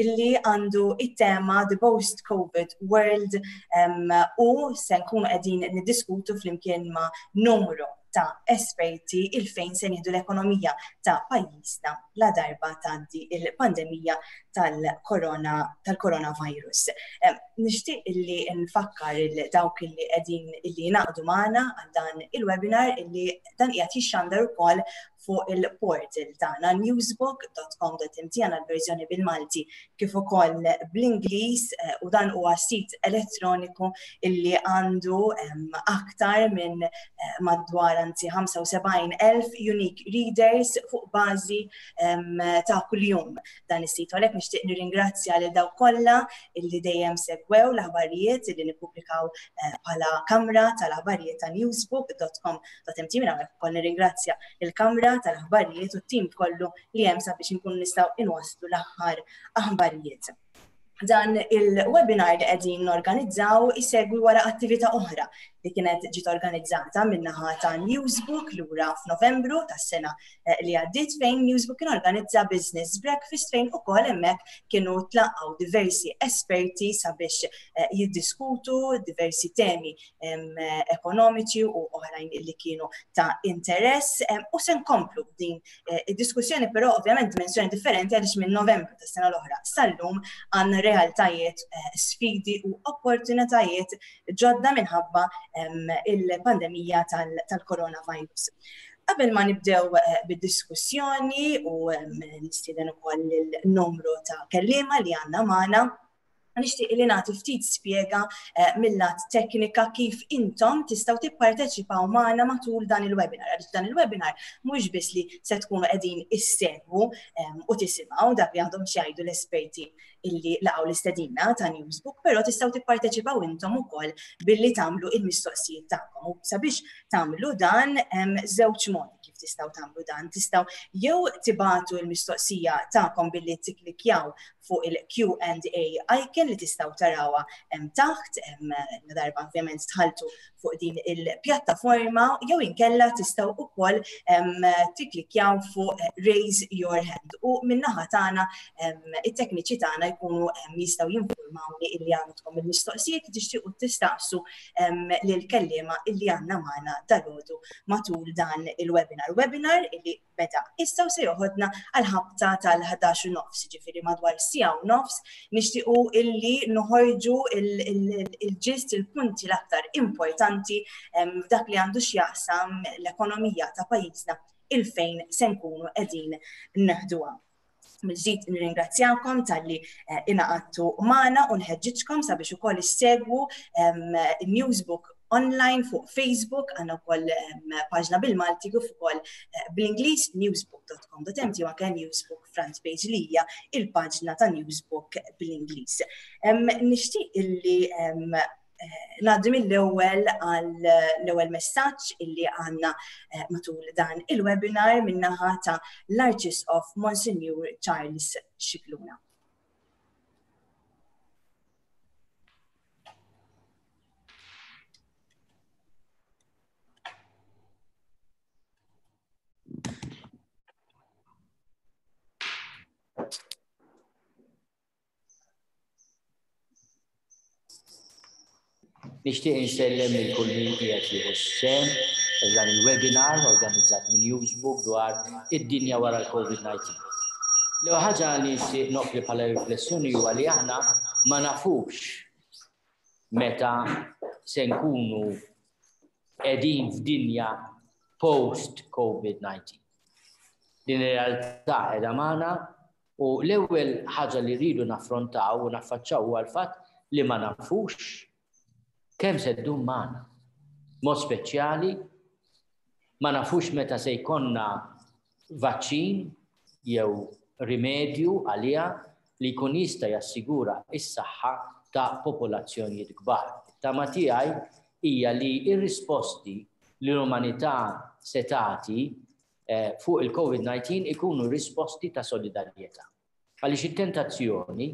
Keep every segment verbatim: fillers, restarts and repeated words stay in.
illi għandu it-tema The Post-COVID World um, u se nkunu qegħdin niddiskutu flimkien ma' numru ta' esperti il-fejn se nieħdu l-ekonomija ta' pajjiżna la darba tgħaddi il-pandemija tal-corona tal-coronavirus. Nixtieq illi nfakkar il dawk illi qegħdin illi jingħaqdu magħna għal dan il-webinar illi dan qiegħed jixxandar ukoll fuq il-portal tagħna newsbook dot com dot M T, għandna l-verżjoni bil-Malti kif ukoll bl-Ingliż, eh, u dan huwa sit elettroniku illi għandu aktar minn eh, madwar, anzi ħamsa u sebgħin elf unique readers fuq bażi ta' kuljum dan is-sit. Għalhekk nixtieq nirringrazzja lil dawk kollha illi dejjem segwew l-aħbarijiet illi nippubblikaw eh, bħala kamra tal-aħbarijiet ta' newsbook dot com dot M T. Minn hawnhekk ukoll nirringrazzja il-kamra tal-aħbarijiet u t-tim kollu li hemm sabiex inkunu nistgħu inwasslu l-aħħar aħbarijiet. Dan il-webinar li qegħdin norganizzaw isegwi wara attività oħra li kienet ġiet organizzata min-naħa ta' Newsbook lura f'Novembru tas-sena eh, li għaddiet, fejn Newsbook kien organizza Business Breakfast, fejn ukoll hemmhekk kienu tlaqgħu diversi esperti sabiex eh, jiddiskutu diversi temi ekonomiċi u oħrajn li kienu ta' interess, u se nkomplu din eh, id-diskussjoni, però ovvjament dimensjoni differenti, għaliex minn Novembru tas-sena l-oħra sal-lum għandna realtajiet, sfidi u opportunitajiet ġodda minħabba il-pandemija tal-coronavirus. Qabel ma nibdew eh, bid-diskussjoni u nistieden ukoll il-numru ta' kellima li għandna magħna, nixtieq li nagħti ftit spjega eh, mill-lat teknika kif intom tistgħu tipparteċipaw magħna matul dan il-webinar. Għaliex dan il-webinar mhux biss li se tkunu qegħdin issegwu u tisimgħu dak li għandhom xi l-esperti illi laqgħu l-istedina ta' Newsbook, però tistgħu tipparteċipaw intom ukoll billi tagħmlu il-mistoqsijiet tagħkom. U sabiex tagħmlu dan, hemm żewġ modi kif tistgħu tagħmlu dan. Tistgħu jew tibagħtu l-mistoqsija tagħkom billi tikklikjaw fuq il-Q and A icon li tistgħu tarawha hemm taħt, hemm darba ovvjament dħaltu fuq din il-pjattaforma, jew inkella tistgħu ukoll tikklikjaw fuq Raise Your Hand u min-naħa tagħna it-tekniċi tagħna jkunu jistgħu jinformawni illi għandkom il-mistoqsijiet li tixtiequ tistaqsu lil kellima illi għandna magħna dalgħodu matul dan il-webinar. Webinar illi beda issa u se joħodna għal-ħabta tal-ħdax u nofs, ġifieri madwar siegħa u nofs, nixtiequ illi noħorġu il-ġist, il-punti l-aktar importanti f'dak li għandu x'jaqsam l-ekonomija ta' pajjiżna, il-fejn se nkunu qegħdin neħduha. Mill-ġdid nirringrazzjakom talli eh, ingħaqadtu magħna u nħeġġiġkom sabiex ukoll issegwu Newsbook online fuq Facebook, għandna wkoll paġna bil-Malti kif ukoll eh, bl-Ingliż, newsbook dot com dot M T, u anke Newsbook front page li hija il-paġna ta' Newsbook bl-Ingliż. Nixtieq illi eh, ngħaddi mill-ewwel għal l-ewwel messaġġ illi għandna eh, matul dan il-webinar min-naħa ta' l-Arċisqof Monsignor Charles Scicluna. Nixtieq insellem lil kull min qiegħed jieħu sehem f'dan il-webinar organizzat minn Newsbook dwar id-dinja wara l-COVID nineteen. L-ewwel ħaġa li nixtieq noffri bħala riflessjoni huwa li aħna ma nafux meta se nkunu qegħdin f'dinja post-COVID nineteen. Din ir-realtà qiegħda magħna u l-ewwel ħaġa li rridu naffrontaw u naffaċċaw huwa l-fatt li ma nafux kemm se ddum magħna. Mod speċjali ma nafux meta se jkollna vaċċin jew rimedju għaliha li jkun jista' jassigura s-saħħa ta' popolazzjonijiet kbar. Tama tiegħi hija li r-risposti li l-umanità se tagħti eh, fuq il-COVID nineteen ikunu risposti ta' solidarjetà. Għaliex it-tentazzjoni,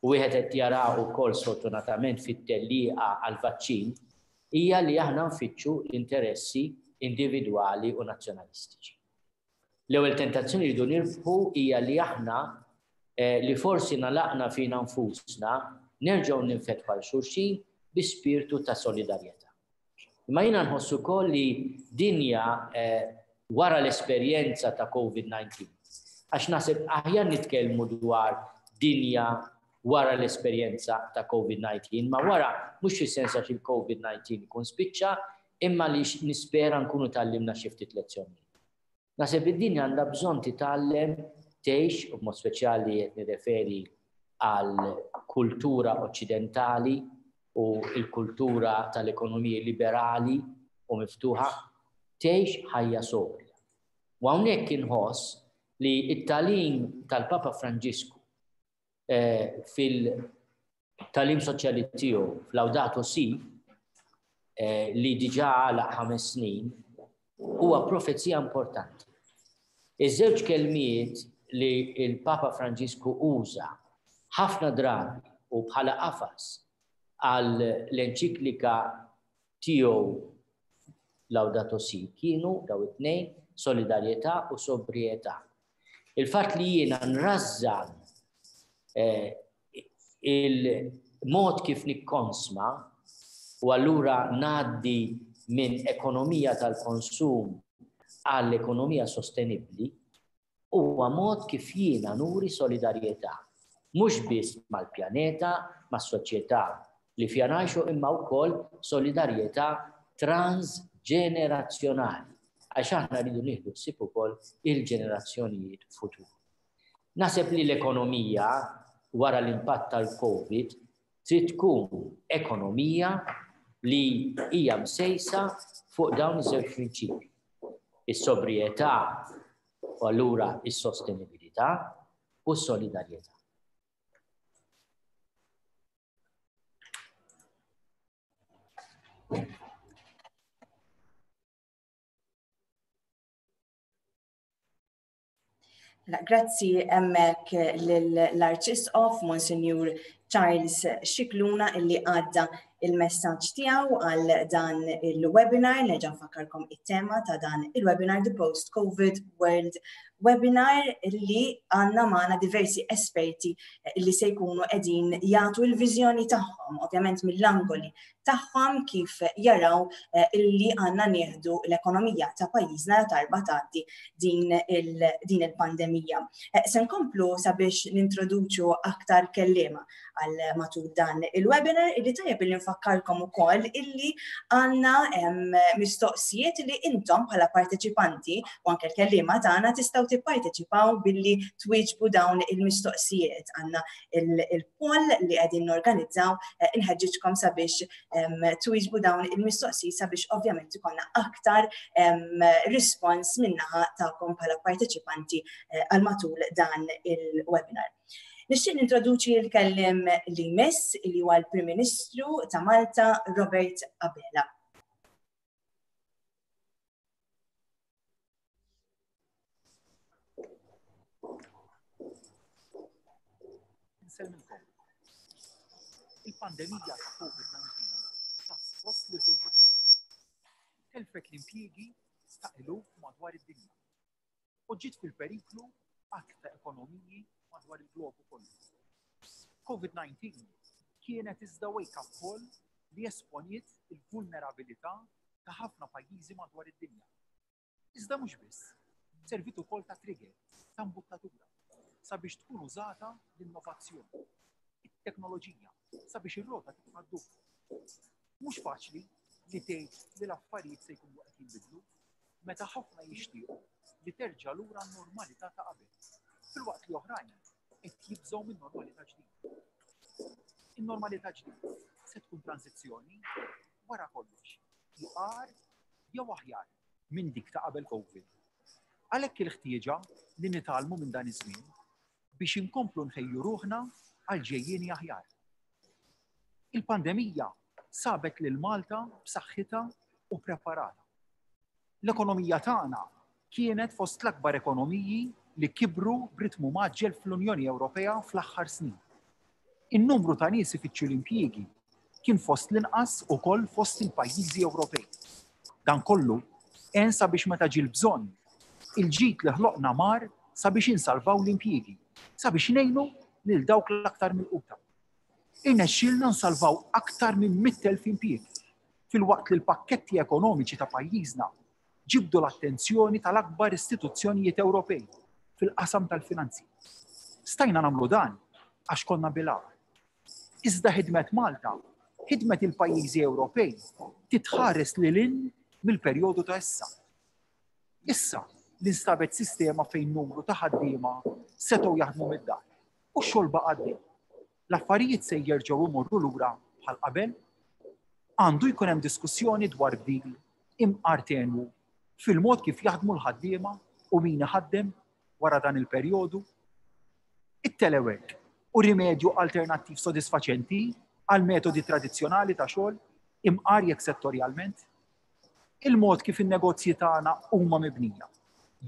u wieħed qed jara wkoll sfortunatament fit-tellieqa għal-vaċċin, hija li aħna nfittxu l-interessi individwali u nazzjonalistiċi. L-ewwel tentazzjoni li rridu nirbħu hija li aħna li forsi nalaqna fina nfusna, nerġgħu ninfetħu għal xulxin bi spirtu ta' solidarjetà. Imma jiena nħossu wkoll li dinja wara l-esperjenza ta' COVID nineteen, għax naħseb aħjar nitkellmu dwar dinja wara l-esperjenza ta' COVID nineteen, ma wara mhux fis-sens għax il-COVID nineteen ikun spiċċa, imma li nispera nkunu tgħallimna xi ftit lezzjonijiet. Naħseb id-dinja għandha bżonn titgħallem tgħix, u b'mod speċjali qed nirreferi għal kultura oċċidentali u l-kultura tal-ekonomiji liberali u miftuħa, tgħix ħajja sobrja. U hawnhekk inħoss li t-tagħlim tal-Papa Franġisku fil-tagħlim soċjali tiegħu fl-Laudato Si, li diġà għalaq ħames snin, huwa profezija importanti. Iż-żewġ kelmiet li l-Papa Franġisku uża ħafna drabi u bħala qafas għal l-enċiklika tiegħu Laudato Si kienu daw it-tnejn, solidarjetà u sobrietà. Il-fatt li jiena nrażżan il-mod kif nikkonsma u allura ngħaddi minn ekonomija tal-konsum għall-ekonomija sostenibbli huwa mod kif jiena nuri solidarjetà, mhux biss mal-pjaneta, mas-soċjetà li fiha ngħixu, imma wkoll solidarjetà transġenerazzjonali, għax aħna rridu nieħdu ħsieb ukoll il-ġenerazzjonijiet futuri. Naħseb li l-ekonomija wara l-impatt tal-COVID trid tkun ekonomija li hija msejsa fuq dawn iż-żewġ prinċipji: is-sobrietà u allura is-sostenibilità u s-solidarjetà. Grazzi hemmhekk lill-Arċisqof Monsinjur Charles Scicluna illi għadda il-messaġġ tiegħu għal dan il-webinar. Nerġa' nfakkarkom it-tema ta' dan il-webinar, The Post-COVID World Webinar, illi għandna magħna diversi esperti illi se jkunu qegħdin jagħtu l-viżjoni tagħhom, ovvjament mill-angoli tagħhom, kif jaraw illi għandna nieħdu l-ekonomija ta' pajjiżna darba tgħaddi din il-pandemija. Se nkomplu sabiex nintroduċu aktar kelliema għal matul dan il-webinar, illi tajjeb illi nfakkarkom ukoll illi għandna mistoqsijiet li intom bħala parteċipanti u anke l-kelliema tagħna tistgħu tipparteċipaw billi twieġbu dawn il-mistoqsijiet. Għandna il-poll li qegħdin norganizzaw, inħeġġiġkom sabiex twieġbu dawn il-mistoqsijiet sabiex ovvjament ikollna aktar rispons min-naħa tagħkom bħala parteċipanti għal matul dan il-webinar. Nixtieq nintroduċi l-kelliem li jmiss, li huwa l-Prim Ministru ta' Malta, Robert Abela. Insellmilkom. Il-pandemija ta' COVID nineteen tat post li kulħadd. Telfet l-impjiegi ta' eluf madwar id-dinja u ġiet fil-periklu għadd ta' ekonomiji madwar il-globu kollu. COVID nineteen kienet iżda wake-up call li esponiet il-vulnerabilità ta' ħafna pajjiżi madwar id-dinja. Iżda mhux biss, servit ukoll ta' trigger, ta' mbuttatura, sabiex tkun użata l-innovazzjoni, it-teknoloġija, sabiex ir-rota tibqa' ddur. Mhux faċli li tgħid li l-affarijiet se jkunu qed jinbidlu meta ħafna jixtiequ li terġa' lura n-normalità ta' qabel, filwaqt li oħrajn qed jibżgħu minn normalità ġdida. In-normalità ġdida se tkun tranzizzjoni wara kollox, iqar jew aħjar minn dik ta' qabel COVID. Għalhekk il-ħtieġa li nitgħallmu minn dan iż-żmien biex inkomplu nħejju ruħna għal ġejjieni aħjar. Il-pandemija sabet lil Malta b'saħħitha u preparata. L-ekonomija tagħna kienet fost l-akbar ekonomiji li kibru b'ritmu maġġel fl-Unjoni Ewropea fl-aħħar snin. In-numru ta' nies ifittxu l-impjiegi kien fost l-inqas ukoll fost il-pajjiżi Ewropej. Dan kollu għen sabiex meta ġie l-bżonn, il-ġid li ħloqna mar sabiex insalvaw l-impjiegi sabiex ngħinu lil dawk l-aktar milquta. Irnexxielna nsalvaw aktar minn mitt elf impjieg filwaqt li l-pakketti ekonomiċi ta' pajjiżna ġibdu l-attenzjoni tal-akbar istituzzjonijiet Ewropej fil-qasam tal-finanzi. Stajna nagħmlu dan għax konna bil-għaqal. Iżda ħidmet Malta, ħidmet il-pajjiżi Ewropej titħares lil hinn mill-perjodu ta' issa. Issa li nstabet sistema fejn numru ta' ħaddiema setgħu jaħdmu mid-dar u x-xogħol baqa' għaddej. L-affarijiet se jerġgħu imorru lura bħal qabel. Għandu jkun hemm diskussjoni dwar bdil imqar tenwu fil-mod kif jaħdmu l-ħaddiema u min iħaddem wara dan il-perjodu. It-telework u rimedju alternattiv sodisfaċenti għal metodi tradizzjonali ta' xogħol imqar jekk settorjalment. Il-mod kif in-negozji tagħna huma mibnija.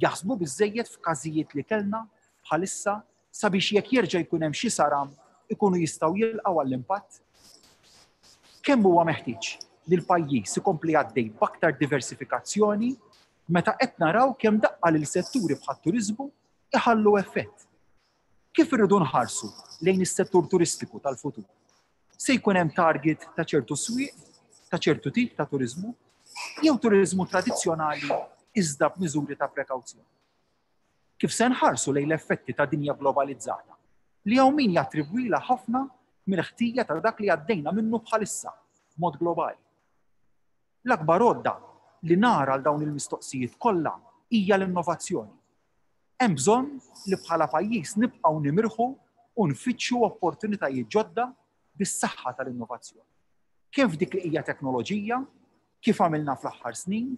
Jaħsbu biżżejjed f'każijiet li kellna bħalissa sabiex jekk jerġa' jkun hemm xi saram ikunu jistgħu jilqgħu għall-impatt. Kemm huwa meħtieġ li l-pajjiż ikompli għaddej b'aktar diversifikazzjoni meta qed naraw kemm daqqa lil setturi bħat-turiżmu iħallu effett. Kif irridu nħarsu lejn is-settur turistiku tal-futur? Se jkun hemm target ta' ċertu swieq, ta' ċertu tip ta' turiżmu, jew turiżmu tradizzjonali iżda b'miżuri ta' prekawzjoni. Kif se nħarsu lejn l-effetti ta' dinja globalizzata li hawn min jattribwila ħafna mill-ħtija ta' dak li għaddejna minnu bħalissa b'mod globali. L-akbar għodda li nara għal dawn il-mistoqsijiet kollha hija l-innovazzjoni. Hemm bżonn li bħala pajjiż nibqgħu nimirħu u nfittxu opportunitajiet ġodda bis-saħħa tal-innovazzjoni. Kemm f'dik li hija teknoloġija, kif għamilna fl-aħħar snin,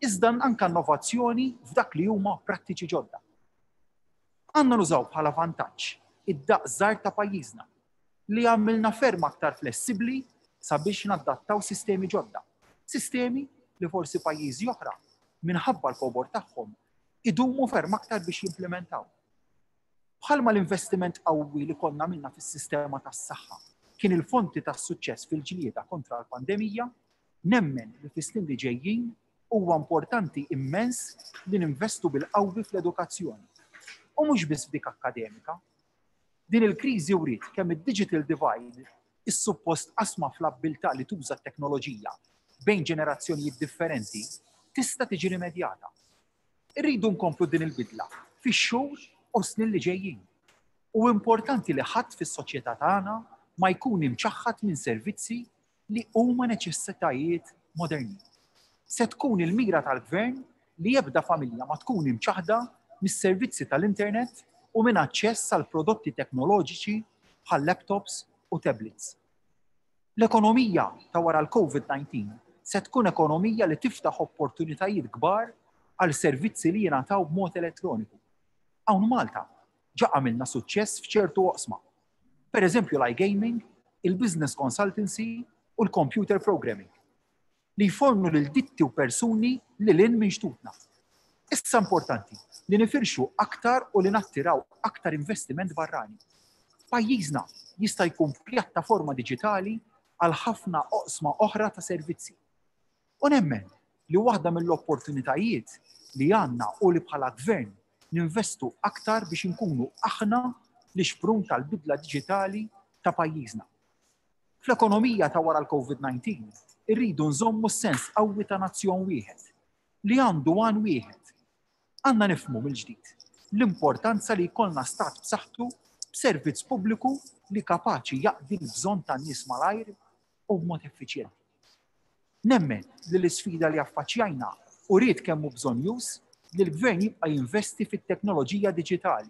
iżda anke innovazzjoni f'dak li huma prattiċi ġodda. Għandna nużaw bħala vantaġġ id-daqs żgħar ta' pajjiżna li għamilna ferm aktar flessibbli sabiex nadattaw sistemi ġodda. Sistemi li forsi pajjiżi oħra minħabba l-kobor tagħhom idumu ferm aktar biex jimplementaw. Bħalma l-investiment qawwi li konna minna fis-sistema tas-saħħa kien il-fonti tas-suċċess fil-ġlieda kontra l-pandemija, nemmen li fis-snin li ġejjin huwa importanti immens li ninvestu bil-qawwi fl-edukazzjoni. U mhux biss f'dik akkademika. Din il-kriżi wriet kemm id-digital divide is-suppost qasma fl-abbiltà li tuża t-teknoloġija bejn ġenerazzjonijiet differenti tista' tiġi rimedjata. Irridu nkomplu din il-bidla fix-xhur u snin li ġejjin. U importanti li ħadd fis-soċjetà tagħna ma jkun imċaħħad minn servizzi li huma neċessitajiet moderni. Se tkun il-mira tal-gvern li ebda familja ma tkun imċaħda mis-servizzi tal-internet u minn aċċess għal prodotti teknoloġiċi bħal laptops u tablets. L-ekonomija ta' wara l-COVID nineteen se tkun ekonomija li tiftaħ opportunitajiet kbar għal servizzi li jingħataw b'mod elettroniku. Hawn Malta ġa għamilna suċċess f'ċertu oqsma. Per eżempju l-iGaming, il-business consultancy u l-computer programming li jfornu lil ditti u persuni li lin minn xtutna. Issa importanti li nifirxu aktar u li nattiraw aktar investiment barrani. Pajjiżna jista' jkun pjattaforma diġitali għal ħafna oqsma oħra ta' servizzi. U nemmen li waħda mill-opportunitajiet li għandna u li bħala gvern ninvestu aktar biex inkunu aħna li xprun tal-bidla diġitali ta' pajjiżna. Fl-ekonomija ta' wara l-COVID nineteen irridu nżommu s-sens qawwi ta' nazzjon wieħed li għandu għan wieħed. Għandna nifhmu mill-ġdid l-importanza li jkollna stat b'saħħtu b'servizz pubbliku li kapaċi jaqdi l-bżonn tan-nies malajr u b'mod effiċjenti. Nemmen li l-isfida li affaċċjajna u rrid kemm hu bżonn już li l-gvern jibqa' jinvesti fit-teknoloġija diġitali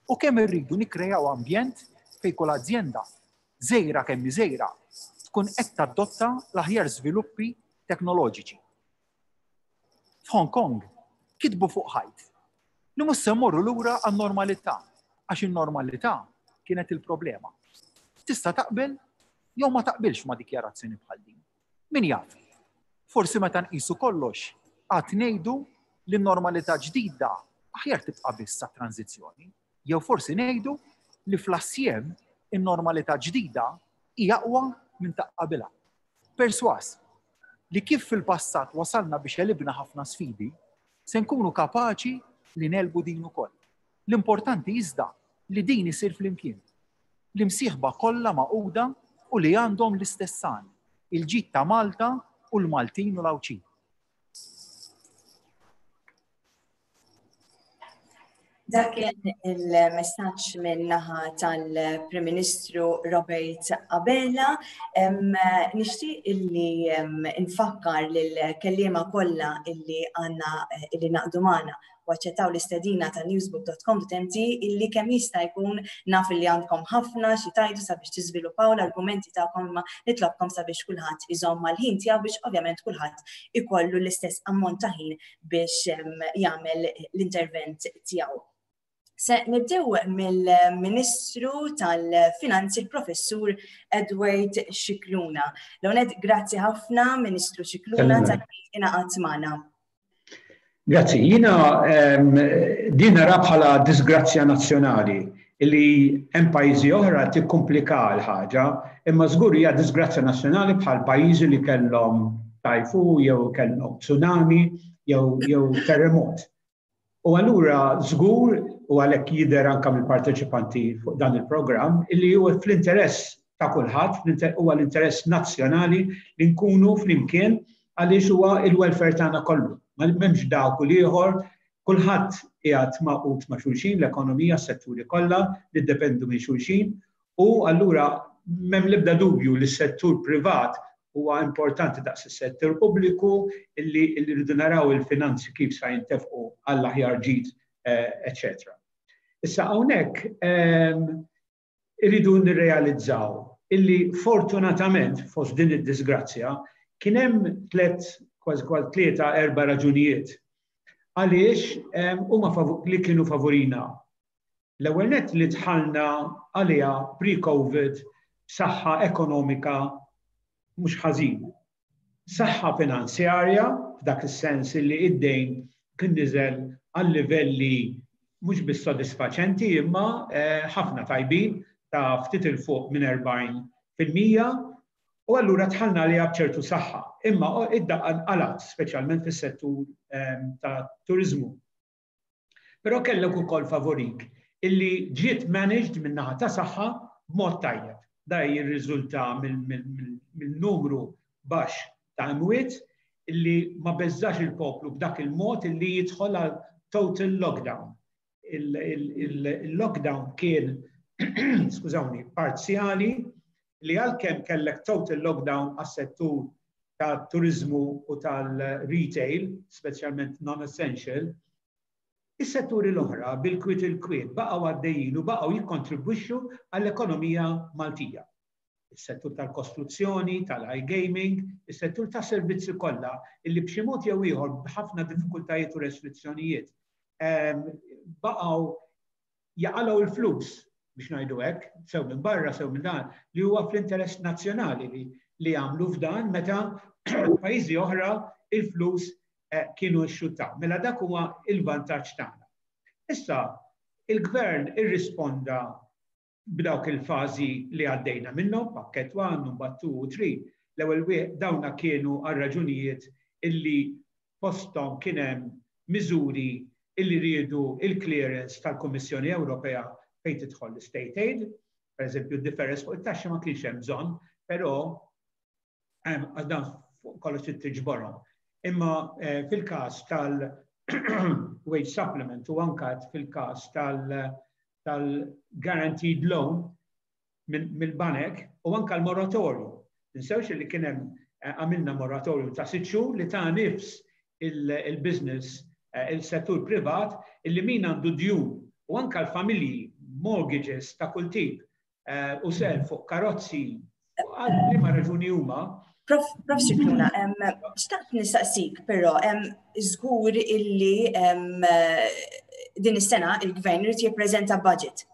u kemm irridu nikkrejaw ambjent fejn kull azjenda żgħira kemm hi żgħira tkun qed tadotta l-aħjar żviluppi teknoloġiċi. F'Hong Kong kitbu fuq ħajt li mhux se mmorru lura għan-normalità għax in-normalità kienet il-problema. Tista' taqbel jew ma taqbilx ma' dikjarazzjoni bħal din. Min jaf? Forsi meta nqisu kollox għad ngħidu li n-normalità ġdida aħjar tibqa' biss sa tranzizzjoni, jew forsi ngħidu li fl-assjem in-normalità ġdida hija aqwa minn ta' qabilha. Perswas li kif fil-passat wasalna biex għelibna ħafna sfidi, se nkunu kapaċi li nelbu din ukoll. L-importanti iżda li din isir flimkien. L-imsieħba kollha magħquda u li għandhom l-istess għan, il-ġid ta' Malta u l-Maltin u l-Għawdxin. Dak kien il-messaġġ minn naħa tal-Prim Ministru Robert Abela. Nixtieq illi nfakkar lill-kelliema kollha illi għandna illi naqdu magħna u aċċettaw l-istedina ta' newsbook dot com dot m t illi kemm jista' jkun naf illi għandkom ħafna xi tajdu sabiex tiżviluppaw l-argumenti tagħkom, imma nitlobkom sabiex kulħadd iżomm mal-ħin tiegħu biex ovvjament kulħadd ikollu l-istess ammont ta' ħin biex jagħmel l-intervent tiegħu. Se nibdew mill-Ministru tal-Finanzi, il-Professur Edward Scicluna. L-ewwel, grazzi ħafna, Ministru Scicluna, tal-li ingħaqadt magħna. Grazzi. Jiena, ehm, din nara bħala disgrazzja nazzjonali li hemm pajjiżi oħra tikkumplika l-ħaġa, imma żgur hija disgrazzja nazzjonali bħal pajjiżi li kellhom tajfu jew kellhom tsunami jew, jew terremot. U allura żgur, u għalhekk jidher anke mill-parteċipanti fuq dan il-programm, illi huwa fl-interess ta' kulħadd, fl-inter-, huwa l-interess nazzjonali li nkunu flimkien għaliex huwa il-welfare tagħna kollu. Ma m'hemmx dawk u l-ieħor, kulħadd qiegħed magħqud ma' xulxin, l-ekonomija, s-setturi kollha li ddependu minn xulxin, u allura m'hemm l-ebda dubju li s-settur privat huwa importanti daqs is-settur pubbliku, illi, illi rridu naraw il-finanzi kif sa jintefqu għall-aħjar ġid, eh, eċċetera. Issa hawnhekk, ehm, irridu nirrealizzaw illi fortunatament fost din id-disgrazzja kien hemm tliet, kważi kważi tlieta erba' raġunijiet għaliex, ehm, huma favu-, li kienu favorina. L-ewwel nett li dħalna għaliha pre-COVID b'saħħa ekonomika mhux ħażin. Saħħa finanzjarja f'dak is-sens li id-dejn kien niżel għal livelli mhux biss sodisfaċenti imma, eh, ħafna tajbin ta' ftit il fuq minn erbgħin fil-mija, u allura dħalna għaliha b'ċertu saħħa. Imma id-daqqa nqalat, speċjalment fis-settur, ehm, ta' turiżmu. Però kellek ukoll favorik illi ġiet managed min-naħa ta' saħħa b'mod tajjeb. Da jirriżulta mill-numru baxx ta' imwiet illi ma beżax il-poplu b'dak il-mod illi jidħol għal total lockdown. Il-lockdown kien, skużawni, parzjali, li għalkemm kellek total lockdown għas-settur ta' turizmu u tal-retail, speċjalment non-essential, is-setturi l-oħra bil-kwiet il-kwiet baqgħu għaddejjin u baqgħu jikkontribwixxu għall-ekonomija Maltija. Is-settur tal-kostruzzjoni, tal-iGaming, is-settur tas-servizzi kollha illi b'xi mod jew ieħor b'ħafna diffikultajiet u restrizzjonijiet, ehm, baqgħu jaqalgħu l-flus biex ngħidu hekk, sew minn barra, sew minn dan, li huwa fl-interess nazzjonali li, li jagħmlu f'dan meta pajjiżi oħra il-flus, eh, kienu xxuttaw. Mela dak huwa il-vantaġġ tagħna. Issa, il-gvern irrisponda b'dawk il-fażi li għaddejna minnhom, pakkett one, number two u three. L-ewwel wieħed dawna kienu għal raġunijiet illi posthom kien hemm miżuri illi riedu il-clearance tal-Kummissjoni Ewropea fejn tidħol l-state aid. Per eżempju, d-difference fuq it-taxxa ma kienx hemm bżonn, però għal dan fuq kollox trid tiġborhom. Imma, eh, fil-każ tal-wage supplement u anka fil-każ tal-, tal-guaranteed loan mill-banek u anka l-moratorium. Ninsewx li kien hemm, eh, għamilna moratorium ta' sitt xhur li ta' nifs il-business, eh, il-settur privat, illi min għandu djun u anka l-familji, mortgages ta' kull tip, eh, u self fuq karozzi, għal liema raġuni huma. Prof, Prof Scicluna, em, xtaqt nistaqsik, però, em, żgur illi, em, din is-sena il-gvern irid jippreżenta budget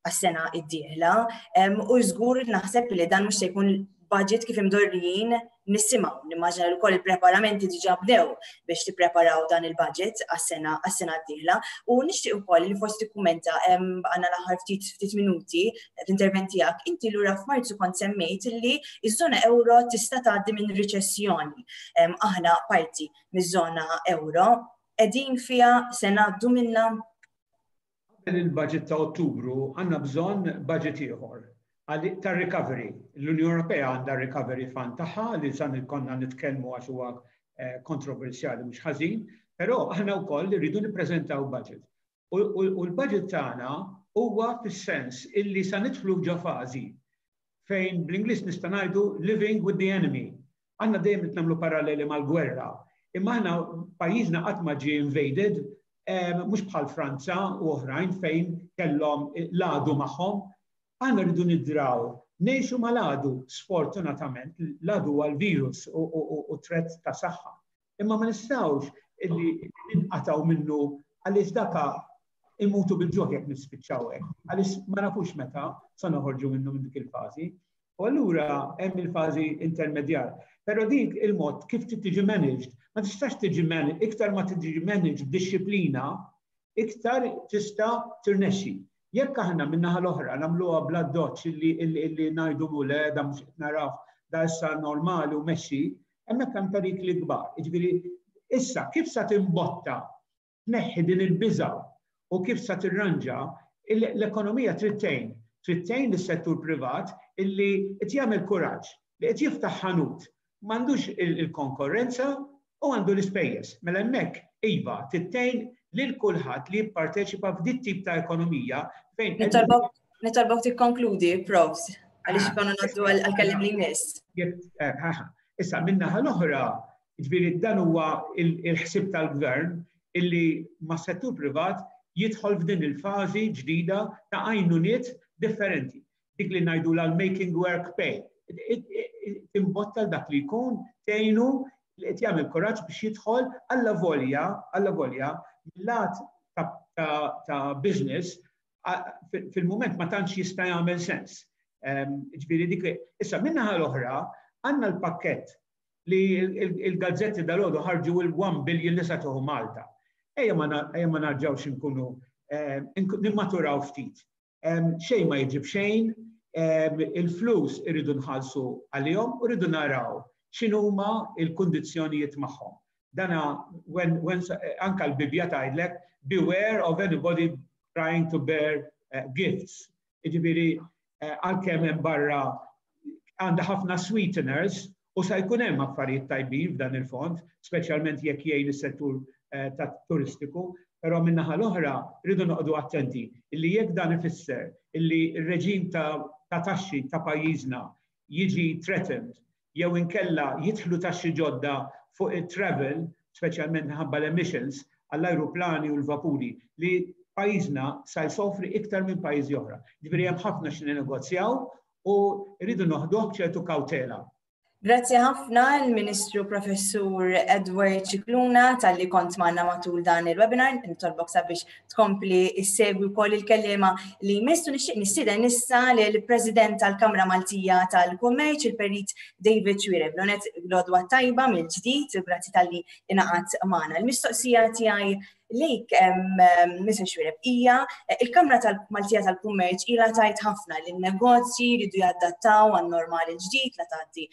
għas-sena d-dieħla, em, u żgur naħseb li dan mhux se jkun budget kif imdorrijin nisimgħu. Nimmaġina li wkoll il-preparamenti diġà bdew biex tippreparaw dan il-budget għas-sena, għas-sena d-dieħla. U nixtieq ukoll li forsi tikkummenta, em, għandna l-aħħar ftit, ftit minuti l-intervent tiegħek. Inti lura f'Marzu kont semmejt li ż-żona euro tista' tgħaddi minn riċessjoni. Em, aħna parti miż-żona euro, qegħdin fiha se ngħaddu minnha? Qabel il-budget ta' Ottubru għandna bżonn budget ieħor ta' recovery. L-Unjoni Ewropea għandha recovery fund tagħha li san konna nitkellmu għax huwa eh, kontroversjali mhux ħażin, però aħna wkoll irridu nippreżentaw budget. U l-budget tagħna huwa fis-sens illi sa nidħlu ġo fażi fejn bl-Ingliż nista' ngħidu "living with the enemy". Aħna dejjem nagħmlu paralleli mal-gwerra. Imma aħna pajjiżna qatt ma ġie invaded, mhux bħal Franza u oħrajn fejn kellhom l-għadu magħhom. Aħna rridu nidraw ngħixu mal-għadu, sfortunatament, l-għadu għal-virus u threat ta' saħħa. Imma ma nistgħux illi ninqataw minnu għaliex daka immutu bil-ġuħ jekk nispiċċaw hekk, għaliex ma nafux meta sa noħorġu minnu minn dik il-fażi. U allura hemm il-fażi intermedjar. Però dik il-mod kif tiġi managed, ma tistax tiġi managed, iktar ma tiġi managed b'dixxiplina, iktar tista' tirnexxi. Jekk aħna min-naħa l-oħra nagħmluha bla doċ illi illi ngħidu le, da mhux qed naraw, da issa normali u mexxi, hemmhekk hemm perikli kbar. Jiġifieri issa kif sa timbotta tneħħi din il-biża u kif sa tirranġa l-ekonomija? Trid tgħin. Trid tgħin lis-settur privat illi qed jagħmel kuraġġ, li qed jiftaħ ħanut, m'għandux il-konkurrenza u għandu l-ispejjeż. Mela hemmhekk iva trid tgħin lil kulħadd li jipparteċipa f'dit tip ta' ekonomija fejn. Nitolbok tikkonkludi, Profs, għaliex konna ngħaddu għal-kellim li jmiss. Eh, Issa, min-naħa l-oħra, ġifieri dan huwa il-ħsib tal-gvern illi ma' settur privat jidħol f'din il-fażi ġdida ta' għajnuniet differenti. Dik li ngħidu l-making work pay. Timbotta dak li jkun, tgħinu li qed jagħmel kuraġġ biex jidħol alla volja, alla volja, lat ta' business fil-moment ma tantx jista' jagħmel sens. Ġifieri dik issa, min-naħa l-oħra għandna l-pakkett li il-gazzetti dalgħodu ħarġu, il-one billion li sa tieħu Malta. Ejja ma narġawx nkunu nimmaturaw ftit. Xejn ma jiġib xejn, il-flus irridu nħallsu għalihom u rridu naraw x'inhuma il-kundizzjonijiet magħhom. Dana when, when anka l-Bibja tgħidlek "beware of anybody trying to bear uh, gifts". Jiġifieri uh, għalkemm hemm barra għandha ħafna sweeteners u sa jkun hemm affarijiet tajbin f'dan il-fond, speċjalment jekk jgħin is-settur uh, ta' turistiku, però min-naħa l-oħra rridu noqogħdu attenti illi jekk dan ifisser illi r-reġim ta', ta taxxi ta' pajjiżna jiġi threatened jew inkella jidħlu taxxi ġodda fuq il-travel, speċjalment minħabba l-emissions għall-ajruplani u l-vapuri, li pajjiżna sa jsofri iktar minn pajjiżi oħra. Ġifieri hemm ħafna xi negozjaw u rridu noħduh b'ċertu kawtela. Grazzi ħafna l-Ministru Professur Edward Scicluna talli kont magħna matul dan il-webinar. Nitolbok sabiex tkompli issegwi wkoll il-kellima li jmissu. Nixtieq nistieden issa lill-President tal-Kamra Maltija tal-Kummerċ, il-Perit David Xuereb. L-ewwelnett, l-għodwa t-tajba mill-ġdid, grazzi talli ingħaqadt magħna. Il-mistoqsija tiegħi lejk, Mister Xuereb, hija il-Kamra tal-Maltija tal-Kummerċ ilha tgħid ħafna li n-negozji jridu jadattaw għan-normali ġdid la tgħaddi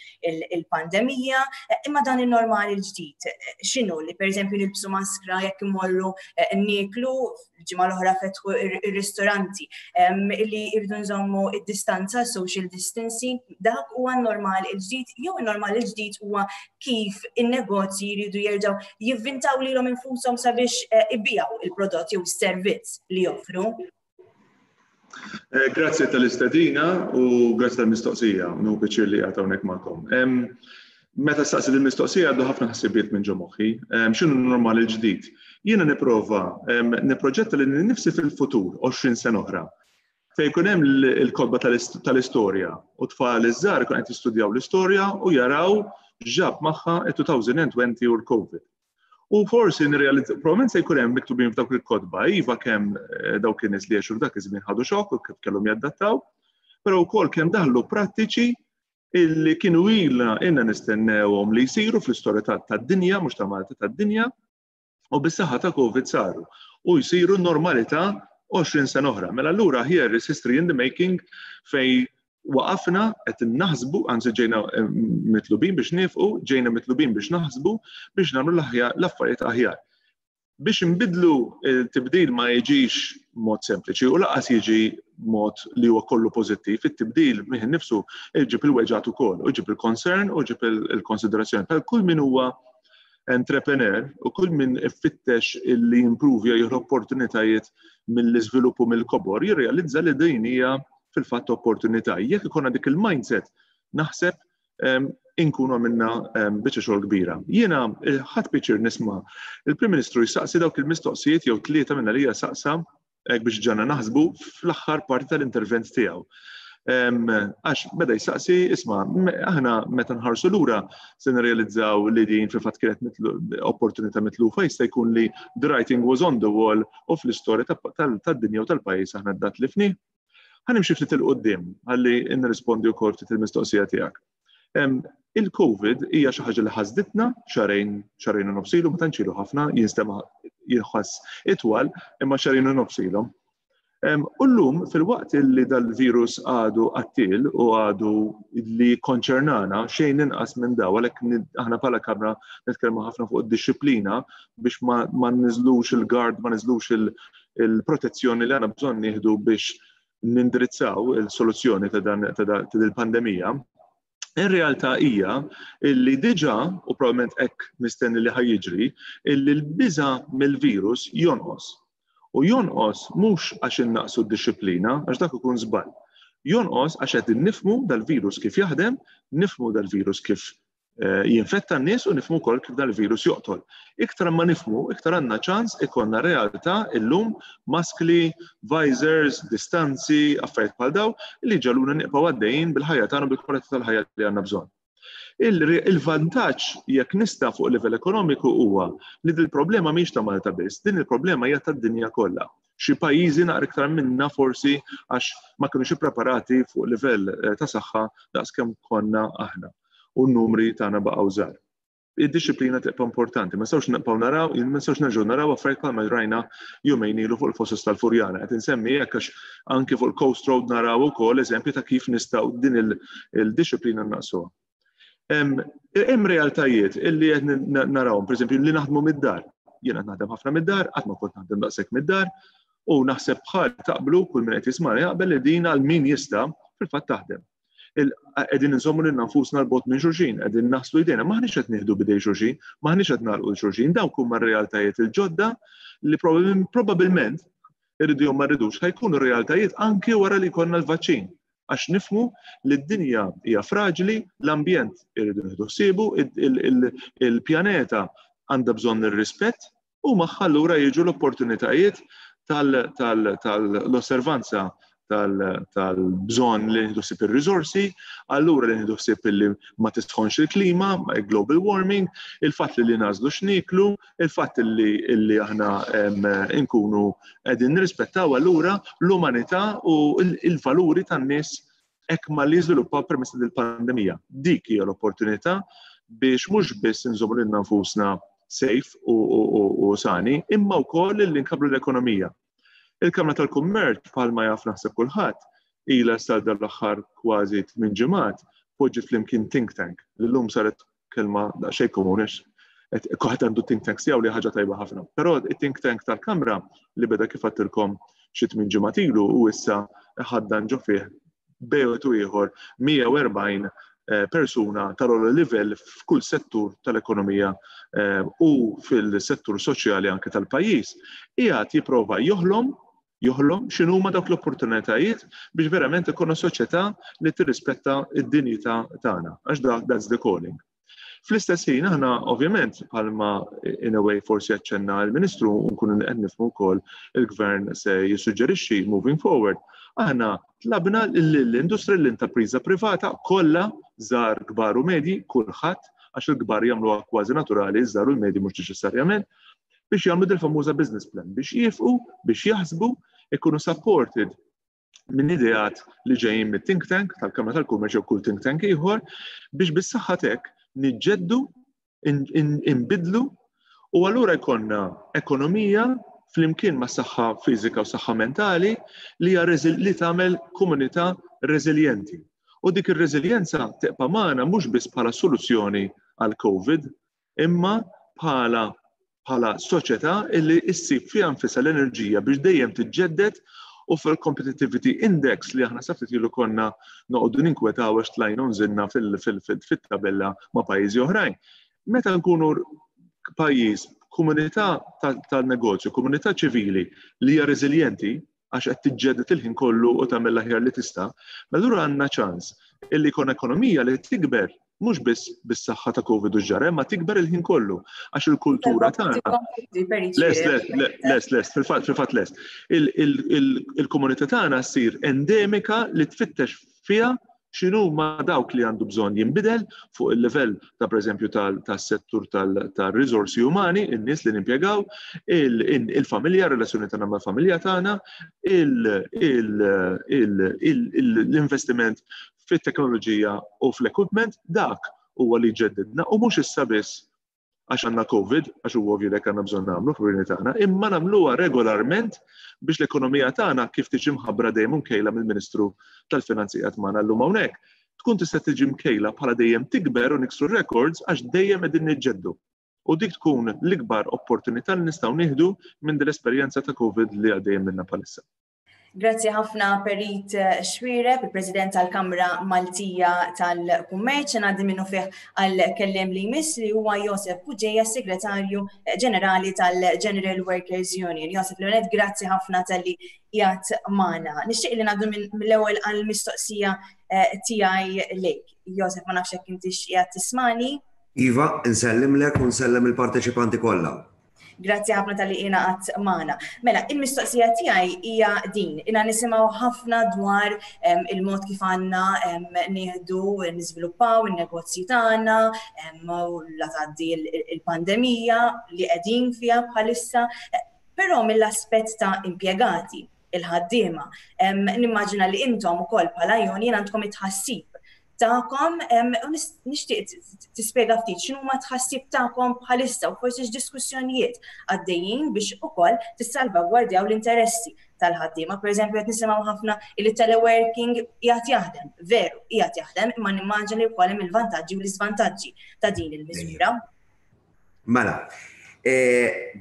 il-pandemija, imma dan il-normali ġdid x'inhu? Li pereżempju nilbsu maskra jekk imorru nieklu, ġimgħa l-oħra fetħu ir-ristoranti, li jridu nżommu id-distanza, social distancing, dak huwa n-normal il-ġdid jew il-normal il-ġdid huwa kif in-negozji jridu jerġgħu jivvintaw lilhom infushom sabiex ibigħu il-prodott jew is-servizz li joffru? Eh, grazzi tal-istedina u grazzi tal-mistoqsija, nieħu pjaċir li qiegħed hawnhekk magħkom. Meta staqsi il-mistoqsija għaddu ħafna ħsibiet minn ġo moħħi, x'inhu normal il-ġdid? Jiena nipprova niproġetta lili nnifsi fil-futur, għoxrin sena oħra, fejn jkun hemm il-kotba tal-istorja u tfal iż-żgħar ikun qed jistudjaw l-istorja u jaraw ġab magħha il-elfejn u għoxrin u l-COVID. U forsi nirrealizza, probabbilment se jkun hemm miktubin f'dawk il-kotba, iva, kemm eh, dawk in-nies li għexu f'dak iż-żmien ħadu xokk u kif kellhom jadattaw, però wkoll kemm daħlu prattiċi illi kienu ilna ilna nistennewhom li jsiru fl-istorja tad-dinja, mhux ta' Malta, tad-dinja, u bis-saħħa ta' COVID saru u jsiru normalità għoxrin sena oħra. Mela allura here is history in the making fej waqafna qed naħsbu, anzi ġejna eh, mitlubin biex nifqu, ġejna mitlubin biex naħsbu biex nagħmlu l-affarijiet aħjar. Biex nbidlu, il-tibdil ma jiġix mod sempliċi u lanqas jiġi mod li huwa kollu pożittiv. It-tibdil fih innifsu jġib il-weġgħat ukoll, u jġib il-concern u jġib il-konsiderazzjoni. Per kull min huwa entrepreneur u kull min ifittex illi jimprovja, jieħu opportunitajiet mill-iżviluppu, mill-kobor, jirrealizza li din hija fil-fatt opportunità. Jekk ikonna dik il-mindset, naħseb inkunu għamilna biċċa xogħol kbira. Jiena ħadt pjaċir nisma' il-Prim Ministru jistaqsi dawk il-mistoqsijiet jew tlieta minna li saqsa biex ġagħalna naħsbu fl-aħħar parti tal-intervent tiegħu. Għax beda jistaqsi, isma', aħna meta nħarsu lura se nirrealizzaw li din fil-fatt kienet opportunità mitlufa, jista' jkun li the writing was on the wall u fl-istorja tad-dinja u tal-pajjiż aħna dat li fni. Ħa nimxi ftit 'il quddiem ħalli nirrispondi wkoll ftit il-mistoqsija tiegħek. Il-Covid hija xi ħaġa li ħasditna xahrejn, xahrejn u nofs ilu, ma tantx ilu ħafna, jinstema' jinħass itwal, imma xahrejn u nofs ilhom. U llum, fil-waqt li dal-virus għadu qattil u għadu li konċernana xejn inqas minn daw, għalhekk aħna bħala Kamra nitkellmu ħafna fuq id-disciplina biex ma niżlux il-guard, ma niżlux il-protezzjoni li għandna bżonn nieħdu biex nindirizzaw il-soluzzjoni ta' dan il-pandemija. In realtà hija illi diġà, u probabbilment hekk mistenni li ħa jiġri, illi l-biża mill-virus jonqos. U jonqos mhux għax innaqsu d-disciplina, għax dak ikun żball. Jonqos għax qed nifhmu dal-virus kif jaħdem, nifhmu dal-virus kif eh, jinfetta n-nies u nifhmu wkoll kif dal-virus joqtol. Iktar ma nifhmu, iktar għandna ċans ikollna realtà illum maskli, visors, distanzi, affarijiet bħal daw li jġagħluna nibqgħu għaddejjin bil-ħajja tagħna, bil-kwalità tal-ħajja li għandna bżonn. Il-vantaġġ jekk nista' fuq livell ekonomiku huwa li dil-problema mhix ta' Malta biss, din il-problema hija tad-dinja kollha. Xi pajjiżi naqra iktar minna forsi għax ma kinux ippreparati fuq livell eh, ta' saħħa daqskemm konna aħna u n-numri tagħna baqgħu żgħar. Id-disciplina tibqa' importanti, ma nistgħux nibqgħu naraw, ma nistgħux nerġgħu naraw affarijiet bħalma rajna jumejn ilu fuq il-Fosos tal-Furjana. Qed insemmi hekk għax anke fuq il-Coast Road naraw ukoll eżempju ta' kif nistgħu din il-disciplina naqsuha. Hemm realtajiet illi qed narawhom, pereżempju li naħdmu mid-dar. Jiena naħdem ħafna mid-dar, qatt ma kont naħdem daqshekk mid-dar, u naħseb bħal taqblu, kull min qed jismani jaqbel li din għal min jista' fil-fatt taħdem. Qegħdin nżommu lil nfusna 'l bogħod minn xulxin, qegħdin naħslu jdejna, maħniex qed nieħdu b'idejn xulxin, maħniex qed ngħannqu xulxin, dawk huma r-realtajiet il-ġodda li probabbilment, irridu jew ma rridux, ħa jkunu realtajiet anke wara li jkollna l-vaċċin. Għax nifhmu li d-dinja hija fraġli, l-ambjent irridu nieħdu ħsiebu, il-pjaneta għandha bżonn ir-rispett u magħha allura jiġu l-opportunitajiet tal-osservanza tal-bżonn li nieħdu ħsieb ir-riżorsi, allura li nieħdu ħsieb li ma tisħonx il-klima, global warming, il-fatt li nagħżlu x'niklu, il-fatt li aħna nkunu qegħdin nirrispettaw allura l-umanità u il-valuri tan-nies hekk ma li żviluppaw permezz il-pandemija. Dik hija l-opportunità biex mhux biss nżommu lil nfusna safe u sani, imma wkoll li nkabbru l-ekonomija. Il-Kamra tal-Kummerċ, bħalma jaf naħseb kulħadd, ilha sal l-aħħar kważi tmien ġimgħat poġġi flimkien think tank. L-lum saret kelma daqsxejn komuni, kulħadd għandu think tank tiegħu, li ħaġa tajba ħafna. Però it-think tank tal-Kamra li beda, kif għedtilkom, xi tmien ġimgħat ilu u issa ħaddan ġo fih bejn wieħed u ieħor mija u erbgħin eh, persuna tal-ogħla livell f'kull settur tal-ekonomija eh, u fil-settur soċjali anke tal-pajjiż, qiegħed jipprova joħlom joħlom x'inhuma dawk l-opportunitajiet biex verament ikunu soċjetà li tirrispetta id-dinjità tagħna, għax dak that's the calling. Fl-istess ħin aħna ovvjament, bħalma in a way forsi aċċenna l-Ministru u nkunu qed nifhmu wkoll il-Gvern se jissuġġerixxi moving forward, aħna tlabna l-industrija, l-intrapriża privata kollha, żgħar, kbar u medji, kulħadd, għax il-kbar jagħmluha kważi naturali, iż-żgħar u l-medji mhux neċessarjament, biex jagħmlu dil-famuża business plan, biex jifqu, biex jaħsbu, ikunu supported minn ideat li ġejjin mit-think tank tal-Kamra tal-Kummerċ jew kull think tank ieħor biex bis-saħħa tek niġġeddu, inbidlu u allura jkollna ekonomija flimkien ma' saħħa fiżika u saħħa mentali li hija li tagħmel komunità reżiljenti. U dik ir-reżiljenza tibqa' magħna mhux biss bħala soluzzjoni għal COVID, imma bħala Bħala soċjetà illi issib fiha nfisha l-enerġija biex dejjem tiġġedded u fil-Competitivity Index li aħna sa ftit ilu konna noqogħdu ninkwetaw għax tlajna u nżilna fil-tabella ma' pajjiżi oħrajn. Meta nkunu pajjiż, komunità tal-negozju, komunità ċivili li hija reżiljenti għax qed tiġġedded il-ħin kollu u tagħmel l-aħjar li tista', allura għandna ċans illi jkun ekonomija li tikber mhux biss bis-saħħa ta' Covid u ġara, ma tikber il-ħin kollu għax il-kultura tagħna. Les, les, les, les, fil-fatt, fil-fatt les. Il-komunità tagħna ssir endemika li tfittex fiha x'inhu ma dawk li għandu bżonn jinbidel fuq il-livell ta' pereżempju tas-settur tal-riżorsi umani, in-nies li nimpjegaw, il-familja, relazzjoni tagħna mal-familja tagħna, l-investiment fit-teknoloġija u fl-equipment, dak huwa li ġeddidna u mhux issa biss għax għandna Covid, għax huwa ovvju li għandna bżonn nagħmlu fil tagħna, imma nagħmluha regolarment biex l-ekonomija tagħna, kif tiġi mħabbra dejjem mkejla mill-Ministru tal-Finanzi qed magħna llum hawnhekk, tkun tista' tiġi mkejla bħala dejjem tikber u niksru records għax dejjem qegħdin niġġeddu. U dik tkun l-ikbar opportunità li nistgħu nieħdu minn din l-esperjenza ta' Covid li għaddejjem minna bħalissa. Grazzi ħafna, Perit Xuereb, il-President tal-Kamra Maltija tal-Kummerċ. Ngħaddi minnufih għal kelliem li jmiss, li huwa Josef Bugeja, Segretarju Ġenerali tal-General Workers Union. Josef Leonet, grazzi ħafna talli qiegħed magħna. Nixtieq li ngħaddu mill-ewwel għall-mistoqsija eh, tiegħi lejk. Josef, ma nafx jekk intix qiegħed tismani. Iva, nsellimlek u nsellem il-parteċipanti kollha. Grazzi ħafna talli ingħaqadt magħna. Mela, il-mistoqsija tiegħi hija din. Ilna nisimgħu ħafna dwar il-mod kif għandna nieħdu niżviluppaw in-negozji tagħna u la tgħaddi il-pandemija li qegħdin fiha bħalissa. Però mill-aspett ta' impjegati, il-ħaddiema, nimmaġina li intom ukoll bħala union għandkom it-tħassib tagħkom u nixtieq tispjega ftit x'inhu ma tħassib tagħkom bħalissa u forsi x'diskussjonijiet għaddejjin biex ukoll tissalvagwardjaw l-interessi tal-ħaddiema. Per eżempju, qed nisimgħu ħafna li teleworking qiegħed jaħdem, veru, qiegħed jaħdem, imma nimmaġina li wkoll hemm il-vantaġġi u l-iżvantaġġi ta' din il-miżura. Mela, e,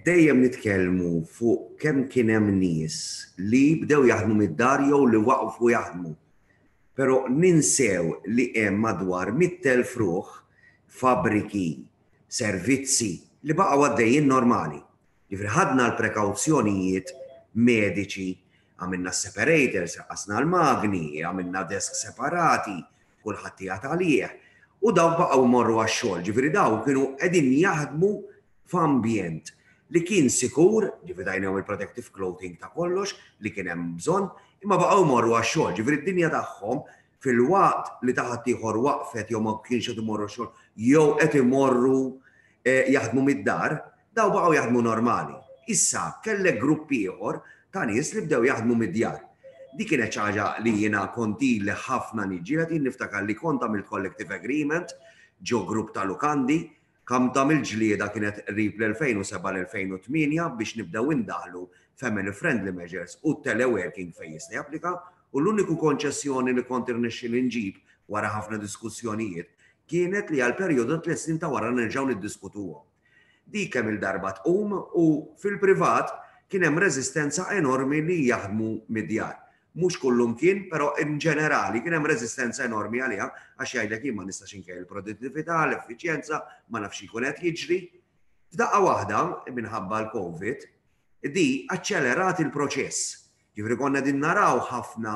dejjem nitkellmu fuq kemm kien hemm nies li bdew jaħdmu mid-dar jew li waqfu jaħdmu. Pero ninsew li hemm madwar mitt elf ruħ, fabriki, servizzi li baqgħu għaddejjin normali. Ġifieri ħadna l-prekawzjonijiet mediċi, għamilna separators, qasna l-magni, għamilna desk separati, kulħadd qiegħed għalih. U dawk baqgħu morru għax-xogħol, ġifieri dawk kienu qegħdin jaħdmu f'ambjent li kien sikur, ġifieri tajnihom il-protective clothing ta' kollox li kien hemm bżonn, imma baqgħu morru għax-xogħol, ġifieri d-dinja tagħhom, fil-waqt li ta' ħaddieħor waqfet jew ma kienx qed imorru xogħol jew qed imorru eh, jaħdmu mid-dar, daw baqgħu jaħdmu normali. Issa kellek grupp ieħor ta' nies li bdew jaħdmu mid-djar. Di kienet xi ħaġa li jiena kont ili ħafna niġġieled. Jien niftakar li kont għamilt collective agreement ġo grupp ta' lukandi, kam ta' mill-ġlieda kienet qrib l-elfejn u sebgħa l-elfejn u tmienja biex nibdew indaħlu family friendly measures u teleworking fejn jista' japplika, u l-uniku konċessjoni li kont irnexxieli nġib wara ħafna diskussjonijiet kienet li għal perjodu tliet snin ta' wara nerġgħu niddiskutuhom. Di kemm il-darba tqum u fil-privat kien hemm reżistenza enormi li jaħdmu mid-djar. Mhux kullum kien, però in ġenerali kien hemm reżistenza enormi għaliha għax jgħidlek, "Jien ma nistax inkejjel il-produttività, l-effiċjenza, ma nafx jkun qed jiġri." F'daqqa waħda, minħabba l-Covid, di aċċelerat il-proċess. Ġifieri konna din naraw ħafna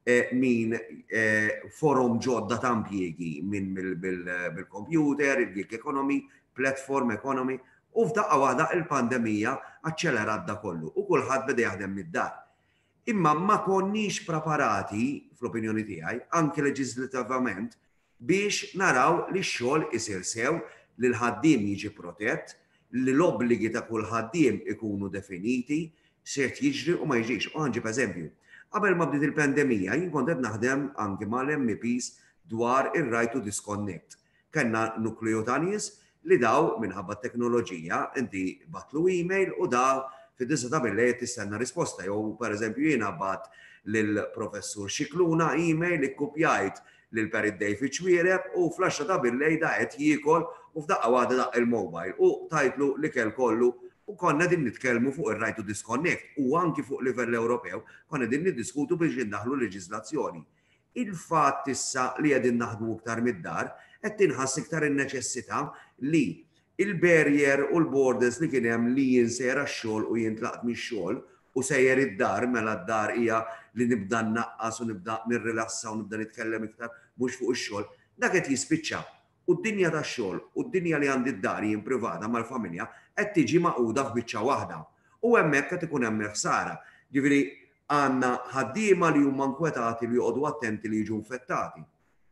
eh, min eh, forom ġodda ta' impjiegi minn bil-computer, il-gig economy, platform economy, u f'daqqa waħda il-pandemija aċċelerat da kollu u kulħadd beda jaħdem mid-dar. Imma ma konniex preparati, fl-opinjoni tiegħi, anke leġislativament, biex naraw li x-xogħol isir sew, li l-ħaddiem jiġi protett, li l-obbligi ta' kull ħaddiem ikunu definiti, x'se jiġri u ma jiġix. U ħa nġib eżempju. Qabel ma bdiet il-pandemija, jien kont qed naħdem anke mal-M Ps dwar ir-right to disconnect. Kellna nukleu ta' nies li daw minħabba teknoloġija inti tibgħatlu email u da fid-disgħa ta' billejl tistenna risposta. Jew, per eżempju, jiena bgħatt lill-professur Scicluna email, ikkupjajt lil Perit David Xuereb, u fl-għaxra ta' billejl da qed jiekol u f'daqqa waħda daqq il-mobile u tajtlu l-ikel kollu. U konna din nitkellmu fuq ir-right to disconnect u anki fuq livell Ewropew konna din niddiskutu biex indaħlu leġiżlazzjoni. Il-fatt issa li qegħdin naħdmu iktar mid-dar qed tinħass iktar in-neċessità li il-barrier u l-borders li kien hemm li jien sejjer għax-xogħol u jintlaqt mix-xogħol u sejjer id-dar, mela d-dar hija li nibda nnaqqas u nibda nirrilassa u nibda nitkellem iktar mhux fuq ix-xogħol, dak qed jispiċċa. U d-dinja tax-xogħol u d-dinja li għandi d-dar jien privata mal-familja qed tiġi magħquda f'biċċa waħda. U hemmhekk qed ikun hemm il-ħsara. Ġifieri għandna ħaddiema li huma nkwetati li joqogħdu attenti li jiġu infettati.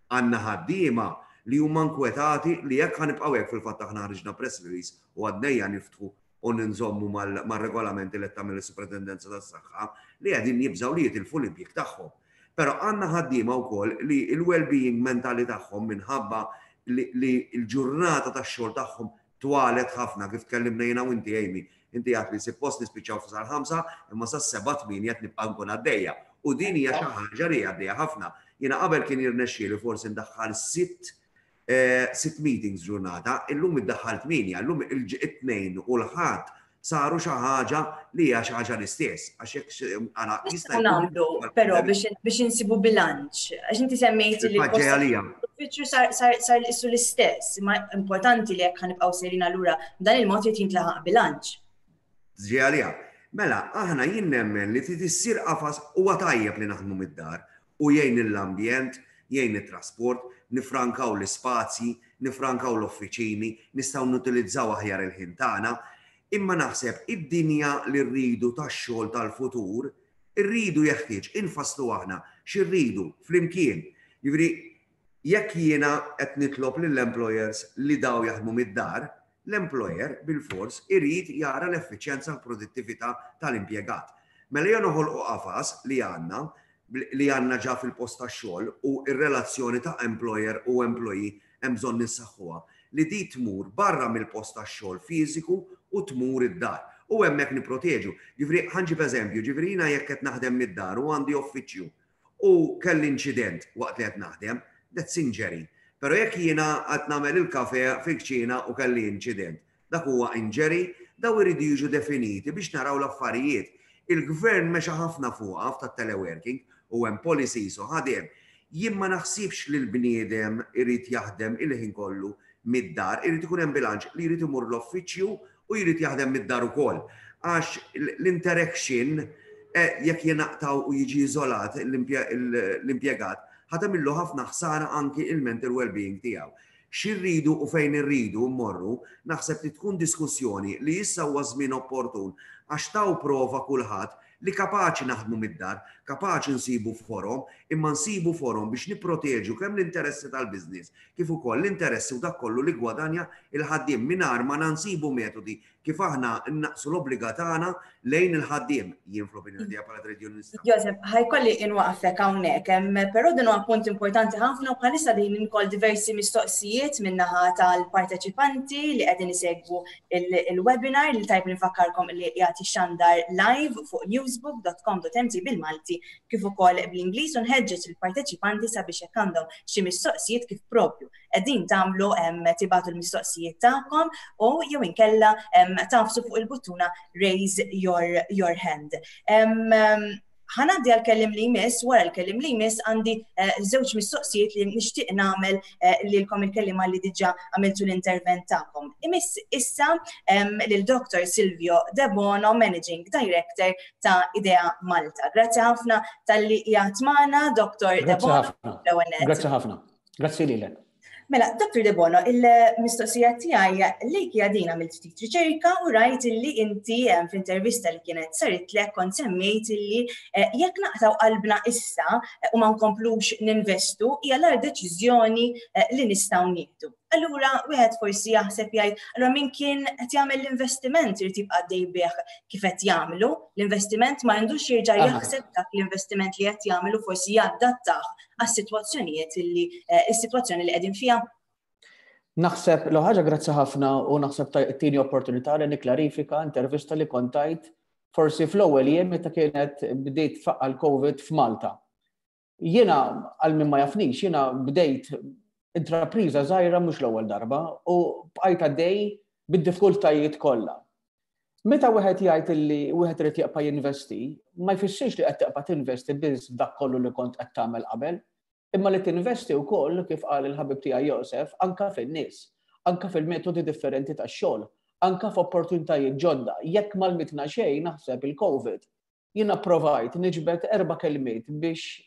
Għandna ħaddiema li huma nkwetati li jekk ħa nibqgħu hekk, fil-fatt aħna ħriġna press release u għadnejja niftħu u ninżommu mal-regolamenti li tagħmel is-Superintendenza tas-Saħħa, li qegħdin jibżgħu li jitilfu l-impjieg tagħhom. Però għandna ħaddiema wkoll li l-well-being mentali tagħhom, minħabba li l-ġurnata tax-xogħol tagħhom twalet ħafna, kif tkellimna jiena u inti, Amy, inti għedt li suppost nispiċċaw sal-ħamsa imma sas-sebgħa, tmienja qed nibqa' nkun għaddejja. U din hija xi ħaġa li għaddejja ħafna. Jiena qabel kien jirnexxieli forsi ndaħħal sitt eh, sitt meetings ġurnata, illum iddaħħal tmienja, illum it-Tnejn u l-Ħadd saru xi ħaġa li hija xi ħaġa l-istess. Għax jekk għana jista' nagħmlu però biex insibu bilanċ. Għax inti semmejt li l-uffiċċju sar sar issu l-istess, ma importanti li jekk ħa nibqgħu sejrin allura dan il-mod jrid jintlaħaq bilanċ. Ġi. Mela, aħna jien nemmen li trid issir qafas. Huwa tajjeb li naħdmu mid-dar u jgħin l-ambjent, jgħin it-trasport, nifrankaw l-ispazji, nifrankaw l-offiċini, nistgħu nutilizzaw aħjar il-ħin tagħna, imma naħseb id-dinja li rridu tax-xogħol tal-futur, irridu jeħtieġ infasslu aħna x'irridu flimkien. Jiġifieri jekk jiena qed nitlob lill-employers li daw jaħdmu mid-dar, l-employer bil-fors irid jara l-effiċjenza u l-produttività tal-impjegat. Mela jew noħolqu qafas li għandna li għandna ġa fil-post tax-xogħol u r-relazzjoni ta' employer u employee hemm bżonn nissaħħuha li di tmur barra mill-post tax-xogħol fiżiku u tmur id-dar. U hemmhekk niproteġu. Ġifieri ħa nġib eżempju, ġifieri jiena jekk qed naħdem mid-dar u għandi uffiċċju u kelli inċident waqt li qed naħdem, that's injury. Però jekk jiena qed nagħmel il-kafe fil-kċina u kelli inċident, dak huwa injury? Daw iridu jiġu definiti biex naraw l-affarijiet. Il-gvern mexa ħafna fuqha ta' teleworking u hemm policies u ħadem. Jien ma naħsibx li l-bniedem irid jaħdem il-ħin kollu mid-dar, irid ikun hemm bilanċ li jrid imur l-uffiċċju u jrid jaħdem mid-dar ukoll. Għax l-interaction eh, jekk jenaqtaw u jiġi iżolat l-impjegat, ħa tagħmillu ħafna ħsara anki il-mental well-being tiegħu. X'irridu u fejn irridu mmorru, naħseb li tkun diskussjoni li issa huwa żmien opportun għax taw prova kulħadd li kapaċi naħdmu mid-dar, kapaċi nsibu forom, imma nsibu forom biex nipproteġu kemm l-interessi tal-biznis, kif ukoll l-interessi u dak kollu li gwadanja il-ħaddiem mingħajr ma nsibu metodi kif aħna naqsu l-obbliga tagħna lejn il-ħaddiem, jien fl-opinjoni tiegħi bħala trade unionista. Joseph, ħa jkolli inwaqfek hawnhekk, però din huwa punt importanti ħafna u bħalissa din inkoll diversi mistoqsijiet min-naħa tal-parteċipanti li qegħdin isegwu il-webinar li tajb nifakkarkom li jagħti xandar live fuq newsbook dot com dot M T bil-Malti kif ukoll bl-Ingliż, u nħeġġeġ il-parteċipanti sabiex jekk għandhom xi mistoqsijiet, kif propju qegħdin tagħmlu, tibagħtu l-mistoqsijiet tagħkom u jew inkella tagħfsu fuq il-buttuna "raise your, your hand". Ħa ngħaddi għal-kellim li jmiss, wara l-kellim li jmiss għandi eh, żewġ mistoqsijiet li nixtieq nagħmel eh, lilkom il-kellima li diġà għamiltu l-intervent tagħkom. Imiss issa lil Doctor Silvio Debono, Managing Director ta' Idea Malta. Grazzi ħafna talli qiegħed magħna, Doctor Debono. Grazzi ħafna. Grazzi lilek. Mela, Doctor Debono, il-mistoqsija tiegħi lejk hija din: għamilt ftit riċerka u rajt illi inti f'intervista li kienet saritlek kont semmejt illi eh, jekk naqtaw qalbna issa eh, u ma nkomplux ninvestu hija l deċiżjoni eh, li nistgħu nieħdu. Allura, wieħed forsi jaħseb jgħid, allura min kien qed jagħmel l-investiment irid jibqa' dej bih kif qed jagħmlu, l-investiment ma għandux jerġa' jaħseb dak l-investiment li qed jagħmlu, forsi jadattah għas-sitwazzjonijiet illi is-sitwazzjoni li qegħdin fiha? Naħseb, l ħaġa, grazzi ħafna u naħseb tini opportunità li niklarifika intervista li kont tajt forsi fl-ewwel jiem meta kienet bdejt faqqa l-Covid f'Malta. Jiena, għal min ma jafnix, jiena bdejt intrapriża żgħira mhux l-ewwel darba u bqajt għaddej bid-diffikultajiet kollha. Meta wieħed jgħid li wieħed irid jibqa' jinvesti, ma jfissirx li qed tibqa' tinvesti biss dak kollu li kont qed tagħmel qabel, imma li tinvesti wkoll, kif qal il-ħabib tiegħi Josef, anka fin-nies, anka fil-metodi differenti tax-xogħol, anka f'opportunitajiet ġodda. Jekk m'għallmitna xejn, naħseb il-COVID, jiena provajt niġbed erba' kelmiet biex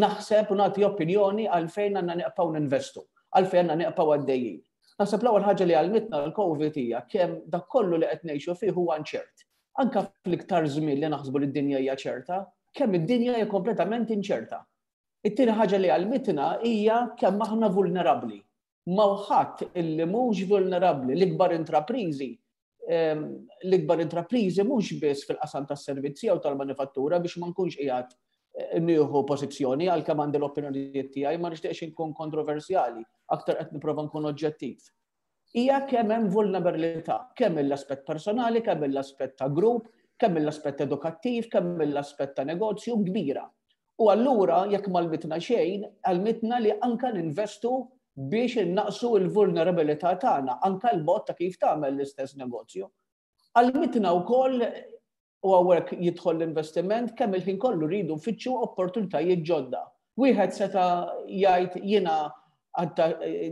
naħseb u nagħti opinjoni għalfejn għandna nibqgħu ninvestu, għalfejn għandna nibqgħu għaddejjin. Naħseb l-ewwel ħaġa li għallmitna l-COVID hija kemm dak kollu li qed ngħixu fih huwa inċert. Anka fl-iktar żmien li naħsbu li d-dinja hija ċerta, kemm id-dinja hija kompletament inċerta. It-tieni ħaġa li għallmitna hija kemm aħna vulnerabbli. M'hawn ħadd illi mhux vulnerabbli, l-ikbar intrapriżi l-ikbar intrapriżi mhux biss fil-qasam tas-servizzi jew tal-manifattura, biex ma nkunx qiegħed eh, nieħu pożizzjoni, għalkemm għandi l-opinjonijiet tiegħi, ma nixtieqx inkun kontroversjali, aktar qed nipprova nkun oġġettiv. Hija kemm hemm vulnerabilità, kemm l-aspett personali, kemm l-aspett ta' grupp, kemm l-aspett edukattiv, kemm l-aspett ta' negozju kbira. U allura jekk m'għallmitna xejn, għallmitna li anka ninvestu biex innaqsu l-vulnerabilità tagħna, anka l-mod ta' kif tagħmel l-istess negozju. Għallmitna wkoll, u hawnhekk jidħol l-investiment, kemm il-ħin kollu rridu nfittxu opportunitajiet ġodda. Wieħed seta' jgħid, "Jiena għadda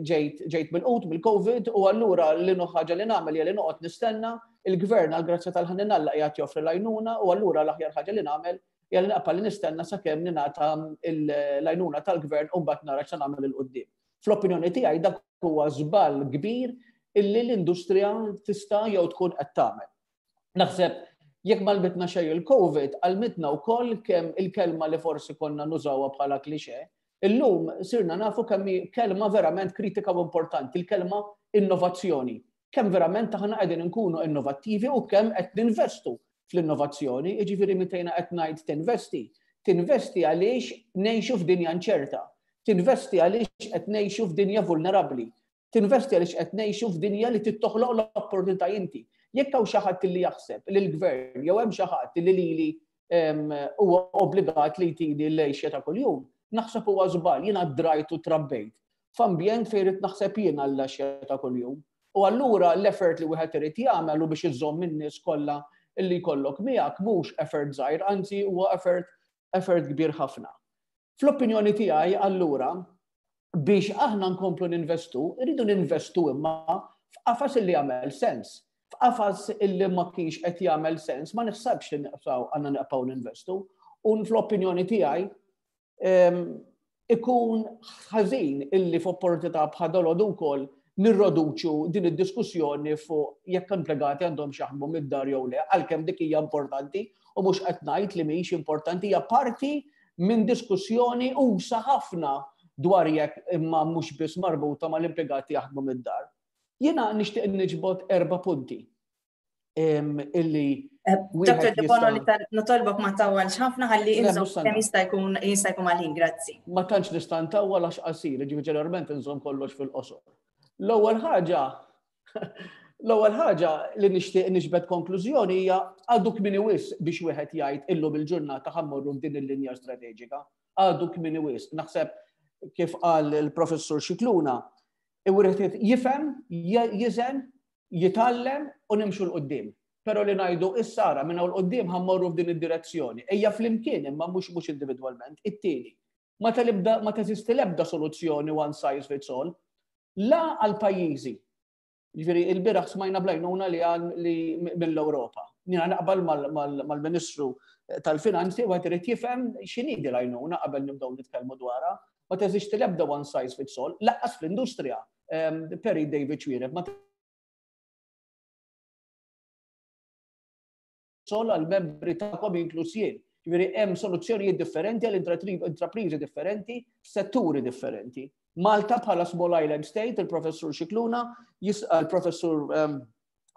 ġejt ġejt mill-qut mill-COVID u allura l-uniku ħaġa li nagħmel hija li noqgħod nistenna il-gvern, għal grazzja tal-ħanin Alla qiegħed joffri l-għajnuna, u allura l-aħjar ħaġa li nagħmel hija li naqpa' li nistenna sakemm ningħata l-għajnuna tal-gvern u mbagħad nara x'se nagħmel 'il quddiem." Fl-opinjoni tiegħi dak huwa żball kbir illi l-industrija tista' jew tkun qed tagħmel. Naħseb jekk m'għallmitna xejn il-COVID, għallmitna wkoll kemm il-kelma li forsi konna nużawha bħala klixe, illum sirna nafu kemm kelma verament kritika u importanti, il-kelma innovazzjoni. Kemm verament aħna qegħdin nkunu innovattivi u kemm qed ninvestu fl-innovazzjoni, jiġifieri meta qed ngħid tinvesti. Tinvesti għaliex ngħixu f'dinja inċerta. Tinvesti għaliex qed ngħixu f'dinja vulnerabbli. Tinvesti għaliex qed ngħixu f'dinja li tittoħloq l-opportunità inti. Jekk hawn xi ħadd li jaħseb li l-gvern jew hemm xi ħadd li lili huwa obbligat li jtini l-għixja ta' kuljum, naħseb huwa żball. Jiena drajt u trabbejt f'ambjent fejn irid naħseb jiena l-għixja ta' kuljum. U allura l-effort li wieħed irid jagħmel u biex iżomm in-nies kollha illi jkollok miegħek mhux effort żgħir, anzi huwa effort effort kbir ħafna. Fl-opinjoni tiegħi allura biex aħna nkomplu ninvestu, irridu ninvestu imma f'qafas illi jagħmel sens. F'qafas illi ma kienx qed jagħmel sens, ma naħsibx li nibqgħu għandna nibqgħu ninvestu. U fl-opinjoni tiegħi ikun ħażin illi f'opportunità bħal dalgħodu wkoll nirroduċu din id-diskussjoni fuq jekk impjegati għandhom jaħdmu mid-dar jew le, għalkemm dik hija importanti u mhux qed ngħid li mhijiex importanti, hija parti minn diskussjoni usa' ħafna dwar jekk, imma mhux biss marbuta mal-impjegati jaħdmu mid-dar. Jiena nixtieq niġbod erba' punti illi eh, Dottor Debono, li nitolbok ma ttawwalx ħafna ħalli inżomm kemm jista' jkun jista' jkun mal-ħin, grazzi. Ma tantx nista' ntawwal għax qasir, ġifieri ġeneralment inżomm kollox fil-qosor. L-ewwel ħaġa L-ewwel ħaġa li nixtieq niġbed konklużjoni hija għadu kmieni wisq biex wieħed jgħid illum il-ġurnata ħa mmorru f'din il-linja strateġika. Għadu kmieni wisq. Naħseb kif qal il-professur Scicluna, wieħed jifhem, jiżen, jitgħallem u nimxu 'l quddiem. Però li ngħidu issa ara minn hawn 'l quddiem ħa mmorru f'din id-direzzjoni. Ejja flimkien imma mhux mhux individwalment. It-tieni, ma talibda ma teżisti l-ebda soluzzjoni one size fits all, la għal pajjiżi. Ġifieri il-bieraħ smajna bl-għajnuna li għal li mill-Ewropa. Jiena naqbal mal-Ministru tal-Finanzi u irid jifhem x'inhi l-għajnuna qabel nibdew nitkellmu dwarha. Ma teżisti l-ebda one size fits all, lanqas fl-industrija. Perit David Xuereb, ma sol għal-membri tagħkom inkluż jien. Ġifieri hemm soluzzjonijiet differenti għal intrapriżi differenti, setturi differenti. Malta bħala small island state, il-professur Scicluna, il-professur ehm,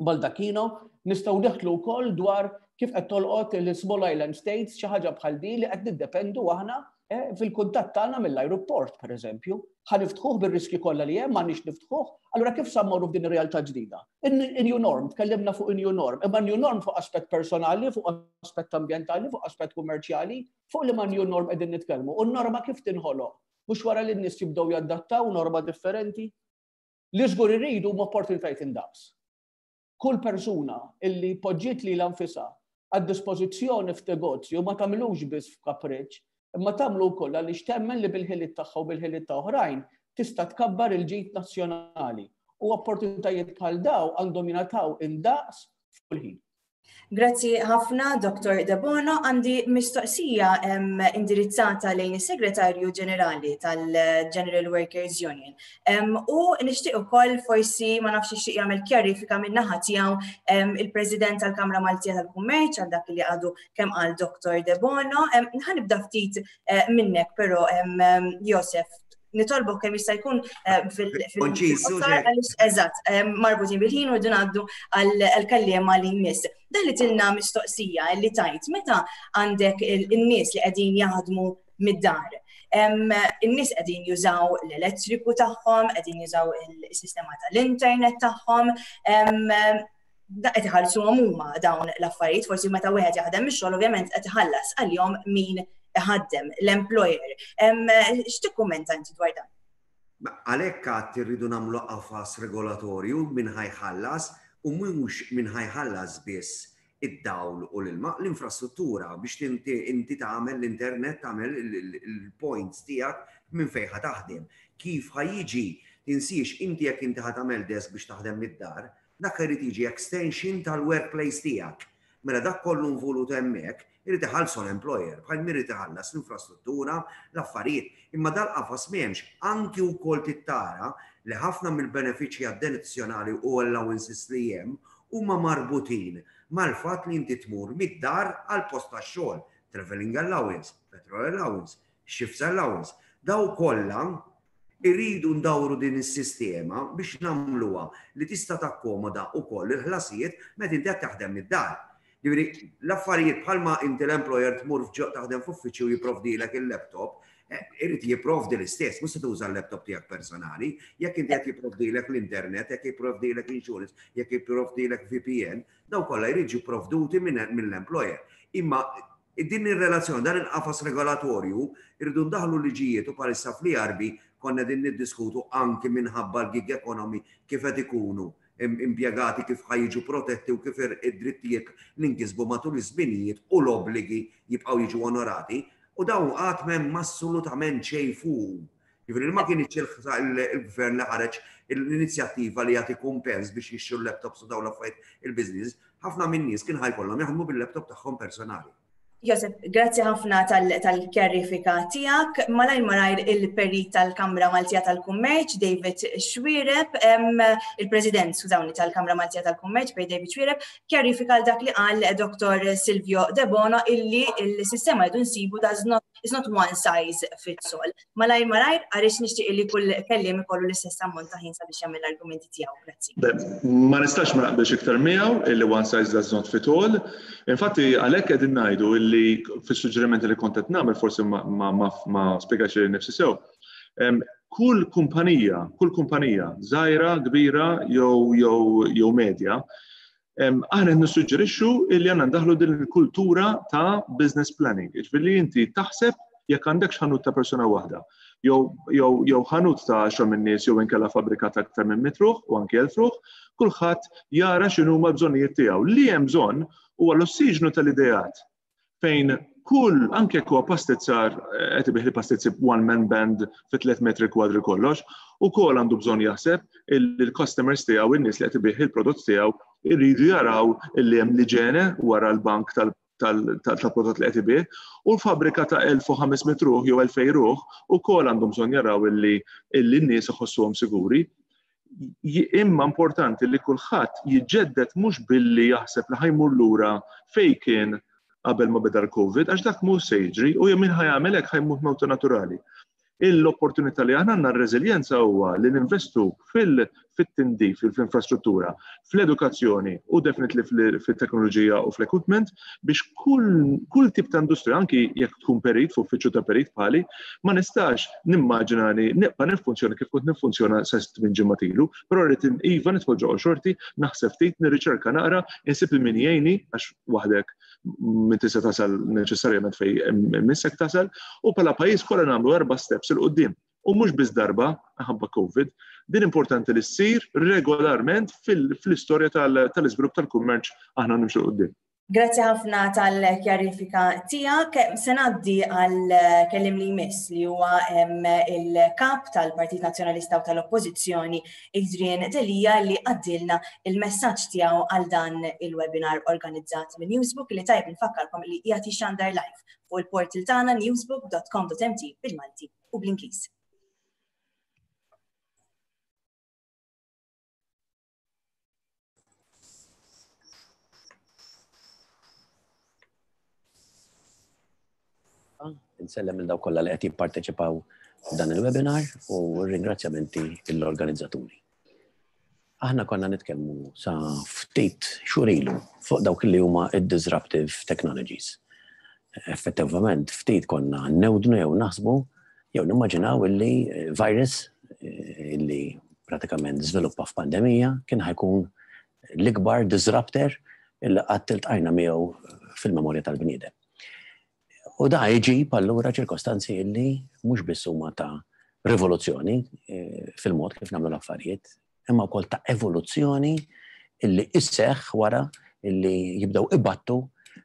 Baldacchino, nistgħu neħtlu wkoll dwar kif qed tolqot il-small island states xi ħaġa bħal din li qed niddependu aħna eh, fil-kuntatt tagħna mill-ajruport, pereżempju. Ħa niftħuh bir-riski kollha li hemm, m'għandniex niftħuh, allura kif sa mmorru f'din ir-realtà ġdida? In-new norm, tkellimna fuq in-new norm, imma new norm fuq aspett personali, fuq aspett ambjentali, fuq aspett kummerċjali, fuq li ma new norm qegħdin nitkellmu. U n-norma kif tinħoloq? Mhux wara li n-nies jibdew jadattaw norma differenti? Li żgur irridu huma opportunitajiet indaqs. Kull persuna illi poġġiet lilha nfisha għad-dispożizzjoni f'negozju ma tagħmlux biss f'kapriċ, imma tagħmlu wkoll għaliex temmen li bil-ħiliet tagħha u bil-ħiliet ta' oħrajn tista' tkabbar il-ġid nazzjonali. U opportunitajiet bħal daw għandhom jingħataw indaqs f'kull ħin. Grazzi ħafna, Dottor Debono. Għandi mistoqsija indirizzata lejn is-Segretarju Ġenerali tal-General Workers Union. U nixtieq ukoll, forsi ma nafx, ixtieq jagħmel kjarifika minn naħa tiegħu il-President tal-Kamra Maltija tal-Kummerċ għal dak li għadu kemm qal Dottor Debono. Ħa nibda ftit eh, minnek però, Josef, nitolbok kemm jista' jkun eh, fil- Eżatt, eh, marbutin bil-ħin u rridu ngħaddu għall-kelliema li jmiss. Dan li tilna mistoqsija li tajt meta għandek in-nies li qegħdin jaħdmu mid-dar. In-nies qegħdin jużaw l-elettriku tagħhom, qegħdin jużaw il-sistema tal-internet tagħhom, da qed iħallsuhom huma dawn l-affarijiet. Forsi meta wieħed jaħdem ix-xogħol, ovvjament qed iħallas għalihom min ħaddem, l-employer. X'tikkummenta inti dwar dan? Għalhekk għad irridu nagħmlu qafas regolatorju min ħa jħallas, u mhux min ħa jħallas biss id-dawl u l-ilma, l-infrastruttura biex inti tagħmel l-internet, tagħmel il-points tiegħek minn fejn ħa taħdem. Kif ħa jiġi, tinsiex inti, jekk inti ħa tagħmel desk biex taħdem mid-dar, dak irid jiġi extension tal-workplace tiegħek. Mela dak kollu involut hemmhekk irid iħallsu l-employer, bħal min irid iħallas l-infrastruttura, l-affarijiet. Imma dal-qafas m'hemmx. Anki wkoll tittara li ħafna mill-benefiċċji addizzjonali u allowances li hemm huma marbutin mal-fatt li inti tmur mid-dar għal post tax-xogħol, traveling allowance, petrol allowance, shifts allowance. Daw kollha irridu ndawru din is-sistema biex nagħmluha li tista' takkomoda wkoll il-ħlasijiet meta inti qed taħdem mid-dar. Ġifieri, l-affarijiet bħalma inti l-employer tmur taħdem f'uffiċċju jipprovdilek il-laptop, eh, irid jipprovdi l-istess, mhux se tuża l-laptop tiegħek personali, jekk inti qed jipprovdilek l-internet, jekk jipprovdilek insurance, jekk jipprovdilek V P N, daw kollha jrid jipprovduti mill-employer. Imma din ir-relazzjoni, dan il-qafas regolatorju, irridu ndaħlu liġijiet u bħalissa fl-E R B konna din niddiskutu anki minħabba l-gig economy, kif qed ikunu impjegati, kif ħa jiġu protetti u kif id-drittijiet li nkisbu matul iż-żminijiet u l-obbligi jibqgħu jiġu onorati, u dawn qatt m'hemm assolutament xejn fuq. Jiġifieri ma kienx il-gvern li ħareġ l-inizjattiva li jagħti kumpens biex jixtru l-laptops u dawn l-affarijiet il-business, ħafna minn nies kien ħa jkollhom jaħdmu bil-laptop tagħhom personali. Josef, grazzi ħafna tal-kjarifika tiegħek. Malajr malajr, il-perit tal-Kamra Maltija tal-Kummerċ, David Xuereb, il-President, skużawni, tal-Kamra Maltija tal-Kummerċ, per David Xuereb, kjarifika għal dak li qal Dottor Silvio Debono illi il-sistema jdu nsibu does not, is not one size fits all. Malajr malajr, għaliex nixtieq li kull kelliem ikollu l-istess ammont ta' ħin sabiex jagħmel l-argumenti tiegħu. Grazzi. Ma nistax ma naqbilx iktar miegħu illi one size does not fit all. Infatti għalhekk qegħdin ngħidu illi fis-suġġerimenti li kont qed nagħmel, forsi ma, ma, ma, ma spjegax li nifsi sew. Kull kumpanija, kull kumpanija, żgħira, kbira jew jew jew medja, aħna nissuġġerixxu illi għandna ndaħlu din il-kultura ta' business planning. Ġifieri inti taħseb jekk għandek ħanut ta' persuna waħda, jew jew jew ħanut ta' għaxra minn nies, jew inkella fabbrika ta' aktar minn mitt ruħ u anke elf ruħ, kulħadd jara x'inhuma bżonnijiet tiegħu. Li hemm bżonn huwa l-ossiġnu tal-ideat fejn kull, anke jekk huwa pastizzar qed ibigħ li pastizzi one man band fi tliet metri kwadri kollox, ukoll għandu bżonn jaħseb il-customers tiegħu, in-nies li qed ibigħ il-prodott tiegħu irridu jaraw illi hemm l-iġene wara l-bank tal-prodott li qed ibigħ, u l-fabbrika ta' elf u ħames mitt ruħ jew elfejn ruħ ukoll għandhom bżonn jaraw illi n-nies iħossuhom siguri. Imma importanti li kulħadd jiġġedded, mhux billi jaħseb li ħa jmur lura fejn kien qabel ma beda l-Covid, għax dak mhux se jiġri u min ħa jagħmel hekk ħa jmut mewta naturali. L-opportunità li aħna għandna, r-reżiljenza, huwa li ninvestu fil-tindif, fil-infrastruttura, fl-edukazzjoni u definitely fil-teknoloġija u fl-equipment biex kull, kull tip ta' industrija, anki jekk tkun perit, f'uffiċċju ta' perit bħali, ma nistax nimmaġina li nibqa' niffunzjona kif kont niffunzjona sa minn ġimgħa ilu, però rrid iva nidħol ġo xorti, naħseb ftit, nirriċerka naqra, insib il min jgħinni, għax waħdek min tista' tasal neċessarjament fejn missek tasal, u bħala pajjiż kollha nagħmlu erba' steps 'il quddiem. U mhux biss darba ħabba COVID, din importanti li ssir regolarment fil-istorja tal-iżvilupp tal-kummerċ aħna nimxu quddiem. Grazzi ħafna tal-kjarifika tiegħek. Se ngħaddi għal kellim li jmiss li huwa il-kap tal-Partit Nazzjonalista u tal-Oppożizzjoni Adrian Delia li għaddilna il-messaġġ tiegħu għal dan il-webinar organizzat minn Newsbook li tajb nfakkarkom li qiegħed jixxandar live fuq il-portal tagħna newsbook dot com dot m t bil-Malti u bl-Ingliż. Insellem lil dawk kollha li qed jipparteċipaw f'dan il-webinar u ringrazzjamenti lill-organizzaturi. Aħna konna nitkellmu sa ftit xhur ilu fuq dawk li huma id-disruptive technologies. Effettivament ftit konna newdnu jew naħsbu jew nimmaġinaw illi virus illi pratikament żviluppa f'pandemija kien ħajkun l-ikbar disruptor illi qatt iltqajna miegħu fil-memorja tal-bniedem. U da jġib allura ċirkostanzi illi mhux biss huma ta' rivoluzzjoni fil-mod kif nagħmlu l-affarijiet, imma wkoll ta' evoluzzjoni illi isseħħ wara illi jibdew ibattu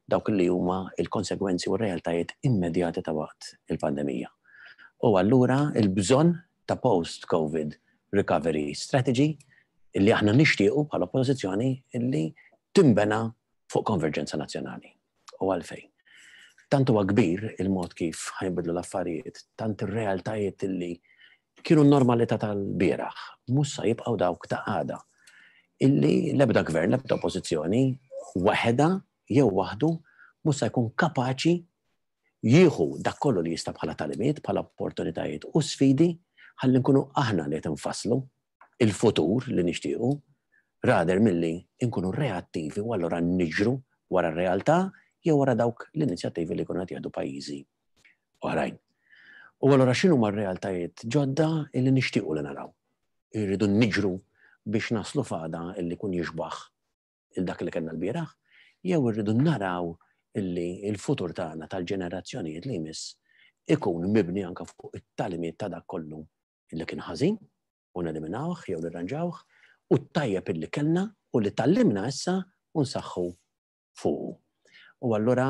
dawk li huma il-konsegwenzi u r-realtajiet immedjati ta' waqt il-pandemija. U allura il-bżonn ta' post-COVID recovery strategy illi aħna nixtiequ bħala oppożizzjoni illi timbena fuq konverġenza nazzjonali. U għalfejn. Tant huwa kbir il-mod kif ħajnbidlu l-affarijiet, tant ir-realtajiet illi kienu n-normalità tal-bieraħ, mhux sa jibqgħu dawk ta' għada. Illi l-ebda gvern, l-ebda oppożizzjoni, waħedha jew waħdu mhux sa jkun kapaċi jieħu dak kollu li jista' bħala tagħlimiet, bħala opportunitajiet u sfidi ħalli nkunu aħna li qed infasslu il-futur li nixtiequ, rather milli nkunu reattivi u allura niġru wara r-realtà jew wara dawk l-inizjattivi li jkunu qed jieħdu pajjiżi oħrajn. U allura x'inhu ma r-realtajiet ġodda illi nixtiequ li naraw? Irridu niġru biex naslu f'għada illi jkun jixbaħ il dak li kellna l-bieraħ, jew irridu naraw illi il-futur tagħna tal-ġenerazzjonijiet li jmiss ikun mibni anke fuq it-tagħlimiet ta' dak kollu illi kien ħażin u neliminawh jew nirranġawh u t-tajjeb illi kellna u li tallimna issa u nsaħħu fuqu. U allura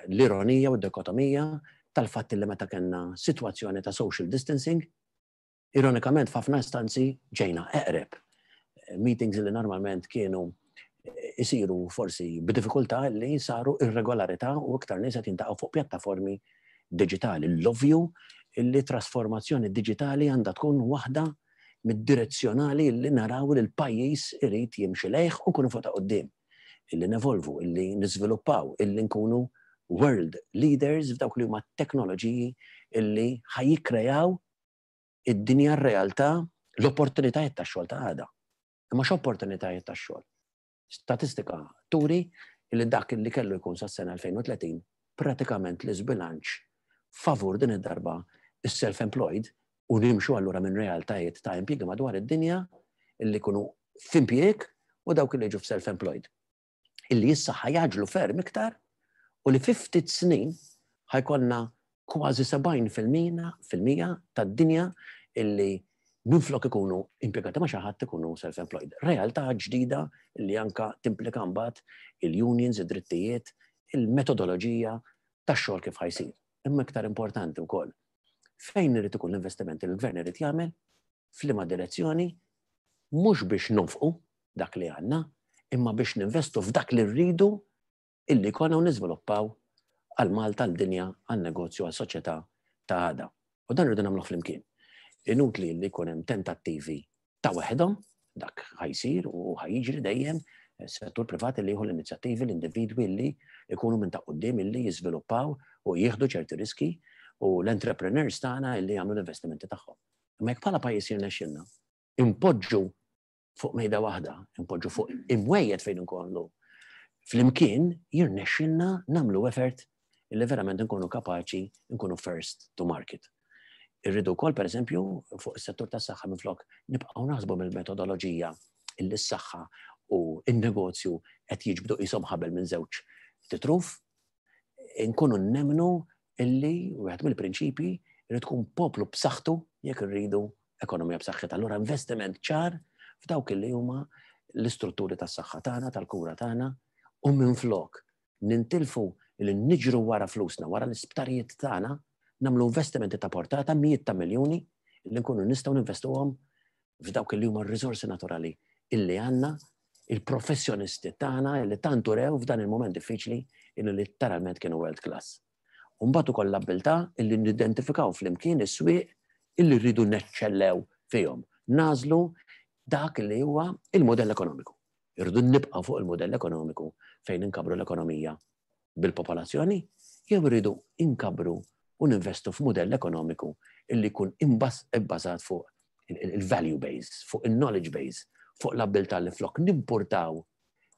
l-ironija u d-dikotomija tal-fatt li meta kellna sitwazzjoni ta' social distancing, ironikament f'ħafna istanzi ġejna eqreb. Meetings li normalment kienu isiru forsi b'diffikultà li saru irregolarità u iktar nies qed jintaqgħu fuq pjattaformi diġitali. L-ovvju li trasformazzjoni diġitali għandha tkun waħda mid-direzzjonali li naraw li l-pajjiż irid jimxi lejh u nkunu fuq ta' quddiem. Illi nevolvu, illi niżviluppaw, illi nkunu world leaders f'dawk li huma teknoloġiji illi ħajjikkrejaw id-dinja r-realtà, l-opportunitajiet tax-xogħol ta' għada. Imma x'opportunitajiet tax-xogħol? Statistika turi illi dak illi kellu jkun sas-sena elfejn u tletin pratikament l-iżbilanċ favur din id-darba is-self-employed u nimxu allura minn realtajiet ta' impjiegi madwar id-dinja illi jkunu f'impjieg u dawk illi jiġu f'self-employed. Illi issa ħajaġlu ferm iktar u li fi ftit snin ħajkollna kważi sebgħin fil-mija, fil-mija tad-dinja illi minflok ikunu impjegati ma' xi ħadd ikunu self-employed. Realtà ġdida li anka timplika mbagħad il-unions, id-drittijiet, il-metodoloġija tax-xogħol kif ħajsir. Imma iktar importanti wkoll, fejn irid ikun l-investiment li l-gvern irid jagħmel, f'liema direzzjoni, mhux biex nonfqu dak li għandna, imma biex ninvestu f'dak li rridu illi konna u niżviluppaw għal Malta, għal dinja, għal negozju, għal soċjetà ta' għada. U dan rridu nagħmluh flimkien. Inutli li jkun hemm tentattivi ta' waħedhom, dak ħajsir u ħajjiġri dejjem settur privat li jieħu l-inizjattivi, l-individwi li jkunu minn ta' quddiem illi jiżviluppaw u jieħdu ċerti riski u l-entrepreneurs tagħna illi jagħmlu l-investimenti tagħhom. Imma jekk bħala pajjiż jirnexxilna, impoġġu fuq mejda waħda, impoġġu fuq imwejjed fejn inkollu flimkien jirnexxilna nagħmlu effort illi verament nkunu kapaċi nkunu first to market. Irridu wkoll pereżempju fuq is-settur tas-saħħa minflok nibqgħu naħsbu mill-metodoloġija illi s-saħħa u n-negozju qed jiġbdu qishom ħabel minn żewġ titruf, inkunu nemmnu illi wieħed mill-prinċipji Irid tkun poplu b'saħħtu jekk irridu ekonomija b'saħħitha. Allura investiment ċar f'dawk li huma l-istrutturi tas-saħħa tagħna, tal-kura tagħna, u minflok nintilfu li niġru wara flusna, wara l-isptarijiet tagħna, nagħmlu investimenti ta' portata mijiet ta' miljuni li nkunu nistgħu ninvestuhom f'dawk li huma r-riżorsi naturali illi għandna, il-professjonisti tagħna illi tant urew f'dan il-moment diffiċli illi letteralment kienu world class. U mbagħad ukoll l-abbiltà illi nidentifikaw flimkien is-swieq illi rridu neċċellew fihom. Nażlu dak li huwa il-modell ekonomiku. Irridu nibqa' fuq il-modell ekonomiku fejn inkabru l-ekonomija bil-popolazzjoni, jew irridu inkabru u ninvestu f'modell ekonomiku illi jkun ibbażat fuq il-value base, fuq il-knowledge base, fuq l-abbiltà li flok nimpurtaw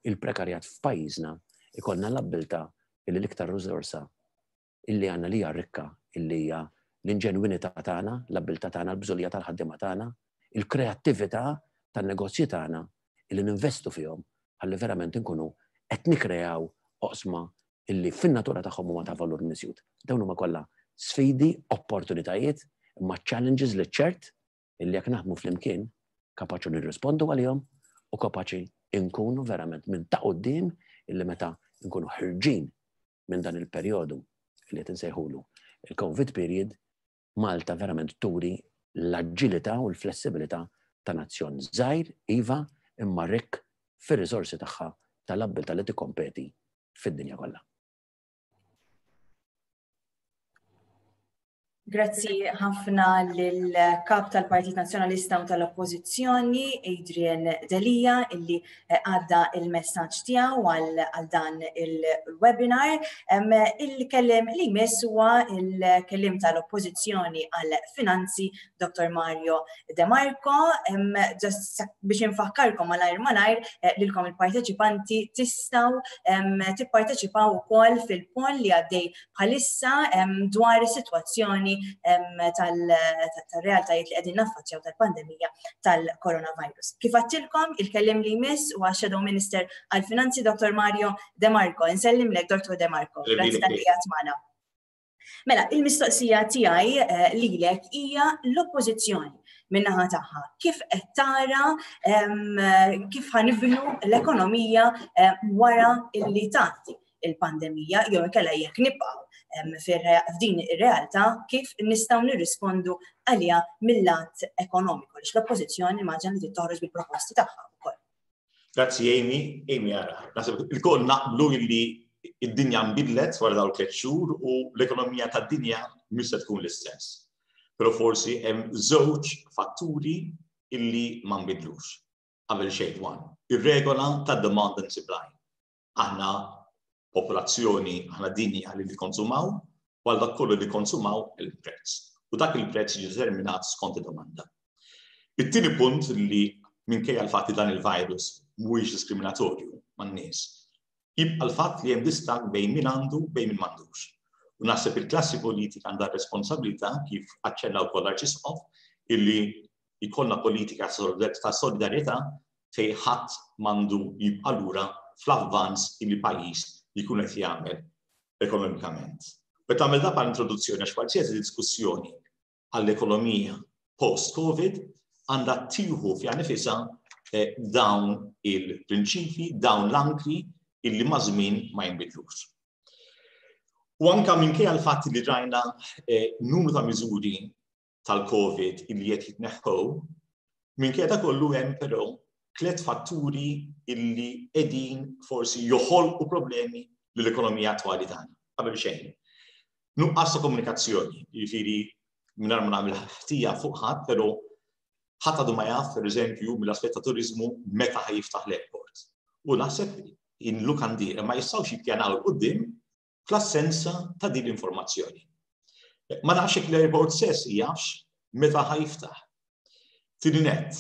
il-prekarjat f'pajjiżna, ikollna l-abbiltà illi l-iktar riżorsa illi għandna li hija rikka, illi hija l-inġenwinità tagħna, l-abbiltà tagħna, l-bżulija tal-ħaddiema tagħna, il-kreattività tan-negozji tagħna illi ninvestu fihom ħalli verament inkunu qed nikkreaw oqsma illi fin-natura tagħhom huma ta' valur miżjud. Dawn huma kollha sfidi, opportunitajiet, imma challenges li ċert illi jekk naħdmu flimkien kapaċi nirrispondu għalihom u kapaċi nkunu verament minn ta' quddiem illi meta nkunu ħirġin minn dan il-perjodu li qed insejħulu il-COVID period, Malta verament turi l-aġilità u l-flessibilità ta' nazzjon żgħir, iva, imma rikk fir-riżorsi tagħha tal-abbiltà li tikkompeti fid-dinja kollha. Grazzi ħafna lill-Kap tal-Partit Nazzjonalista u tal-Oppożizzjoni, Adrian Delia, illi għadda il-messaġġ tiegħu għal dan il-webinar. Il-kelliem li jmiss huwa il-kelliem tal-Oppożizzjoni għall-Finanzi, Dottor Mario De Marco. Biex infakkarkom malajr malajr lilkom il-parteċipanti tistgħu tipparteċipaw ukoll fil-poll li għaddej bħalissa dwar is-sitwazzjoni tal-realtajiet li qegħdin naffaċċjaw tal-pandemija tal-coronavirus. Kif għattilkom, il-kelliem li jmiss huwa Shadow Minister għall-Finanzi Dottor Mario De Marco. Insellimlek Dottor De Marco. Grazzi tal-li qiegħed magħna. Mela, il-mistoqsija tiegħi lilek hija l-oppożizzjoni min-naħa tagħha. Kif qed tara kif ħanibnu l-ekonomija wara illi tgħaddi il-pandemija, jew inkella jekk nibqgħu f'din ir-realtà kif nistgħu nirrispondu għaliha mill-lat ekonomiku, għaliex l-oppożizzjoni immaġina li toħroġ bil-proposti tagħha wkoll. Grazzi Amy. Amy ara, naħseb ilkoll naqblu illi id-dinja nbidlet wara dawn tliet xhur u l-ekonomija tad-dinja mhux se tkun l-istess. Però forsi hemm żewġ fatturi illi ma nbidlux. Qabel xejn one, ir-regola tad demand and supply. Aħna popolazzjoni, aħna dinja li nikkonsumaw, u għal dak kollu li konsumaw il-prezz. U dak il-prezz jiġi determinat skont id-domanda. It-tieni punt li minkejja l-fatt li dan il-virus mhuwiex diskriminatorju man-nies, jibqa' l-fatt li hemm distakk bejn min għandu bejn min m'għandux. U naħseb il-klassi politika għandha responsabilità, kif aċċenna wkoll l-Arċisqof, illi jkollna politika ta' solidarjetà fejn ħadd m'għandu jibqa' lura fl-avvanz illi pajjiż jkun qed jagħmel ekonomikament. U tagħmel da bħala introduzzjoni għax qualsiasi diskussjoni għall-ekonomija post-COVID għandha tieħu fiha nifisha dawn il-prinċipji, dawn l-ankri illi ma' żmien ma jinbidlux. U anka minkejja l-fatt li rajna numru ta' miżuri tal-COVID illi qed jitneħħew, minkejja ta' kollu hemm però tliet fatturi illi qegħdin forsi joħolqu problemi lill-ekonomija attwali tagħna. Qabel xejn. Nuqqas ta' komunikazzjoni, jiġifieri mingħajr ma nagħmel ħtija fuq ħadd, però ħadd għadu ma jaf, pereżempju, mill-aspett ta' turiżmu meta ħajiftaħ l-airport. U naħseb in-lukandiera ma jistgħux jippjanaw 'il quddiem fl-assenza ta' din l-informazzjoni. Ma nafx jekk l-airport stess jafx meta ħajiftaħ. Tieni nett,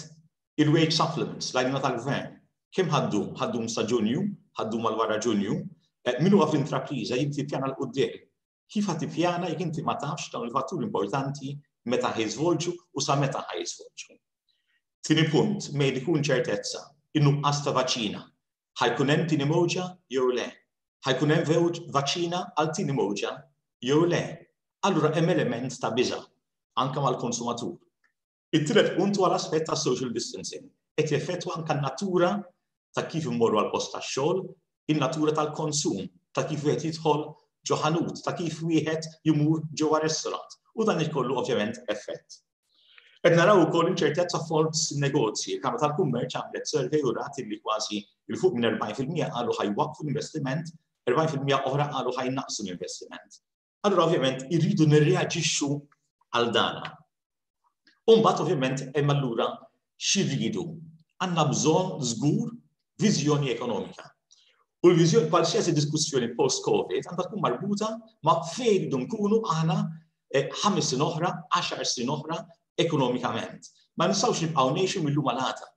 il-wage supplements, l-għajnuna tal-gvern, kemm ħaddum? Ħaddum sa Ġunju, ħaddum għal wara Ġunju, min huwa fl-intrapriża jrid jippjana 'l quddiem. Kif ħadd tippjana jekk inti ma tafx dawn il-fatturi importanti meta ħjiżvolġu u sa meta ħjiżvolġu. Tieni punt, mejn ikun ċertezza, in-nuqqas ta' vaċina. Ħajkun hemm tieni mowġa jew le? Ħajkun hemm vaċina għal tieni mowġa jew le? Allura hemm element ta' biża'. anke mal-konsumatur. It-tielet punt huwa l-aspett ta' social distancing. Qed jeffettwa anke n-natura ta' kif immorru għal post tax-xogħol, in-natura tal-konsum, ta' kif wieħed jidħol ġo ħanut, ta' kif wieħed jmur ġewwa restaurant. U dan ikollu ovvjament effett. Qed naraw ukoll inċertezza fost negozji. Il-Kamra tal-Kummerċ għamlet survey u rat li kważi 'il fuq minn erbgħin fil-mija qalu ħa jwaqqfu l-investiment, erbgħin fil-mija oħra qalu ħa jnaqqsu l-investiment. Allura ovvjament irridu nirreaġixxu għal dana. U mbagħad ovvjament hemm allura x'irridu? Għandna bżonn żgur viżjoni ekonomika. U l-viżjoni, qualsiasi diskussjoni post-Covid għandha tkun marbuta ma' fejn irridu nkunu aħna eh, ħames snin oħra, għaxar snin oħra ekonomikament. Ma nistgħux nibqgħu ngħixu mill-lum għal għada.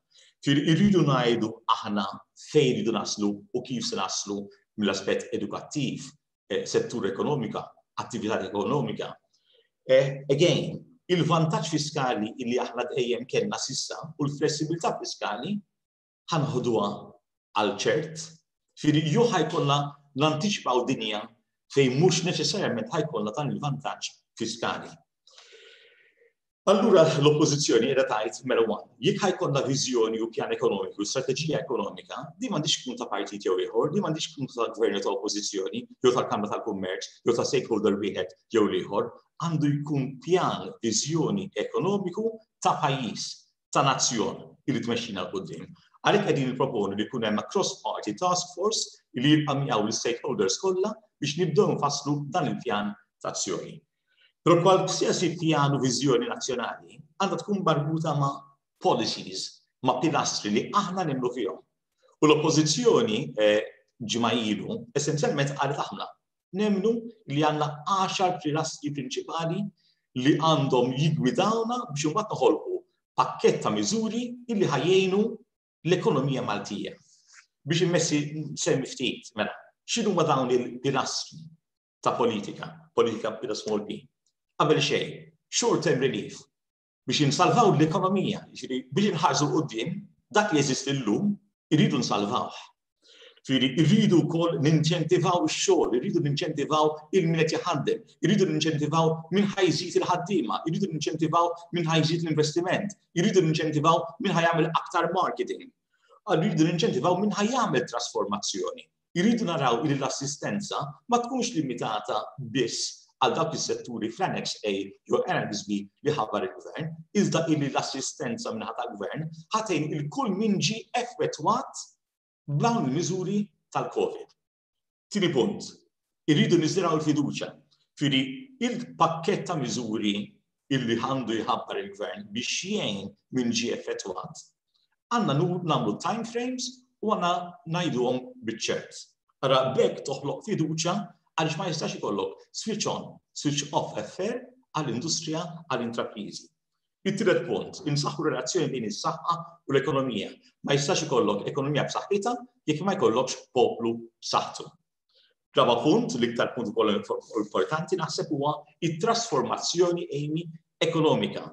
Irridu ngħidu aħna fejn irridu naslu u kif se naslu mill-aspett edukattiv, eh, settur ekonomika, attività ekonomika. Eh, again, il-vantaġġ fiskali illi aħna dejjem kellna s'issa u l-flessibilità fiskali ħa neħduha għal ċert, firri jew ħa jkollna nantiċipaw dinja fejn mhux neċessarjament ħa jkollna dan il-vantaġġ fiskali. Allura l-oppożizzjoni qiegħda tgħid mela one, jekk ħa jkollna viżjoni u pjan ekonomiku, strateġija ekonomika, di m'għandix tkun ta' partit jew ieħor, di m'għandix tkun ta' gvern ta' oppożizzjoni, jew tal-Kamra tal-Kummerċ, jew ta' stakeholder wieħed jew ieħor, għandu jkun pjan viżjoni ekonomiku ta' pajjiż, ta' nazzjon li tmexxina 'l quddiem. Għalhekk qegħdin nipproponu li jkun hemm cross-party task force li jibqa' miegħu l-stakeholders kollha biex nibdew nfasslu dan il-pjan ta' azzjoni. Però qualsiasi pjan u viżjoni nazzjonali għandha tkun marbuta ma' policies, ma' pilastri li aħna nemmnu fihom. U l-oppożizzjoni eh, ġimgħa ilu essenzjalment qalet aħna nemmnu li għandna għaxar pilastri prinċipali li għandhom jiggwidawna biex imbagħad noħolqu pakkett ta' miżuri illi ħa jgħinu l-ekonomija Maltija. Biex immessi semmi ftit, mela, x'inhuma dawn il-pilastri ta' politika, politika bila small p? Qabel xejn, short term relief, biex insalvaw l-ekonomija, biex inħarsu 'l quddiem, dak li jeżisti llum, irridu nsalvawh. Ġifieri, irridu wkoll ninċentivaw ix-xogħol, irridu ninċentivaw lil min qed jaħdem, irridu ninċentivaw min ħa jżid il-ħaddiema, irridu ninċentivaw min ħa jżid l-investiment, irridu ninċentivaw min ħa jagħmel aktar marketing. Irridu ninċentivaw min ħa jagħmel trasformazzjoni. Irridu naraw li l-assistenza ma tkunx limitata biss għal dawk is-setturi fl-Annex A jew Annex B li ħabbar il-gvern, iżda illi l-assistenza min-naħa tal-gvern ħa tgħin lil kull min ġie effettwat b'dawn il-miżuri tal-Covid. Tieni punt, irridu niżiraw il-fiduċa. Ġifieri, il-pakket ta' miżuri illi għandu jħabbar il-gvern biex jgħin min ġie effettwat, għandna nagħmlu time frames u għandna ngħiduhom biċ-ċert. Ara b'hekk toħloq fiduċa għaliex ma jistax ikollok switch on, switch off affair għall-industrija, għall-intrapriżi. Il-tielet punt, insaħħu relazzjoni bejn is-saħħa u l-ekonomija. Ma jistax ikollok ekonomija b'saħħitha jekk ma jkollokx poplu b'saħħtu. Raba punt, l-iktar punt ukoll importanti naħseb huwa it-trasformazzjoni, Amy, ekonomika.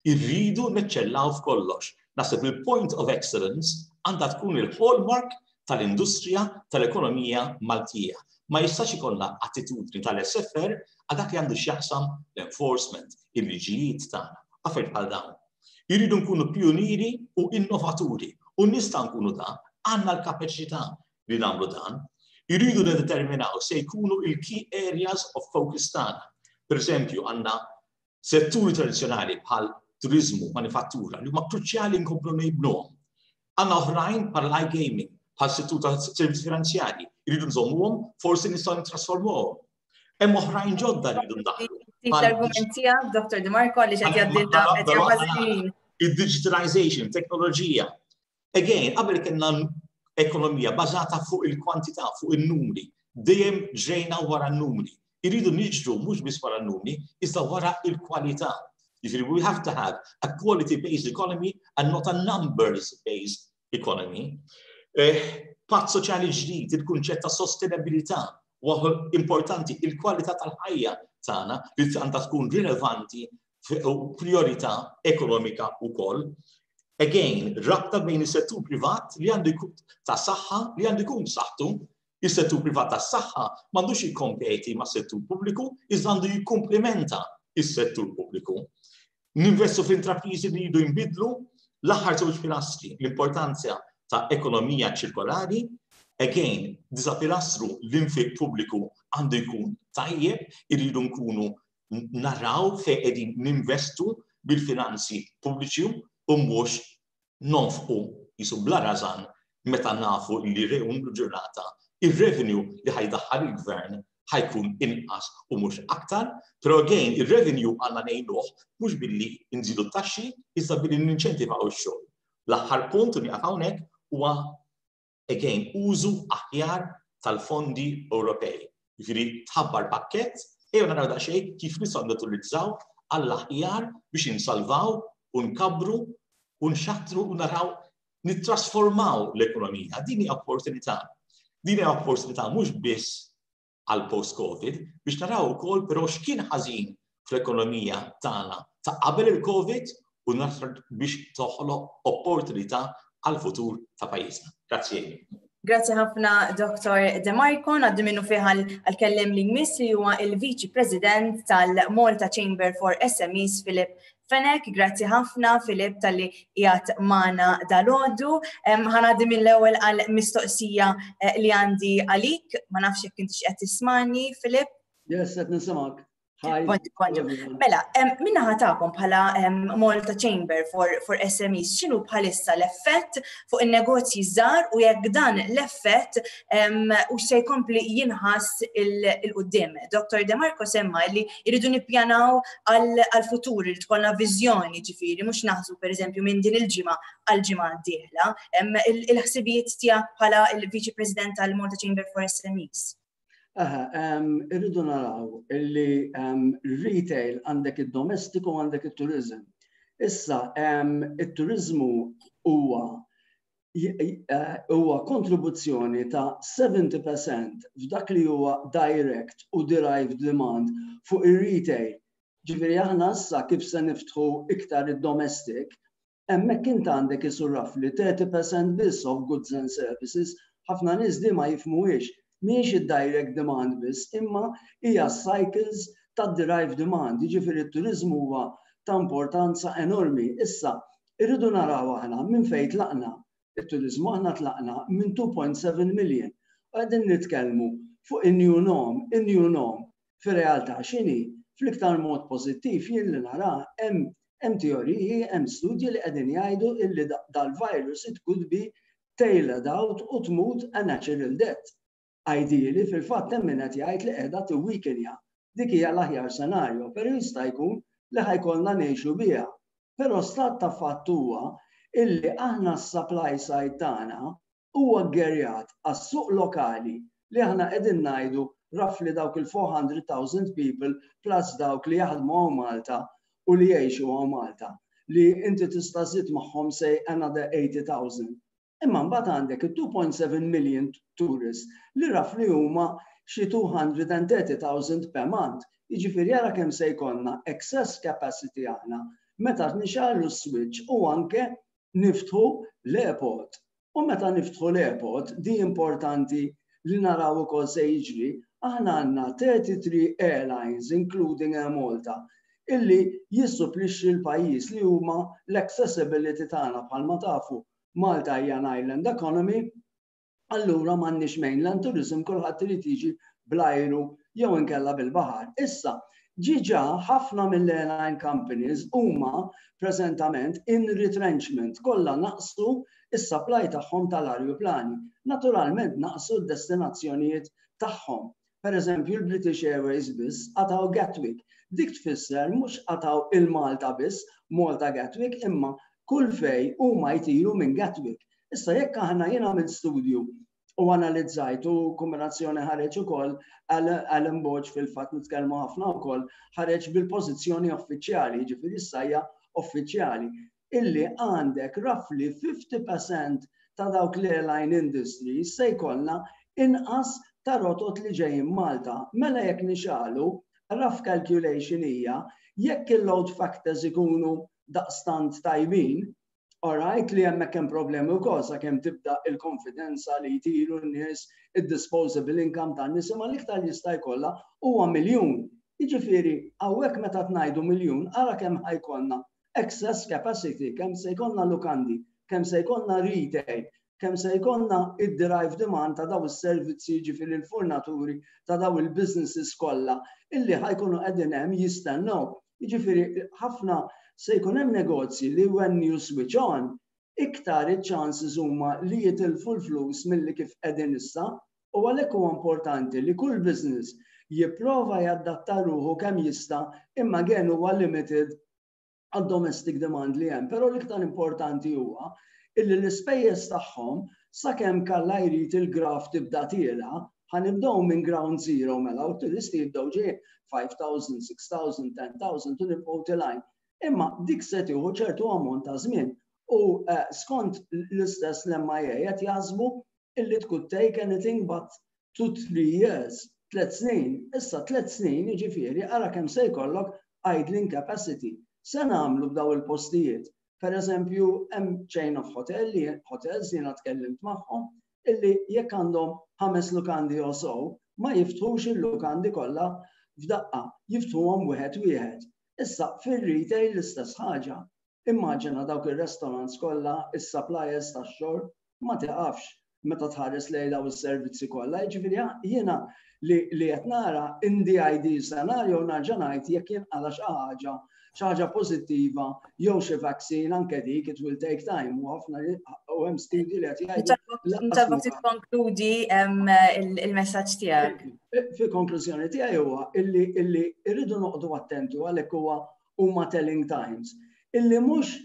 Irridu neċċellaw f'kollox. Naħseb il-point of excellence għandha tkun il-hallmark tal-industrija tal-ekonomija Maltija. Ma jistax ikollna attitudni tal-S F R għal dak li għandu x'jaqsam l-enforcement, il-liġijiet tagħna, affarijiet bħal dawn. Irridu nkunu pionieri u innovaturi u nista' nkunu dan, għandna l-kapaċità li nagħmlu dan. Irridu nedeterminaw se jkunu il-key areas of focus tagħna. Per eżempju, għandna setturi tradizzjonali bħal turizmu, manifattura, li huma kruċjali nkomplu nibnuhom. Għandna oħrajn bħal iGaming, bħal settur ta' servizzi finanzjari, irridu nżommuhom, forsi nistgħu nittrasformuhom. Hemm oħrajn ġodda li rridu ndaħlu. L-argument tiegħek, Doktor De Marco, li qed jgħaddilna qed jgħaddilna. Il-digitalization, teknoloġija. Again, qabel kellna ekonomija bażata fuq il-kwantità, fuq il-numri. Dejjem ġrejna wara n-numri. Irridu niġru mhux biss wara n-numri, iżda wara il-kwalità. Jiġifieri, we have to have a quality-based economy and not a numbers-based economy. Eh, patt soċjali ġdid, il-kunċett ta' sostenabilità, huwa importanti, il-kwalità tal-ħajja tagħna li għandha tkun rilevanti u priorità ekonomika wkoll. Again, rabta bejn is-settur privat li għandu jkun ta' saħħa li għandu jkun saħħtu. Is-settur privat ta' saħħa m'għandux jikkompeti ma' settur pubbliku, iżda għandu jikkumplementa is-settur pubbliku. Ninvestu f'intrapriżi li jridu jinbidlu. L-aħħar żewġ pilastri, l-importanza ta' ekonomija ċirkolari. Again, disa' pilastru, l-infiq pubbliku għandu jkun tajjeb, irridu nkunu naraw fejn qegħdin ninvestu bil-finanzi pubbliċi u mhux nonfqu jisu bla rażan meta nafu li rejun ġurnata il-revenue li ħa jdaħħal il-gvern ħa jkun inqas u mhux aktar, però again, il-revenue għandna ngħinuh mhux billi nżidu t-taxxi, iżda billi ninċentivaw ix-xogħol. L-aħħar punt u nieqaf hawnhekk huwa, again, użu aħjar tal-fondi Ewropej. Jiġifieri tħabbar pakkett, ejjew naraw daqsxejn kif nistgħu naturizzaw għall-aħjar biex insalvaw u nkabbru u nxattru u naraw nittrasformaw l-ekonomija. Din hija opportunità. Din hija opportunità mhux biss għal post-Covid, biex naraw ukoll però x'kien ħażin fl-ekonomija tagħna ta' qabel il-Covid u nasar biex toħloq opportunità għal futur ta' pajjiżna. Grazzi. Grazzi ħafna, Doktor De Marco. Ngħaddi minnufih għal-kelliem li jmiss, li huwa il-Viċi President tal-Malta Chamber for S M Es, Philip Fenech. Grazzi ħafna, Philip, talli qiegħed magħna dalgħodu. Ħa ngħaddi mill-ewwel għal-mistoqsija eh, li għandi għalik. Ma nafx jekk intix qed tismani, Philip. Yes, qed nismgħek. Mela, min-naħa tagħkom bħala Malta Chamber for, for S M Es, x'inhu bħalissa l-effett fuq il-negozji żgħar u jekk dan l-effett u se jkompli jinħass 'il quddiem? Doktor De Marco semma li jridu nippjanaw għal-futur, li tkollna viżjoni, ġifieri, mhux naħsbu per eżempju minn din il-ġimgħa għal-ġimgħa d-dieħla. Il-ħsibijiet tiegħek bħala il-Viċi President tal-Malta Chamber for S M Es? Aha, irridu naraw illi retail għandek id-domestiku, għandek il-turizm. Issa, il-turizmu huwa eh, huwa kontribuzzjoni ta' sebgħin fil-mija f'dak li huwa direct u derived demand fuq ir-retail. Ġifieri aħna issa kif se niftħu iktar id-domestic, hemmhekk int għandek isu roughly thirty percent biss of goods and services. Ħafna nies di ma jifhmuhiex, mhijiex id-direct demand biss, imma hija cycles ta' derived demand. Jiġifieri t-turizmu huwa ta' importanza enormi. Issa, irridu naraw aħna minn fejn tlaqna. Il-turizmu aħna tlaqna minn two point seven million. U qegħdin nitkellmu fuq in-new norm, in-new norm. Fir-realtà x'inhi? Fl-iktar mod pożittiv jien li nara, hemm hemm teoriji, hemm studji li qegħdin jgħidu illi dal-virus, it could be tailored out u tmut a natural death. Ideally, fil-fatt hemm min qed jgħid li qiegħda tiweakenja. Dik hija l-aħjar scenario, però jista' jkun li ħa jkollna ngħixu biha. Però stat ta' fatt huwa illi aħna s-supply side tagħna huwa ggerjat għas-suq lokali li aħna qegħdin ngħidu roughly dawk il-four hundred thousand people plus dawk li jaħdmu hawn Malta u li jgħixu hawn Malta, li inti tista' żid magħhom, say, another eighty thousand. Imma mbagħad għandek il-two point seven million tourists li roughly huma xi two hundred thirty thousand per month. Jiġifieri ara kemm se jkollna excess capacity aħna meta nixgħelu switch u anke niftħu l-airport. U meta niftħu l-airport, di importanti li naraw ukoll se jiġri, aħna għandna thirty-three airlines, including Air Malta, illi jissupplixxi l-pajjiż, li huma l-accessibility tagħna. Bħalma tafu, Malta hija an island economy, allura m'għandniex mainland tourism, kulħadd irid jiġi bl-ajru jew inkella bil-baħar. Issa, diġà ħafna mill-airline companies huma preżentament in retrenchment, kollha naqsu is-supply tagħhom tal-ajruplani. Naturalment naqsu d-destinazzjonijiet tagħhom. Per eżempju, l-British Airways biss qataw Gatwick. Dik tfisser mhux qataw il-Malta biss, Malta Gatwick, imma kull fej huma jtiru minn Gatwick. Issa jekk aħna, jien għamilt studju u analizzajt u kombinazzjoni ħareġ ukoll Alan Borg, fil-fatt nitkellmu ħafna wkoll, ħareġ bil-pożizzjoni uffiċjali, ġifieri issa uffiċjali, illi għandek roughly fifty percent ta' dawk l-airline industry se jkollna inqas ta' rotot li ġejjin Malta. Mela jekk nixgħelu, rough calculation hija jekk il-load factors ikunu daqstant tajbin, alright, li hemmhekk hemm problemi wkoll sakemm tibda il-konfidenza li jtiru n-nies, id-disposable income tan-nies, imma l-iktar jista' jkollha huwa miljun. Jiġifieri hawnhekk meta tnajdu miljun, ara kemm ħa jkollna excess capacity, kemm se jkollna lukandi, kemm se jkollna retail, kemm se jkollna id-drive demand ta' daw is-servizzi, ġifieri l-fornituri ta' daw il-businesses kollha illi ħa jkunu qegħdin hemm jistennew. Jiġifieri ħafna se jkun hemm negozji li when you switch on, iktar iċ-chances huma li jitilfu l-flus milli kif qegħdin issa. U għalhekk huwa importanti li kull business jipprova jadatta ruħu kemm jista', imma again huwa limited għad domestic demand li hemm. Però l-iktar importanti huwa illi l-ispejjeż tagħhom, sakemm Alla jrid il-graf tibda tiela', ħa nibdew minn ground zero mela u turisti jibdew ġej five thousand, six thousand, ten thousand u nibqgħu telgħin. Imma dik se tieħu ċertu ammont ta' żmien u eh, skont l-istess l-M I A qed jaħsbu illi could take anything but two three years, tlet snin. Issa tlet snin jiġifieri ara kemm se jkollok idling capacity. Se nagħmlu b'daw il-postijiet? Per eżempju, hemm chain of hotel li hotels jiena tkellimt magħhom illi jekk għandhom ħames lukandi o so, ma jiftħux il-lukandi kollha f'daqqa, jiftħuhom wieħed wieħed. Issa fir-retail l-istess ħaġa. Immaġina dawk ir-restaurants kollha, is-suppliers tax-xorb, ma tiqafx meta tħares lejn daw is-servizzi kollha. Jiġifieri jiena li li qed nara in the ideal scenario, nerġa' ngħid, jekk jinqala xi ħaġa xi ħaġa pożittiva jew xi vaccine, anke dik it will take time u ħafna u hemm studji li qed jgħidu. Nitolbok tikkonkludi il-messaġġ tiegħek. Fil-konklużjoni tiegħi huwa illi illi irridu noqogħdu attenti, għalhekk huwa huma telling times. Illi mhux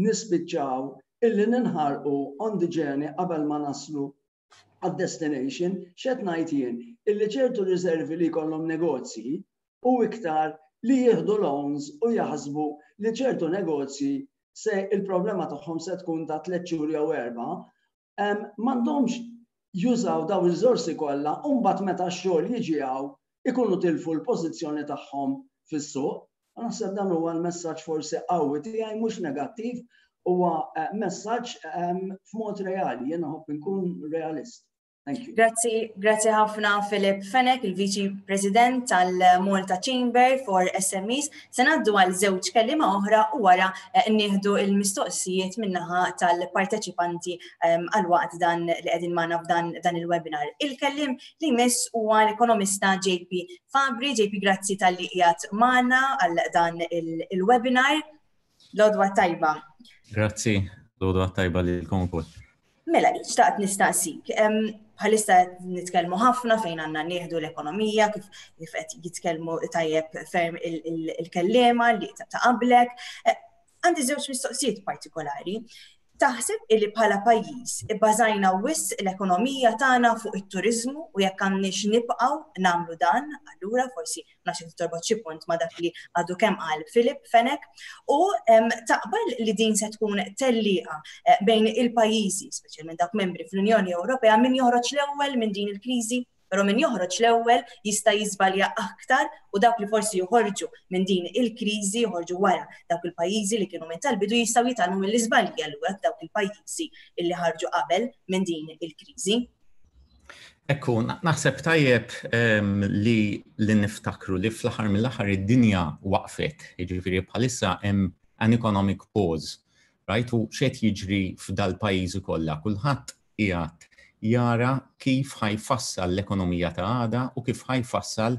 nispiċċaw illi ninħarqu on the journey qabel ma naslu għad-destination. X'qed ngħid jien? Illi ċertu riservi li jkollhom negozji u iktar li jieħdu loans u jaħsbu li ċertu negozji se il-problema tagħhom se tkun ta' tliet xhur jew erba', m'għandhomx jużaw daw il-riżorsi kollha u mbagħad meta x-xogħol jiġi hawn ikunu tilfu l-pożizzjoni tagħhom fis-suq. Naħseb dan huwa l-messaġġ forsi qawwi tiegħi, mhux negattiv, huwa eh, messaġġ f'mod reali, jiena nħobb inkun realist. Thank you. Grazzi, grazzi ħafna Philip Fenech, il-Viċi President tal-Malta Chamber for S M Es. Se ngħaddu għal żewġ kelliema oħra u wara eh, nieħdu il-mistoqsijiet min-naħa tal-parteċipanti ehm, għal waqt dan li qegħdin magħna f'dan dan il-webinar. Il-kellim li jmiss huwa l-ekonomista J P Fabri. J P, grazzi talli qiegħed magħna għal dan il-webinar. L-għodwa tajba. Grazzi, l-għodwa tajba lilkom ukoll. Mela, xtaqt nistaqsik. Bħalissa nitkellmu ħafna fejn għandna nieħdu l-ekonomija, kif kif qed jitkellmu tajjeb ferm il-kellima li ta' qablek. Eh, għandi żewġ mistoqsijiet partikolari. Taħseb illi bħala pajjiż ibbażajna wisq l-ekonomija tagħna fuq it-turizmu u jekk għandniex nibqgħu nagħmlu dan, allura forsi nafx torbot xi punt ma' dak li għadu kemm qal Philip Fenech, u taqbel li din se tkun tellieqa eh, bejn il-pajjiżi, speċjalment dawk membri fl-Unjoni Ewropea, min joħroġ l-ewwel minn din il-kriżi? Però min joħroġ l-ewwel jista' jiżbalja aktar u dawk li forsi joħorġu minn din il-kriżi joħorġu wara dawk il-pajjiżi li kienu minn tal-bidu jistgħu jitgħallmu mill-iżbalji allura dawk il-pajjiżi illi ħarġu qabel minn din il-kriżi. Ekku, naħseb tajjeb li li niftakru li fl-aħħar mill-aħħar id-dinja waqfet, jiġifieri bħalissa hemm an economic pause, right? U x'qed jiġri f'dal-pajjiżi kollha, kulħadd qiegħed jara kif ħa jfassal l-ekonomija ta' għada u kif ħa jfassal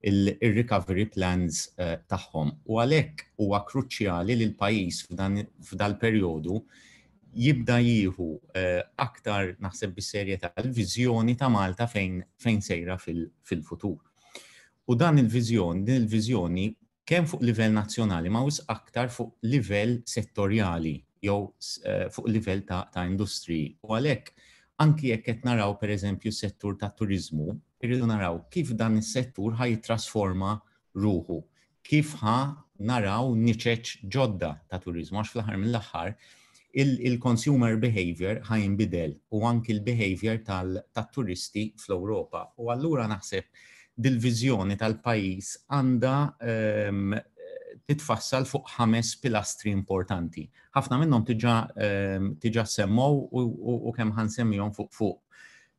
il-recovery plans eh, tagħhom. U għalhekk huwa kruċjali li l-pajjiż f'dal-perjodu jibda jieħu eh, aktar, naħseb, bis-serjetà l-viżjoni ta' Malta fejn, fejn sejra fil-futur. U dan il-viżjoni, din il-viżjoni kemm fuq livell nazzjonali ma wisq aktar fuq livell settorjali jew eh, fuq livell ta', ta' industriji. U għalhekk anki jekk qed naraw, pereżempju, s-settur ta' turizmu, irridu naraw kif dan is-settur ħa jittrasforma ruħu, kif ħa naraw niċeċ ġodda ta' turizmu, għax fl-aħħar mill-aħħar il-consumer behavior ħa jinbidel u anki l-behavior tal-turisti fl-Ewropa. U allura naħseb dil-viżjoni tal-pajjiż għandha um, titfassal fuq ħames pilastri importanti. Ħafna minnhom diġà um, diġà semmow u, u, u kemm ħa nsemmihom fuq fuq.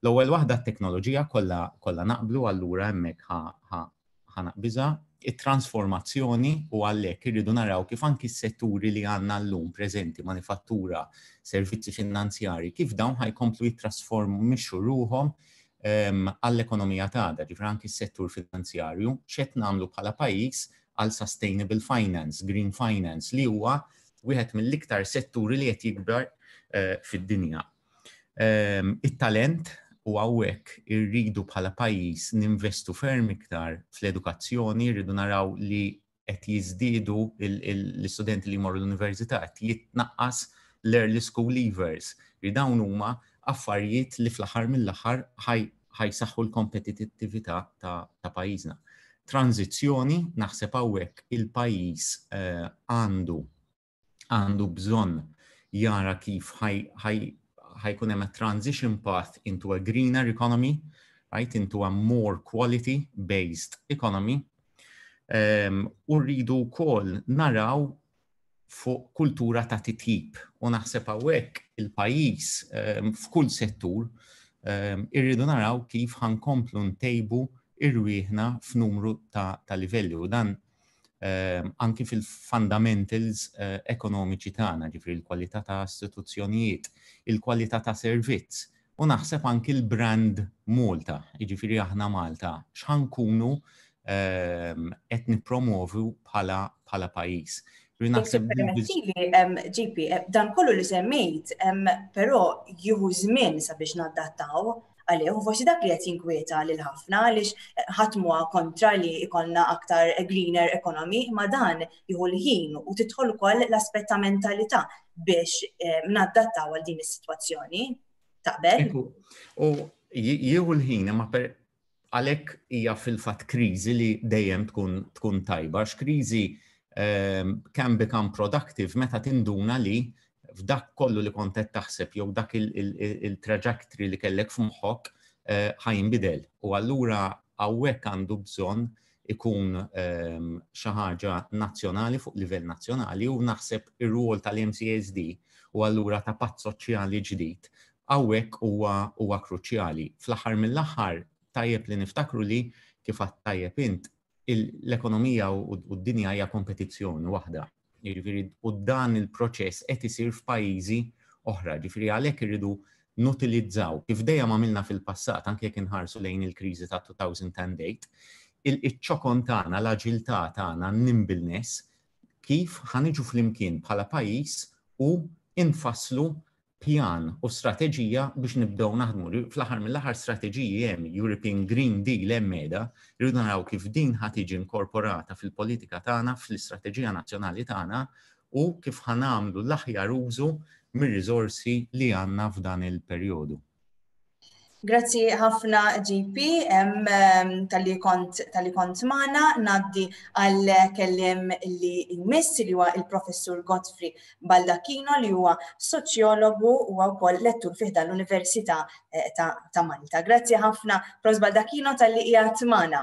L-ewwel waħda t-teknoloġija, kollha kollha naqblu, allura hemmhekk ħa naqbiżha. It-transformazzjoni, u għalhekk irridu naraw kif anki s-setturi li għandna llum preżenti, manifattura, servizzi finanzjari, kif dawn ħa jkomplu jittrasformixxu ruħhom għall-ekonomija tagħna, ġifieri anki s-settur finanzjarju, x'qed nagħmlu bħala pajjiż għal sustainable finance, green finance, li huwa wieħed mill-iktar setturi li qed jikber eh, fid-dinja. It-talent, u hawnhekk irridu bħala pajjiż ninvestu ferm iktar fl-edukazzjoni, irridu naraw li qed jiżdiedu l-istudenti li jmorru l-università, qed jitnaqqas l-early school leavers. Li dawn huma affarijiet li fl-aħħar mill-aħħar ħa jsaħħu l-kompetittività ta', ta pajjiżna. Tranzizzjoni, naħseb hawnhekk il-pajjiż eh, għandu għandu bżonn jara kif ħa jkun hemm a transition path into a greener economy, right, into a more quality based economy. Um, u rridu wkoll naraw fuq kultura ta' titjib, u naħseb hawnhekk il-pajjiż um, f'kull settur um, irridu naraw kif ħa nkomplu ntejbu irwieħna f'numru ta', ta livelli, u dan um, anki fil-fundamentals uh, ekonomiċi tagħna, ġifieri l-kwalità ta' istituzzjonijiet, il-kwalità ta' servizz, u naħseb anki l-brand Malta, jiġifieri aħna Malta, x'ħa nkunu qed nippromovu bħala bħala pajjiż. Naħseb, J P, eh, dan kollu li semmejt, però jieħu żmien sabiex nadattaw għalih, u forsi dak li qed jinkwieta lil ħafna, għaliex eh, ħadd mhuwa kontra li jkollna aktar greener economy, ma dan jieħu l-ħin u tidħol ukoll l-aspett ta' mentalità biex nadattaw għal din is-sitwazzjoni. Taqbel? U jieħu l-ħin, ma għalhekk hija fil-fatt kriżi li dejjem tkun tkun tajba, kriżi um, can become productive meta tinduna li f'dak kollu li kont qed taħseb jew dak il-trajectory li kellek f'moħħok uh, ħa jinbidel. U allura hawnhekk għandu bżonn ikun um, xi ħaġa nazzjonali, fuq livell nazzjonali, u naħseb ir-rwol tal-M C A S D u allura ta' patt soċjali ġdid hawnhekk huwa huwa kruċjali. Fl-aħħar mill-aħħar, tajjeb li niftakru li, kif tajjeb int, l-ekonomija u d-dinja hija kompetizzjoni waħda. Jiġifieri, u dan il-proċess qed isir f'pajjiżi oħra. Ġifieri għalhekk irridu nutilizzaw, kif dejjem għamilna fil-passat, anke jekk inħarsu lejn il-kriżi ta' elfejn u tmienja, il-ċokon tagħna, l-aġiltà tagħna, nimbleness, kif ħa niġu flimkien bħala pajjiż u infasslu pjan u strateġija biex nibdew naħdmu. Fl-aħħar mill-aħħar, strateġiji hemm, European Green Deal hemm qiegħda, rridu naraw kif din ħa tiġi inkorporata fil-politika tagħna, fl-istrateġija nazzjonali tagħna, u kif ħa nagħmlu l-aħjar użu mir-riżorsi li għandna f'dan il-perjodu. Grazzi ħafna, J P, talli kont talli kont magħna. Ngħaddi għal kelliem li jmiss, li huwa il-professur Godfrey Baldacchino, li huwa soċjologu u wkoll lettur fi ħdan l-Università eh, ta', ta Malta. Grazzi ħafna, Profs Baldacchino, talli qiegħed magħna.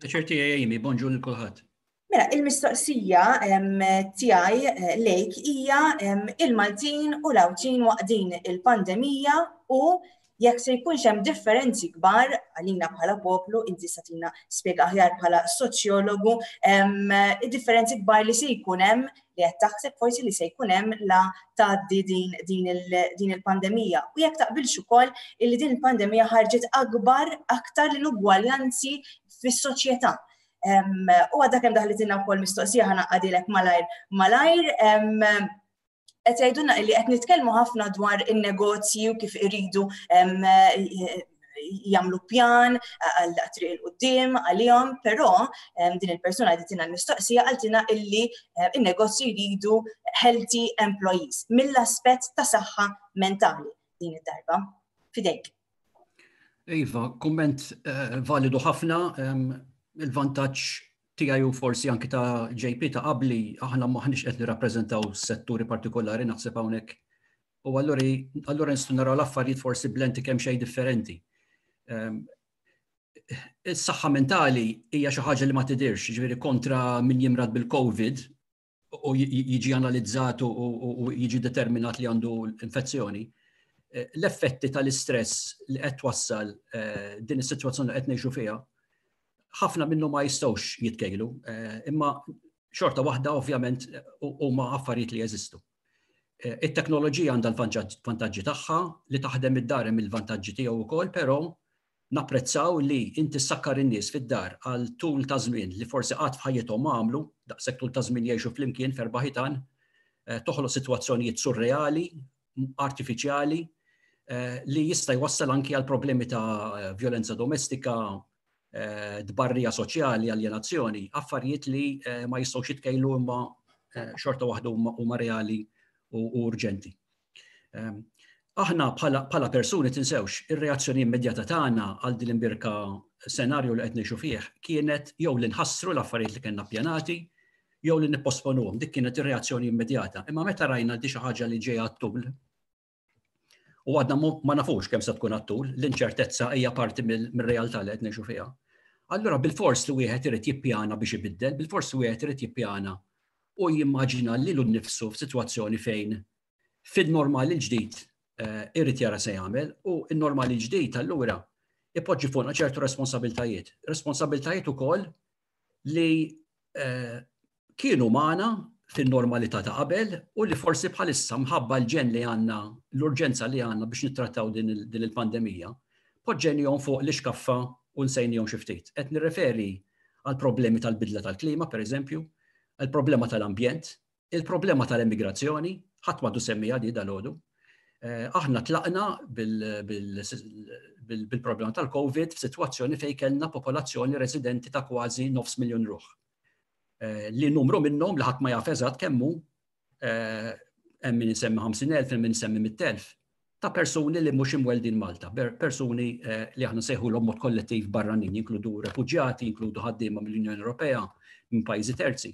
Ċerti, Amy, bonġu lil kulħadd. Mela, il-mistoqsija tiegħi eh, lejk hija il-Maltin u l-Għawdxin waqt din il-pandemija u jekk se jkunx hemm differenzi kbar għalina bħala poplu. Inti se ttina spjega aħjar bħala soċjologu, id-differenzi kbar li se jkun hemm, li qed taħseb forsi li se jkun hemm la tgħaddi din, din, din il-pandemija. U jekk taqbilx ukoll illi din il-pandemija ħarġet akbar aktar l-inugwaljanzi fis-soċjetà. U għadha kemm daħlitilna wkoll mistoqsija, ħa ngħaddilek malajr malajr. Qed jgħidulna li qed nitkellmu ħafna dwar in-negozji u kif iridu jagħmlu pjan għal triq 'il quddiem għalihom, però din il-persuna għadditilna l-mistoqsija qaltilna illi in-negozji jridu healthy employees mill-aspett ta' saħħa mentali din id-darba. Fidejk. Iva, komment eh, validu ħafna. Il-vantaġġ tiegħi u forsi anki ta' J P ta' qabli, aħna maħniex qed nirrappreżentaw setturi partikolari, naħseb, hawnhekk. U allura allura nistgħu naraw l-affarijiet forsi b'lenti kemm xejn differenti. Ehm, is-saħħa mentali hija xi ħaġa li ma tidirx, ġifieri kontra min jimrad bil-COVID u jiġi analizzat u jiġi determinat li għandu infezzjoni. Eh, l-effetti tal-istress li qed twassal eh, din is-sitwazzjoni li qed ngħixu fiha Ħafna minnhom ma jistgħux jitkejlu, imma xorta waħda ovvjament huma affarijiet li jeżistu. It-teknoloġija għandha l-vantaġġi tagħha, li taħdem id-dar hemm il-vantaġġi tiegħu wkoll, però napprezzaw li inti ssakkar in-nies fid-dar għal tul ta' żmien li forsi qatt f'ħajjithom ma għamlu, daqshekk tul ta' żmien jgħixu flimkien f'erba' ħitan, toħloq sitwazzjonijiet surreali, artifiċjali, li jista' jwassal anki għal problemi ta' vjolenza domestika, tbarrija soċjali, aljenazzjoni, affarijiet li ma jistgħux jitkejlu imma xorta waħda huma reali u urġenti. Aħna bħala persuni, tinsewx, ir-reazzjoni immedjata tagħna għal din l-imbierka senarju li qed ngħixu fih kienet jew li nħassru l-affarijiet li kellna ppjanati jew li nipposponuhom. Dik kienet ir-reazzjoni immedjata. Imma meta rajna di xi ħaġa li ġejja għat-tul, u għadna ma nafux kemm se tkun għat-tul, l-inċertezza hija parti mir-realtà li qed ngħixu fiha. Allura bil-fors li wieħed irid jippjana biex ibiddel, bil-fors li wieħed irid jippjana u jimmaġina lilu nnifsu f'sitwazzjoni fejn fil-normali l-ġdid irrid jara se jagħmel, u n-normali ġdid allura ipoġġi fuqna ċertu responsabiltajiet. Responsabiltajiet ukoll li kienu magħna fin-normalità ta' qabel u li forsi bħalissa mħabba l-ġen li għandna, l-urġenza li għandna biex nittrattaw din il-pandemija, poġġenihom fuq l-ixkaffa u nsejnihom xi ftit. Qed nirreferi għal problemi tal-bidla tal-klima, per eżempju, għal problema tal-ambjent, il-problema tal-immigrazzjoni, ħadd m'għadu semmija di dalgħodu. Aħna tlaqna bil-problema tal-Covid f'sitwazzjoni fejn kellna popolazzjoni residenti ta' kważi nofs miljon ruħ. Li numru minnhom li ħadd ma jaf eżatt kemm hu, hemm min isemmi ħamsin elf, hemm min isemmi mitt elf, ta' persuni li mhux imweldin Malta, persuni li aħna nsejħulhom mod kollettiv barranin, jinkludu refuġjati, jinkludu ħaddiema mill-Unjoni Ewropea, minn pajjiżi terzi.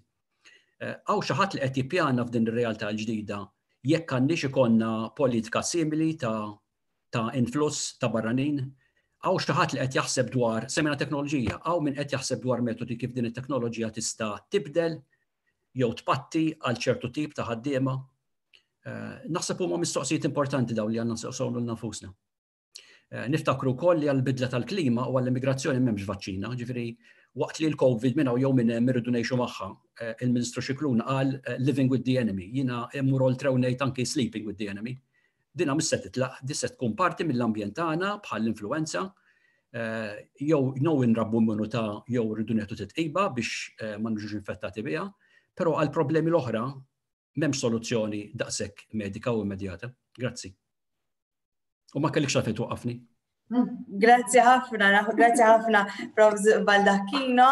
Hawn xi ħadd li qed jippjana f'din ir-realtà l-ġdida jekk għandniex ikollna politika simili ta', ta' influss ta' barranin, hawn xi ħadd li qed jaħseb dwar semina teknoloġija, hawn min qed jaħseb dwar metodi kif din it-teknoloġija tista' tibdel jew tpatti għal ċertu tip ta' ħaddiema. Naħseb huma mistoqsijiet importanti dawn li għandna nsaqsu lil nfusna. Niftakru wkoll li għall-bidla tal-klima u għall-immigrazzjoni m'hemmx vaċċina, ġifieri waqt li l-Covid minn hawn jew minn hemm irridu ngħixu magħha, il-Ministru Scicluna qal "living with the enemy", jiena immur oltre u ngħid anki "sleeping with the enemy". Dina mhux se titlaq, di se tkun parti mill-ambjent tagħna bħall-influenza, jew jew inrabbu immunità jew rridu nieħdu titqiba biex ma niġux infettati biha, però għal problemi l-oħra m'hemmx soluzzjoni daqshekk medika u immedjata. Grazzi. U ma kellikx għalfejn twaqqafni. Grazzi ħafna, grazzi ħafna, Professor Baldacchino.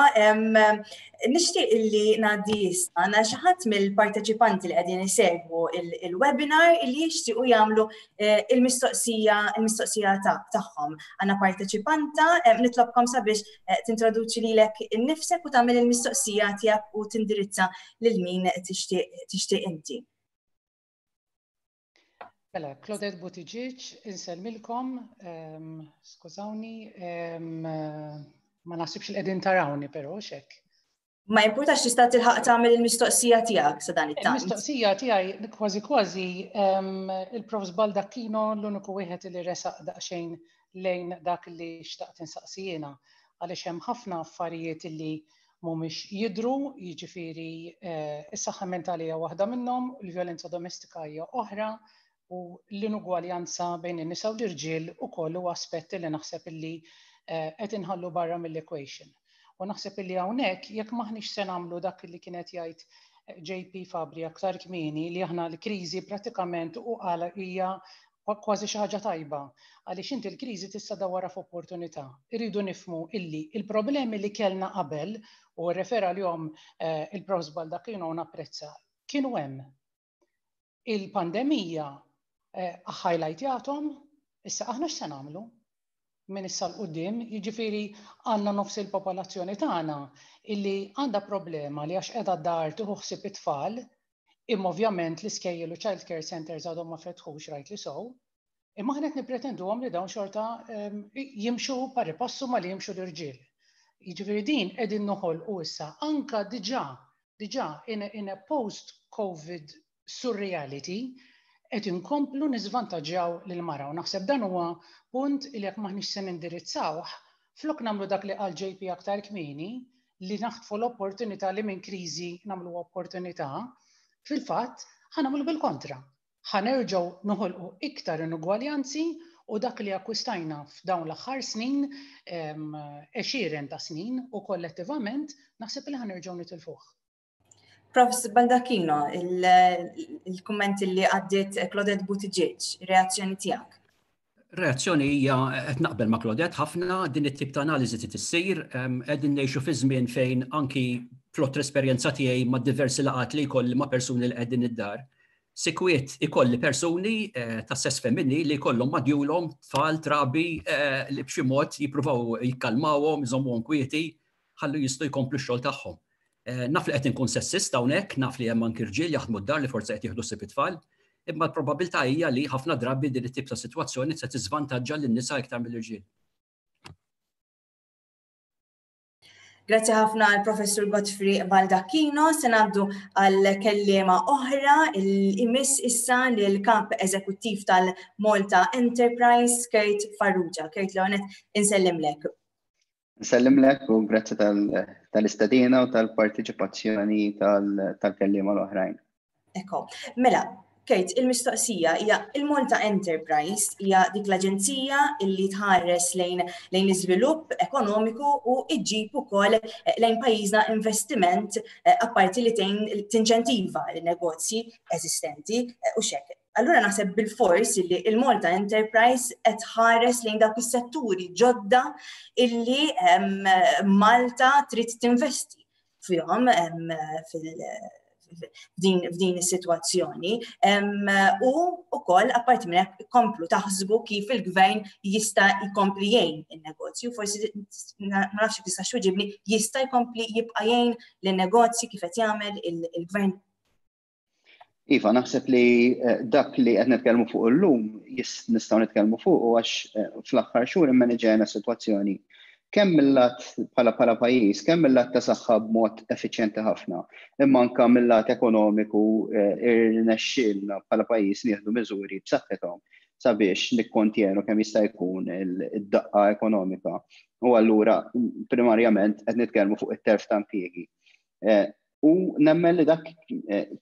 Nixtieq illi ngħaddi issa għandna xi ħadd mill-parteċipanti li qegħdin isegwu il-webinar illi jixtiequ jagħmlu il-mistoqsija il-mistoqsija tagħhom. Għandna parteċipanta, nitlobkom sabiex tintroduċi lilek innifsek u tagħmel il-mistoqsija tiegħek u tindirizza lil min tixtieq inti. Mela, Claudette Buttigieg, insellmilkom, skużawni, ma naħsibx li qegħdin tarawni però xek. Ma importax, tista' tilħaq tagħmel il-mistoqsija tiegħek sa dan it-tant. Il-mistoqsija tiegħi kważi kważi il-Profs Baldacchino l-uniku wieħed li resaq daqsxejn lejn dak li xtaqt insaqsi jiena, għaliex hemm ħafna affarijiet li mhumiex jidru, jiġifieri is-saħħa mentali hija waħda minnhom, il-vjolenza domestika hija oħra, u l-inugwaljanza bejn in-nisa u l-irġiel ukoll huwa aspetti li naħseb illi qed inħallu barra mill-equation. U naħseb illi hawnhekk jekk maħniex se nagħmlu dak li kienet jgħid J P Fabri aktar kmieni, li aħna l-kriżi prattikament u qala hija kważi xi ħaġa tajba, għaliex inti l-kriżi tista' dawwarha f'opportunità. Irridu nifhmu illi il-problemi li kellna qabel, u rrefera lihom il-Profs Baldacchino u napprezza, kienu hemm. Il-pandemija highlightjathom, issa aħna x'se nagħmlu minn issa 'l quddiem? Jiġifieri għandna nofs il-popolazzjoni tagħna illi għandha problema li għax qiegħda d-dar tieħu ħsieb it-tfal, imma ovvjament l-iskejjel u child care centers għadhom ma fetħux, rightly so, imma aħna qed nippretenduhom li dawn xorta jimxu pari passu ma li jimxu l-irġiel. Jiġifieri din qegħdin noħolqu issa anka diġà diġà in a, in a post-COVID surreality qed inkomplu niżvantaġġjaw lil mara, u naħseb dan huwa punt li jekk maħniex se nindirizzawh Flok nagħmlu dak li qal J P aktar kmieni, li naħtfu l-opportunità li minn kriżi nagħmlu opportunità, fil-fatt ħa nagħmlu bil-kontra. Ħa nerġgħu noħolqu iktar inugwaljanzi u dak li akkwistajna f'dawn l-aħħar snin, għexieren ta' snin u kollettivament naħseb li ħa nerġgħu nitilfuh. Professor Baldacchino, il-kumment li għaddiet Claudette Buttigieg, reazzjoni tiegħek? Reazzjoni hija qed naqbel ma' Claudette ħafna, din it-tip ta' analiżi trid issir, qegħdin ngħixu fi żmien fejn anki flott l-esperjenza tiegħi ma' diversi laqgħat li jkolli ma' persuni li qegħdin id-dar. Sikwiet ikolli persuni ta' sess femminili li jkollhom madjulhom tfal trabi li b'xi mod jippruvaw jikkalmawhom, iżommuhom kwieti, ħallu jistgħu jkomplu x-xogħol tagħhom. Naf li qed inkun sessist hawnhekk, naf li hemm anki rġiel jaħdmu d-dar li forsi qed jieħdu ħsieb it-tfal, imma l-probabilità hija li ħafna drabi din it-tip ta' sitwazzjoni se tiżvantaġġa lin-nisa iktar mill-irġiel. Grazzi ħafna għal Professur Godfrey Baldacchino. Se ngħaddu għal kelliema oħra, il-imiss issa lil kap eżekuttiv tal-Malta Enterprise, Kurt Farrugia. Kurt, Leonet, insellimlek. Nsellimlek u grazzi tal-istedina u tal-partiċipazzjoni tal-kelliema l-oħrajn. Ekko, mela, Kurt, il-mistoqsija hija il-Malta Enterprise hija dik l-aġenzija illi tħares lejn lejn l-iżvilupp ekonomiku u iġġib ukoll lejn pajjiżna investiment apparti li tinċentiva l-negozji eżistenti u xek. Allura naħseb bil-fors illi il-Malta Enterprise qed tħares lejn dawk is-setturi ġodda illi Malta trid tinvesti fihom fil f'din is-sitwazzjoni u wkoll apparti minn hekk komplu taħsbu kif il-gvern jista' jkompli jgħin in-negozju, forsi ma nafx kif tista' twiġibni, jista' jkompli jibqa' jgħin lin-negozji kif qed jagħmel il-gvern. Iva, naħseb li dak li qed nitkellmu fuq illum nistgħu nitkellmu fuq għax fl-aħħar xhur immaniġejna sitwazzjoni kemm mill-lat bħala bħala pajjiż, kemm mill-lat ta' saħħa b'mod effiċjenti ħafna, imma anke mill-lat ekonomiku irnexxielna bħala pajjiż nieħdu miżuri b'saħħithom sabiex nikkontjenu kemm jista' jkun id-daqqa ekonomika. U allura primarjament qed nitkellmu fuq it-telf ta' impjiegi. U nemmen li dak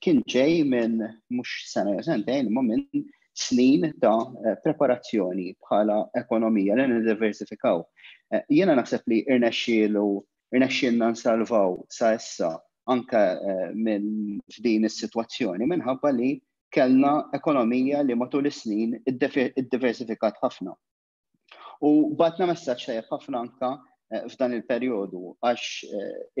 kien ġej minn mhux sena jew sentejn, imma minn snin ta' preparazzjoni bħala ekonomija li niddiversifikaw. Jiena naħseb li irnexxielu, irnexxielna nsalvaw sa issa anke minn f'din is-sitwazzjoni minħabba li kellna ekonomija li matul is-snin iddiversifikat ħafna. U batna messaġġ tajjeb ħafna anke f'dan il-perjodu għax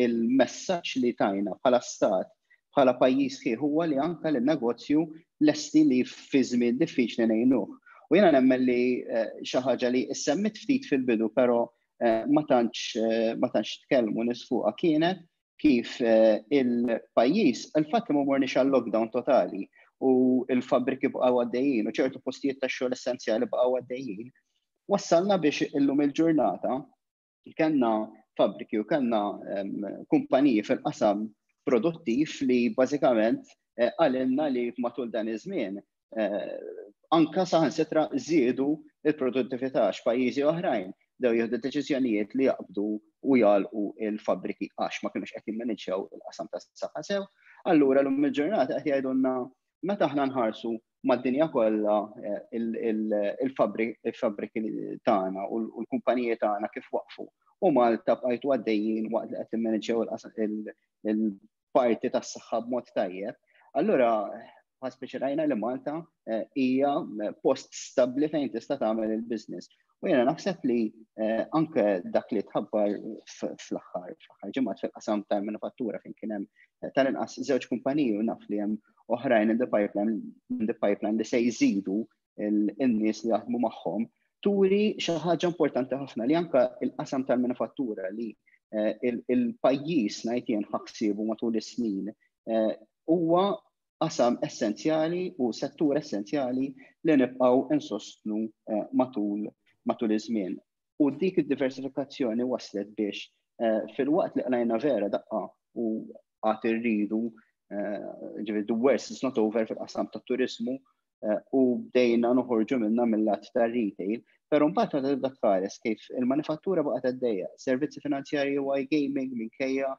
il-messaġġ li tajna bħala stat, bħala pajjiż sħiħ huwa li anke lin-negozju lesti li fi żmien diffiċli ngħinuh. U jiena nemmen li xi ħaġa li issemmit ftit fil-bidu, però ma tantx ma tantx tkellmu nies fuqha kienet kif il-pajjiż, il-fatt li ma morniex għal lockdown totali u l-fabbriki bqgħu għaddejjin u ċertu postijiet tax-xogħol essenzjali bqgħu għaddejjin, wassalna biex illum il-ġurnata kellna fabbriki u kellna kumpaniji fil-qasam produttiv li bażikament qalilna li matul dan iż-żmien anka saħansitra żiedu il-produttività għax pajjiżi oħrajn dew jieħdu deċiżjonijiet li jaqbdu u jagħlqu il-fabbriki għax ma kinux qed jimmaniġġjaw il-qasam tas-saħħa sew. Allura llum il-ġurnata qed jgħidulna meta aħna nħarsu mad-dinja kollha il-fabbriki tagħna u l-kumpaniji tagħna kif waqfu. U Malta bqajtu għaddejjin waqt li qed timmaniġġjaw il-parti tas-saħħa b'mod tajjeb. Allura speċi rajna li Malta hija post stabbli fejn tista' tagħmel il-business. U jiena naħseb li anke dak li tħabbar fl-aħħar fl-aħħar ġimgħat fil-qasam tal-manifattura fejn kien hemm tal-inqas żewġ kumpaniji u naf li hemm oħrajn in the pipeline, in the pipeline li se jżidu in-nies li jaħdmu magħhom, turi xi ħaġa importanti ħafna li anke il-qasam tal-manifattura li il-pajjiż ngħid jien ħassibu matul is-snin huwa qasam essenzjali u settur essenzjali li nibqgħu insostnu matul matul iż-żmien. U dik id-diversifikazzjoni waslet biex fil-waqt li qlajna vera daqqa u għad irridu, ġifieri the worst is not over fil-qasam tat-turizmu, u bdejna noħorġu minna mill-lat tar-retail, però mbagħad meta tibda tħares kif il-manifattura baqgħet għaddejja, servizzi finanzjarji u iGaming minkejja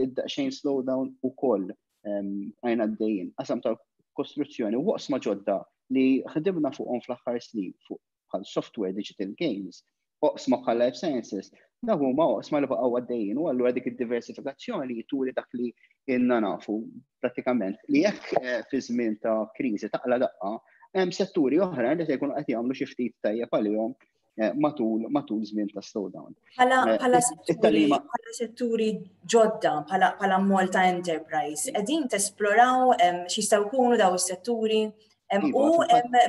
id-daqsxejn slowdown ukoll għajna għaddejjin. Qasam tal-kostruzzjoni u oqsma ġodda li ħdimna fuqhom fl-aħħar snin fuq bħal software, digital games, oqsma bħal life sciences, dak huma oqsma li baqgħu għaddejjin u allura dik id-diversifikazzjoni turi dak li inna nafu prattikament li jekk eh, fi żmien ta' kriżi taqla daqqa hemm setturi oħra li se jkunu qed jagħmlu xi ftit tajjeb għalihom eh, matul matul żmien ta' slowdown. Bħala eh, bħala setturi bħala setturi ġodda bħala Malta Enterprise, qegħdin tesploraw x'jistgħu jkunu daw is-setturi? Iva, u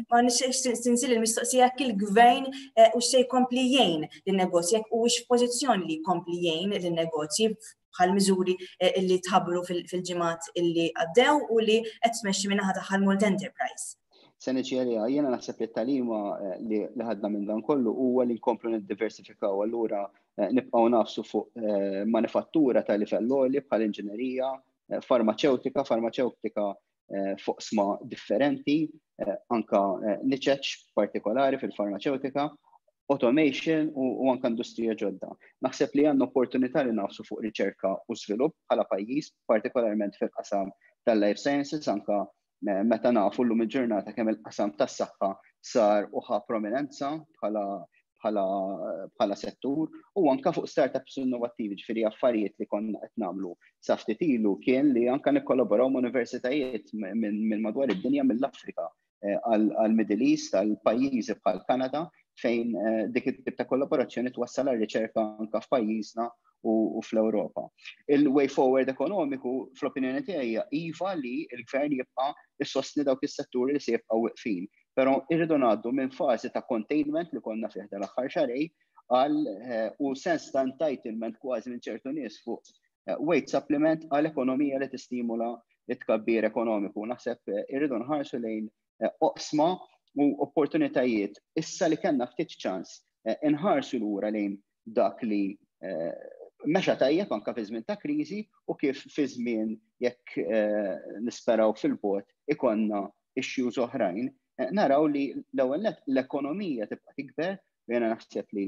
ma nixtieq il-mistoqsija jekk il-gvern eh, u se jkompli jgħin lin-negozji jekk huwiex f'pożizzjoni li jkompli jgħin lin-negozji bħal miżuri eh, li tħabbru fil-ġimgħat illi għaddew u li qed tmexxi min-naħa tagħha l-Malta Enterprise. Se niġi għaliha, jiena naħseb li t-tagħlima eh, li ħadna minn dan kollu huwa li nkomplu niddiversifikaw, allura nibqgħu nafsu fuq manifattura ta' livell għoli bħal inġinerija, farmaċewtika, farmaċewtika fuq sma differenti, anka niċeċ partikolari fil-farmaċewtika, automation u, u anka industrija ġodda. Naħseb li għandna opportunità li nafsu fuq riċerka u żvilupp bħala pajjiż, partikolarment fil-qasam tal-life sciences, anka meta nafu llum il-ġurnata kemm il-qasam tas-saħħa sar u ħa prominenza bħala bħala bħala settur u anka fuq startups innovattivi, ġifieri affarijiet li konna qed nagħmlu sa ftit ilu kien li anka nikkollaboraw ma' universitajiet minn madwar id-dinja, mill-Afrika eh, għal-Middle East, għal pajjiżi bħal Kanada, fejn eh, dik it-tip ta' kollaborazzjoni twassal għal riċerka anka f'pajjiżna u fl-Ewropa. Il-way forward ekonomiku, fl-opinjoni tiegħi, iva li l-gvern jibqa' issostni dawk is-setturi li se jibqgħu weqfin. Però irridu ngħaddu minn fażi ta' containment li konna fih dal-aħħar xahrejn għal eh, u sens ta' entitlement kważi minn ċertu nies fuq eh, wage supplement għal ekonomija li tistimula it-tkabbir ekonomiku. Naħseb eh, irridu nħarsu lejn oqsma u opportunitajiet issa li kellna ftit ċans inħarsu lura lejn dak li mexa tajjeb anka fi żmien ta' kriżi u kif fi żmien jekk nisperaw fil-bogħod ikonna issues oħrajn, naraw li l-ewwel nett l-ekonomija tibqa' tikber u jiena naħseb li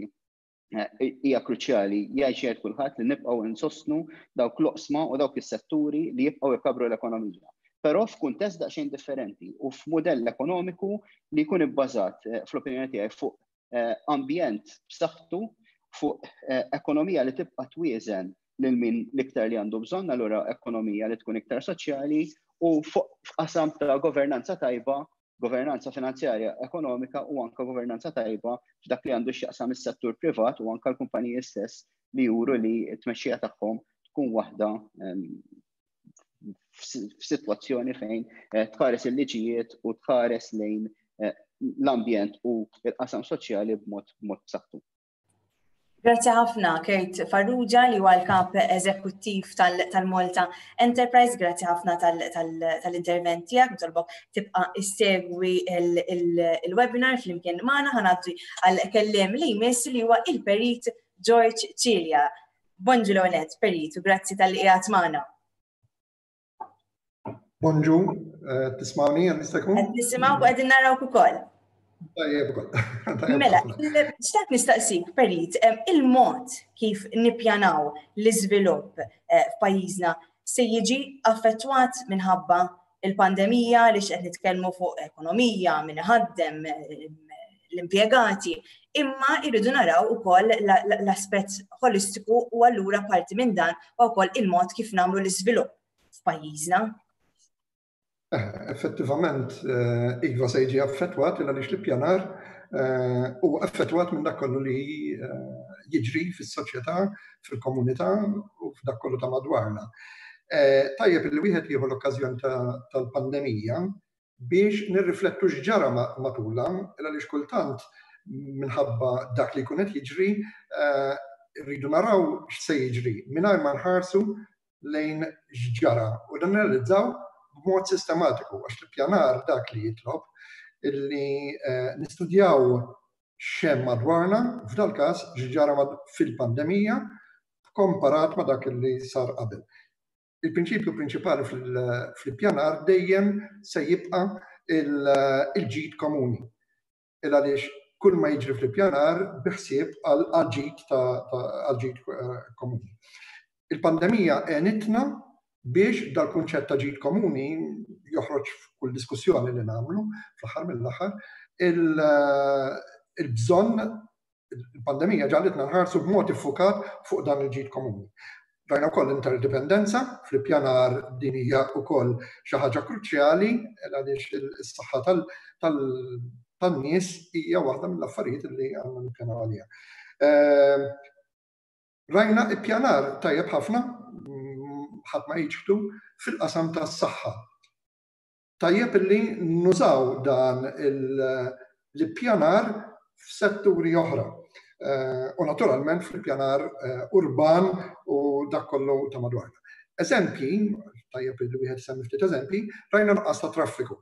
hija kruċjali jgħid xejn kulħadd li nibqgħu insostnu dawk l-oqsma u dawk is-setturi li jibqgħu jkabru l-ekonomija. Però f'kuntest daqsxejn differenti u f'mudell ekonomiku li jkun ibbażat fl-opinjoni tiegħi fuq ambjent b'saħħtu, fuq ekonomija li tibqa' twieżen lil min l-iktar li għandu bżonn, allura ekonomija li tkun iktar soċjali u fuq f'qasam ta' governanza tajba, governanza finanzjarja ekonomika u anka governanza tajba f'dak li għandu x'jaqsam is-settur privat u anka l-kumpaniji stess li juru li t-tmexxija tagħhom tkun waħda f'sitwazzjoni fejn tħares il-liġijiet u tħares lejn l-ambjent u l-qasam soċjali b'mod b'mod b'saħħtu. Grazzi ħafna Kurt Farrugia li huwa l-kap eżekuttiv tal-Malta Enterprise, grazzi ħafna tal-intervent tiegħek, nitolbok tibqa' issegwi il-webinar flimkien magħna. Ħa ngħaddi għal kelliem li jmiss li huwa il-Perit George Cilia. Bonġu l-għonet, Perit, u grazzi talli qiegħed magħna. Bonġu, eh, tismawni għan jista' jkun? Qed nisimgħu u qegħdin narawk ukoll. Tajjeb ukoll. Mela, xtaqt nistaqsik, Perit, il-mod kif nippjanaw l-iżvilupp eh, f'pajjiżna se jiġi affettwat minħabba il-pandemija li x'qed nitkellmu fuq ekonomija, min iħaddem, l-impjegati, imma irridu naraw ukoll l-aspett holistiku u allura parti minn dan u wkoll il-mod kif nagħmlu l-iżvilupp f'pajjiżna. Eh, effettivament, eh, iva se jiġi affettwat il għaliex l-ippjanar eh, u affettwat minn dak kollu li jiġri fis-soċjetà, fil-komunità u f'dak kollu ta' madwarna. Tajjeb li wieħed jieħu l-okkażjoni tal-pandemija biex nirriflettu x'ġara matulha, għaliex kultant minħabba dak li jkun qed jiġri, rridu naraw x'se jiġri mingħajr ma nħarsu lejn x'ġara u dan nirrealizzaw b'mod sistematiku, għax l-ippjanar dak li jitlob illi nistudjaw x'hemm madwarna, f'dal każ x'ġara fil-pandemija komparat ma' dak li sar qabel. Il-prinċipju prinċipali fl-ippjanar dejjem se jibqa' il-ġid komuni. Il għaliex kull ma jiġri fl-ippjanar bi ħsieb għal-ġid għal-ġid komuni. Il-pandemija għenitna biex dal-kunċett ta' ġid komuni joħroġ f'kull diskussjoni li nagħmlu fl-aħħar mill-aħħar, il-bżonn, il-pandemija ġagħlitna nħarsu b'mod iffukat fuq dan il-ġid komuni. Rajna wkoll interdipendenza fl-ippjanar, din hija wkoll xi ħaġa kruċjali għaliex is-saħħa tan-nies hija waħda mill-affarijiet li għandna nippjanaw għaliha. Rajna ippjanar tajjeb ħafna, ħadd ma jiġħdu, fil-qasam tas-saħħa. Tajjeb illi nużaw dan l-ippjanar f'setturi oħra. U naturalment fil-pjanar urban u dak kollu ta' madwarna. Eżempji, tajjeb li wieħed semmi ftit eżempji, rajna nuqqas ta' traffiku.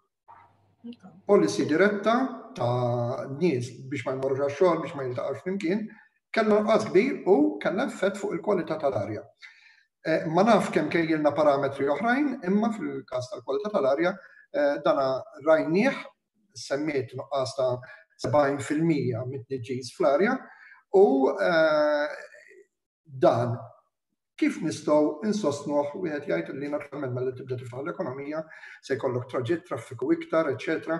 Policy diretta ta' nies biex ma jmorrux għax-xogħol, biex ma jiltaqgħux flimkien, kellna nuqqas kbir u kellna effett fuq il-kwalità tal-arja. Ma naf kemm kejjilna parametri oħrajn, imma fil-każ tal-kwalità tal-arja dana rajnieh, semmiet nuqqas ta' sebgħin fil-mija mit-tniġġis fl-arja, u dan kif nistgħu insostnuh, wieħed jgħid li naturalment mela tibda tiftaħ l-ekonomija se jkollok traġitt, traffiku iktar, eċċetera.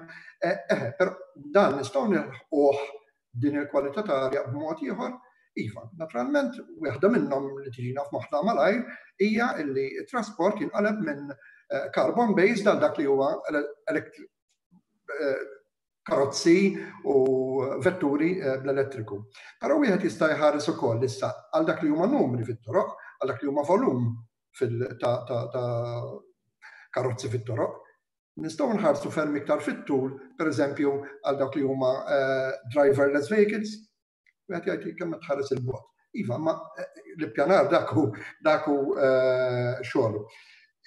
Eħe, però dan nistgħu nilħquh din il-kwalità ta' arja b'mod ieħor. Iva, naturalment, waħda minnhom li tiġina f'moħħna malajr hija li t-trasport jinqaleb minn carbon based għal dak li huwa karozzi u vetturi bl-elettriku. Però wieħed jista' jħares ukoll issa għal dak li huma numri fit-toroq, għal dak li huma volum ta' karozzi fit-toroq. Nistgħu nħarsu ferm iktar fit-tul, pereżempju, għal dak li huma driverless vehicles. Wieħed jgħid kemm tħares il-bogħod. Iva, ma l-ippjanar dak hu dak hu xogħol.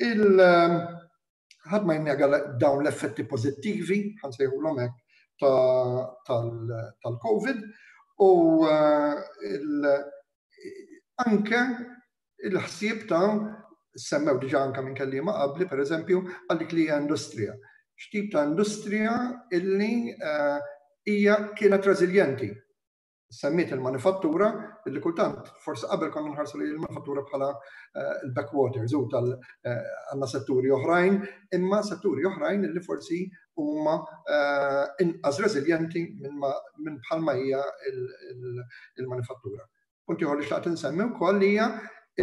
Il ħadd ma jinnega dawn l-effetti pożittivi, ħansejħulhom hekk, tal-COVID, u anke il-ħsieb ta' semmew diġà anke minn kelliema qabli, pereżempju, għal dik li hija industrija. X'tip ta' industrija illi hija kienet reżiljenti. Semmiet il-manifattura, illi kultant forsi qabel konna nħarsu li l-manifattura bħala il-backwaters u tal għandna setturi oħrajn, imma setturi oħrajn illi forsi huma inqas reżiljenti minn bħalma hija il-manifattura. Punt ieħor li xtaqt insemmi wkoll hija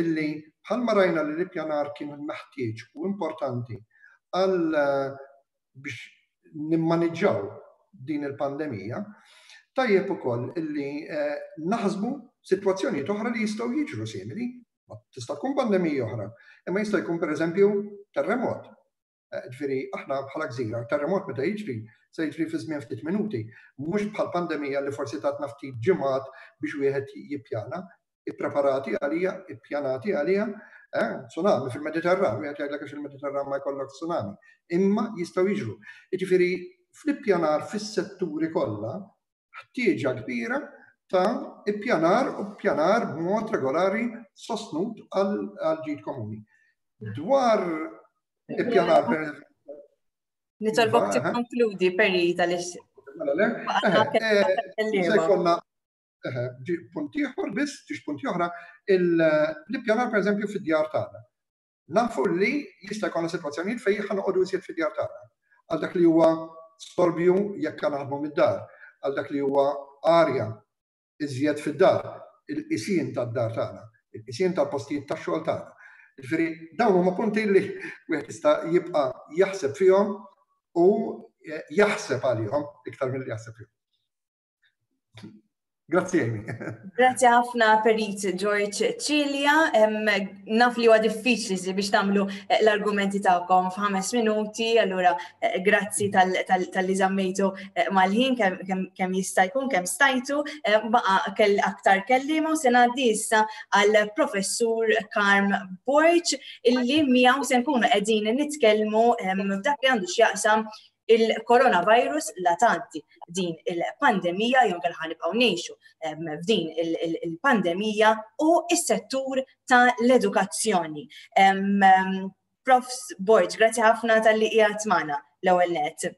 illi bħalma rajna li l-ippjanar kien meħtieġ u importanti għal biex nimmaniġġaw din il-pandemija, tajjeb ukoll illi naħsbu sitwazzjonijiet oħra li jistgħu jiġru simili. Tista' tkun pandemija oħra, imma jista' jkun pereżempju terremot. Ġifieri aħna bħala gżira, terremot meta jiġri se jiġri fi żmien ftit minuti, mhux bħal pandemija li forsi tatna ftit ġimgħat biex wieħed jippjana, ippreparati għalija, ippjanati għalija, tsunami fil-Mediterran, wieħed jgħidlek għax il-Mediterran ma jkollok tsunami, imma jistgħu jiġru. Jiġifieri fl-ippjanar fis-setturi kollha ħtieġa kbira ta' ippjanar u ppjanar b'mod regolari sostnut għal ġid komuni. Dwar ippjanar per Nitolbok tikkonkludi, Perit, għaliex Se jkollna punt ieħor biss, ġiex punti oħra, l-ippjanar pereżempju fid-djar tagħna. Nafu li jista' jkollna sitwazzjonijiet fejn ħa noqogħdu iżjed fid-djar tagħna. Għal dak li huwa storbju jekk naħdmu mid-dar, għal dak li huwa arja iżjed fid-dar, il-qisien tad-dar tagħna, il-qisien tal-postijiet tax-xogħol tagħna. Ġifieri dawn huma punti li wieħed jista' jibqa' jaħseb fihom u jaħseb għalihom iktar milli jaħseb fihom. Grazzi, Amy. Grazzi ħafna, Perit George Cilia. Naf li huwa diffiċli biex tagħmlu l-argumenti tagħkom f'ħames minuti, allura grazzi tal-li żammejtu mal-ħin kemm jista' jkun, kemm stajtu. Baqa' kell aktar kelliema u se ngħaddi issa għall Professur Karm Borg illi miegħu se nkunu qegħdin nitkellmu f'dak li għandu x'jaqsam il-coronavirus la tgħaddi din il-pandemija, jew inkella ħa nibqgħu ngħixu f'din il-pandemija, u s-settur tal-edukazzjoni. Profs Borg, grazzi ħafna tal-li qiegħed magħna l-ewwel nett.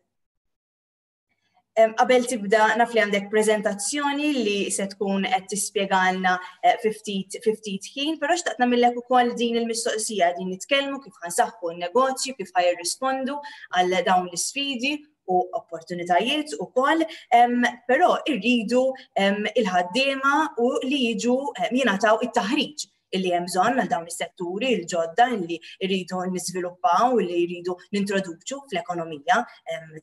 Qabel tibda, naf li għandek prezentazzjoni li se tkun qed tispjegalna eh, ftit ftit ħin, però xtaqt nagħmillek ukoll din il-mistoqsija. Din nitkellmu kif ħa nsaħħu n-negozju, kif ħa jirrispondu għal dawn l-isfidi u opportunitajiet ukoll, però irridu il-ħaddiema u li jiġu jingħataw it-taħriġ illi hemm bżonn għal dawn is-setturi l-ġodda illi rridu niżviluppaw, li jridu nintroduċu fl-ekonomija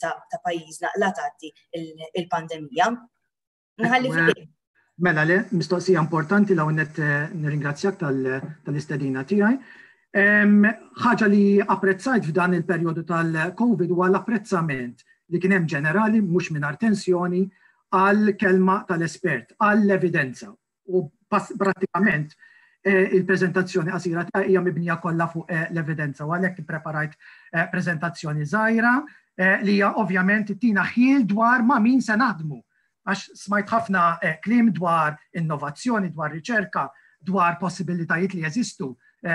ta', ta pajjiżna la tgħaddi il-pandemija. Nħalli fidejk. Mela le, mistoqsija importanti. L net eh, nirringrazzjak tal-istedina tiegħi. Ħaġa li apprezzajt f'dan il-perjodu tal-Covid huwa l-apprezzament li kien hemm ġenerali, mhux mingħajr tensjoni, għal kelma tal-espert, għall-evidenza. U prattikament eh, il-prezentazzjoni qasira ta' hija mibnija kollha fuq eh, l-evidenza u għalhekk ippreparajt eh, prezentazzjoni żgħira li hija ovvjament tina ħjiel dwar ma' min se naħdmu. Għax smajt ħafna kliem dwar innovazzjoni, dwar riċerka, dwar possibilitajiet li jeżistu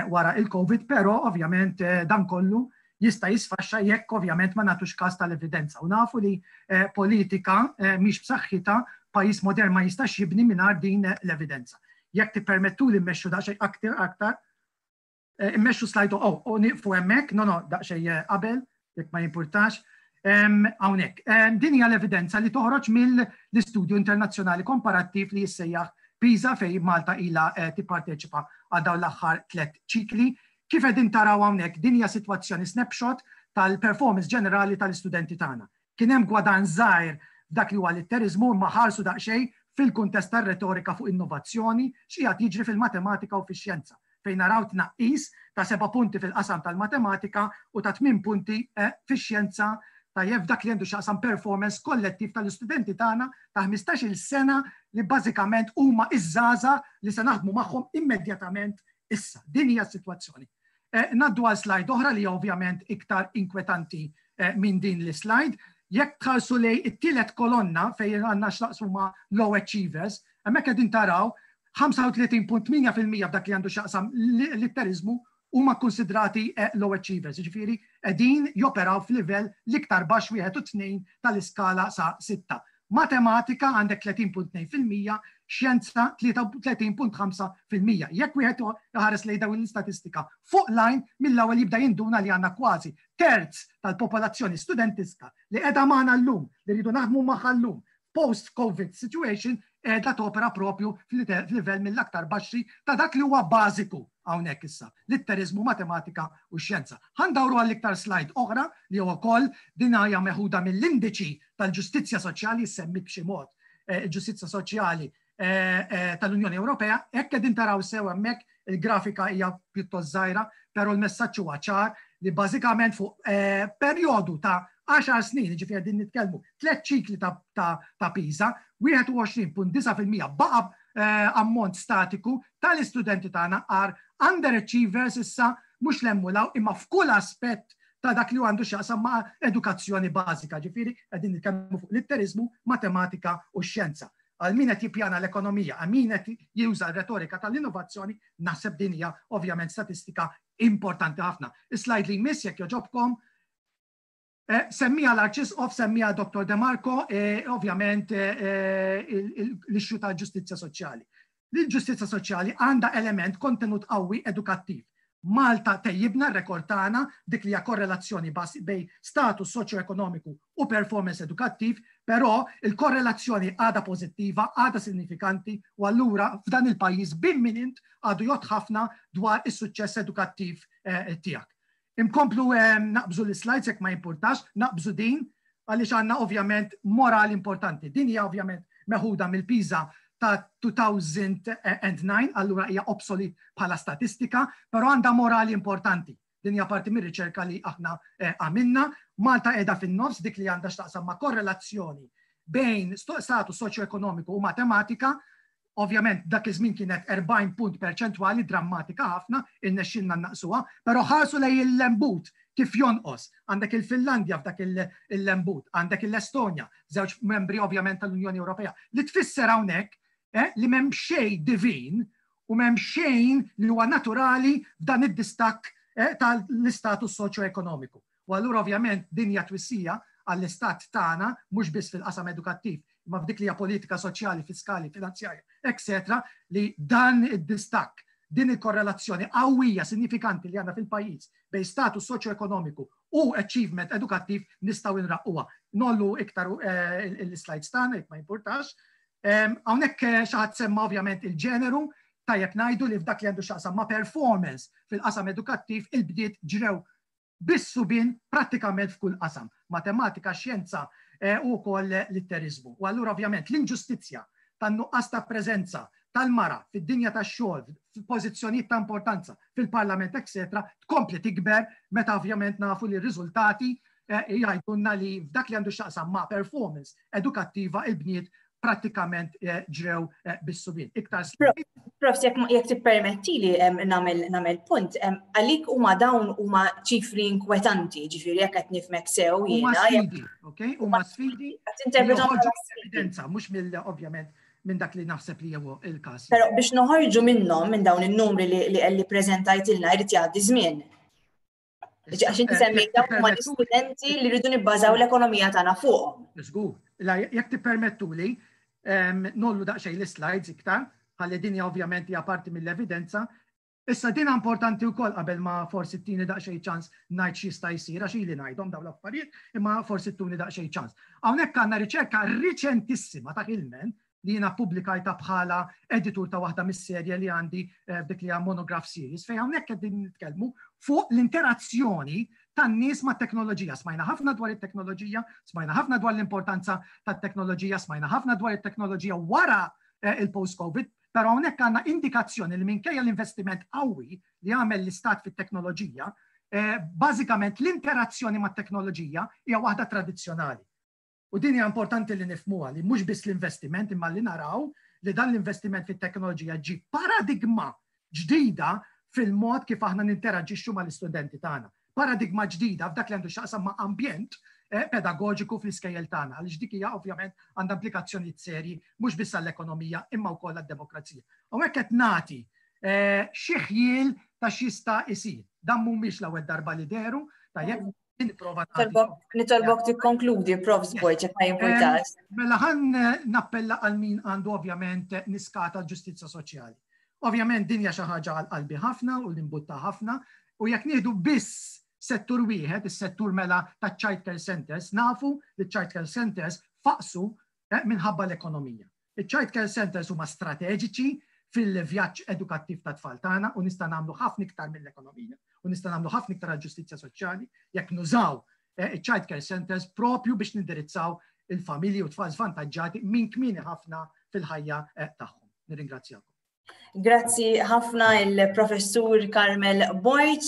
wara il-Covid, però ovvjament dan kollu jista' jisfaxxa jekk ovvjament ma nagħtux każ tal-evidenza. U nafu li politika mhix b'saħħitha, pajjiż modern ma jistax jibni mingħajr din l-evidenza. Jekk tippermettu li mmexxu daqsxejn aktar aktar, eh, immexxu slide, oh, u nieqfu hemmhekk, no no, daqsxejn eh, qabel, jekk ma jimpurtax. Hawnhekk. Din hija l-evidenza li toħroġ mill-istudju internazzjonali komparattiv li jissejjaħ PISA, fej Malta ila eh, tipparteċipa għal dawn l-aħħar tliet ċikli. Kif qegħdin taraw hawnhekk, din hija sitwazzjoni snapshot tal-performance ġenerali tal-istudenti tagħna. Kien hemm gwadan żgħir dak li huwa litterizmu, imma ħarsu daqsxejn fil-kuntest tar-retorika fuq innovazzjoni x'qiegħed jiġri fil-matematika u fix-xjenza, fejn naraw tnaqqis ta' seba' punti fil-qasam tal-matematika u ta' tmien punti eh, fix-xjenza, tajjeb, dak li għandu x'jaqsam performance kollettiv tal-istudenti tagħna ta' ħmistax-il sena, li bażikament huma iż-żgħażagħ li se naħdmu magħhom immedjatament issa. Din hija s-sitwazzjoni. Eh, ngħaddu għal slide oħra li ovvjament iktar inkwetanti eh, minn din l-slide. Jekk tħarsu lej it-tielet kolonna fejn għandna x'naqsmu ma' low achievers, hemmhekk qegħdin taraw ħamsa u tletin punt tmienja fil-mija f'dak li għandu x'jaqsam litterizmu huma konsidrati eh, low achievers, ġifieri qegħdin joperaw f'livell l-iktar baxx wieħed u tnejn tal-iskala sa sitta. Matematika għandek tletin punt tnejn fil-mija, xjenza tlieta u tletin punt ħamsa fil-mija. Jekk wieħed ħares lejn dawn l-istatistika fuq line, mill-ewwel jibda jinduna li għandna kważi terz tal-popolazzjoni studentiska li qiegħda magħna llum, li rridu naħdmu magħha llum, post-Covid situation, qiegħda topera propju fil-livell mill-aktar baxxi ta' dak li huwa bażiku hawnhekk issa, litterizmu, matematika u xjenza. Ħa ndawru għall-iktar slide oħra li huwa wkoll din hija meħuda mill-indiċi tal-ġustizzja soċjali, semmi b'xi mod eh, il-ġustizzja soċjali eh, eh, tal-Unjoni Ewropea. Hekk qegħdin taraw sew hemmhekk, il-grafika hija pjuttost żgħira, però l-messaġġ huwa ċar li bażikament fuq perjodu ta' għaxar snin, ġifieri din nitkellmu tliet ċikli ta', ta, ta PISA, wieħed u għoxrin punt disgħa fil-mija baqa eh, ammont statiku tal-istudenti tagħna are underachievers issa, mhux l imma f'kull aspett ta' dak li għandu x'jaqsam ma' edukazzjoni bażika, ġifieri qegħdin nitkellmu fuq litterizmu, matematika u xjenza. Għal min qed jippjana l-ekonomija, għal min qed juża r-retorika tal-innovazzjoni, naħseb din hija ovvjament statistika importanti ħafna. Is-slide li jmiss, jekk jogħġobkom. Eh, semmija l-Arċisqof, semmija Dottor De Marco, eh, ovvjament eh, l-issue ta' ġustizzja soċjali. L-ġustizzja soċjali għandha element kontenut qawwi edukattiv. Malta tejjibna r-rekord tagħna dik li hija korrelazzjoni bejn status soċjoekonomiku u performance edukattiv, però il-korrelazzjoni għadha pożittiva, għadha sinifikanti, u allura f'dan il-pajjiż bimminint għadu jgħodd ħafna dwar is-suċċess edukattiv tiegħek. Inkomplu naqbżu l-slides jekk ma jimpurtax, naqbżu din għaliex għandna ovvjament moral importanti. Din hija ovvjament meħuda mill-PISA ta' elfejn u disgħa, allura hija obsolet bħala statistika, però għandha morali importanti. Din hija parti mir-riċerka li aħna eh, għamilna. Malta qiegħda fin-nofs dik li għandha x'taqsam ma' korrelazzjoni bejn status soċjoekonomiku u matematika. Ovvjament dak iż-żmien kienet erbgħin punt perċentwali, drammatika ħafna, innexxilna naqsuha, però ħarsu lej il-lembut kif jonqos. Għandek il-Finlandja f'dak il-lembut, għandek l-Estonja, żewġ membri ovvjament tal-Unjoni Ewropea. Li tfisser hawnhekk eh, li m'hemm xejn divin u m'hemm xejn li huwa naturali f'dan id-distakk eh, tal-istatus soċjoekonomiku. U allura ovvjament din hija twissija għall-istat tagħna, mhux biss fil-qasam edukattiv, imma f'dik li hija politika soċjali, fiskali, finanzjarja, eċetera, li dan id-distakk, din il-korrelazzjoni qawwija sinifikanti li għandna fil-pajjiż bejn status soċjoekonomiku u achievement edukattiv nistgħu nraqquha. Ngħollu iktar eh, il-slides tagħna jekk ma jimpurtax. Hawnhekk eh, xi ħadd semma ovvjament il-ġeneru, tajjeb ngħidu li f'dak li għandu x'jaqsam ma' performance fil-qasam edukattiv il-bniet ġrew bis-subien prattikament f'kull qasam, matematika, xjenza eh, u wkoll litterizmu. U allura ovvjament l-inġustizzja tan-nuqqas ta' preżenza tal-mara fid-dinja tax-xogħol, f'pożizzjonijiet ta' importanza fil-parlament, eċetera, tkompli tikber meta ovvjament nafu li r-riżultati eh, jgħidulna li f'dak li għandu x'jaqsam ma' performance edukattiva il-bniet prattikament eh, ġrew eh, bis-subien. Iktar Prof, jekk tippermettili nagħmel punt, għalik huma dawn huma ċifri inkwetanti, ġifieri jekk qed nifhmek sew jiena. Huma sfidi, ok? Huma sfidi. Tinterpretom evidenza, mhux mill ovvjament minn dak li naħseb li huwa il-każ. Però biex noħorġu minnhom minn dawn in-numri li li preżentajtilna jrid jgħaddi żmien. Għax inti eh, semmejt dawn huma l-istudenti li rridu nibbażaw l-ekonomija tagħna fuqhom. Żgur. Jekk tippermettuli, ngħollu daqsxejn l-slides iktar, ħalli din ovvjament hija parti mill-evidenza. Issa din importanti wkoll qabel ma forsi ttini daqsxejn ċans ngħid x'jista' jsir għax ili ngħidhom dawn l-affarijiet, imma forsi ttuni daqsxejn ċans. Hawnhekk għandna riċerka riċentissima ta' Hillman li jiena pubblikajta bħala editur ta' waħda mis-serje li għandi eh, dik li hija monograph series, fejn hawnhekk qegħdin nitkellmu fuq l-interazzjoni tan-nies ma' teknoloġija. Smajna ħafna dwar it-teknoloġija, smajna ħafna dwar l-importanza tat-teknoloġija, smajna ħafna dwar it-teknoloġija wara eh, il-post-COVID, però hawnhekk għandna indikazzjoni li minkejja l-investiment qawwi li għamel l-istat fit-teknoloġija, eh, bażikament l-interazzjoni mat-teknoloġija hija waħda tradizzjonali. U din hija importanti li nifhmuha li mhux biss l-investiment imma li naraw li dan l-investiment fit-teknoloġija ġib paradigma ġdida fil-mod kif aħna ninteraġixxu mal-istudenti tagħna. Paradigma ġdida f'dak li għandu x'jaqsam ma' ambjent eh, pedagogiku fl-iskejjel tagħna, għaliex dik hija ovvjament għandha implikazzjonijiet serji mhux biss għall-ekonomija imma wkoll għad-demokrazija. U hekk qed nagħti eh, xi ħjiel ta' x'jista' isir. Dan mhumiex l-ewwel darba li dehru, tajjeb nipprova Nitolbok tikkonkludi, Prof Borg, jekk ma jimpurtax. Mela ħan eh, nappella għal min għandu ovvjament niskata ġustizzja soċjali. Ovvjament din hija xi ħaġa għal qalbi ħafna u l-imbutta ħafna u jekk nieħdu biss settur wieħed, is-settur mela ta' child care centers, nafu li child care centers faqsu eh, minħabba l-ekonomija. Il-child care centers huma strateġiċi fil-vjaġġ edukattiv ta' tfal tagħna u nista' nagħmlu ħafna iktar mill-ekonomija u nista' nagħmlu ħafna iktar għall-ġustizzja soċjali jekk nużaw eh, il-child care centers propju biex nindirizzaw il-familji u tfal żvantaġġati minn kmieni ħafna fil-ħajja eh, tagħhom. Nirringrazzjakom. Grazzi ħafna il-professur Carmel Borg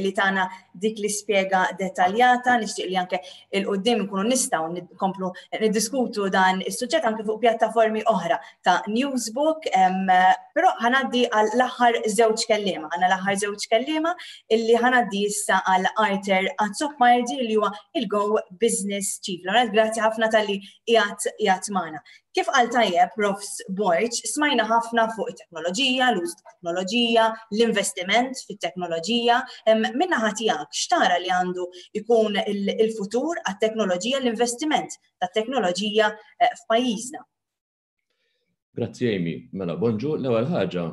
li tana dik li spjega dettaljata, nixtieq li anke 'il quddiem nkunu nistgħu nkomplu niddiskutu dan is-suġġett anke fuq pjattaformi oħra ta' Newsbook, però ħa ngħaddi għal l-aħħar żewġ kelliema, għandna l-aħħar żewġ kelliema illi ħa ngħaddi issa għal Arthur Azzopardi li huwa il-Go Business Chief. Grazzi ħafna talli qiegħed qiegħed magħna. Kif qal tajjeb Profs Borg, smajna ħafna fuq it-teknoloġija, l-użu tat-teknoloġija, l-investiment fit-teknoloġija. Min-naħa tiegħek, x'tara li għandu ikun il-futur għat-teknoloġija, l-investiment tat-teknoloġija eh, f'pajjiżna? Grazzi Amy. Mela, bonġu, l-ewwel ħaġa,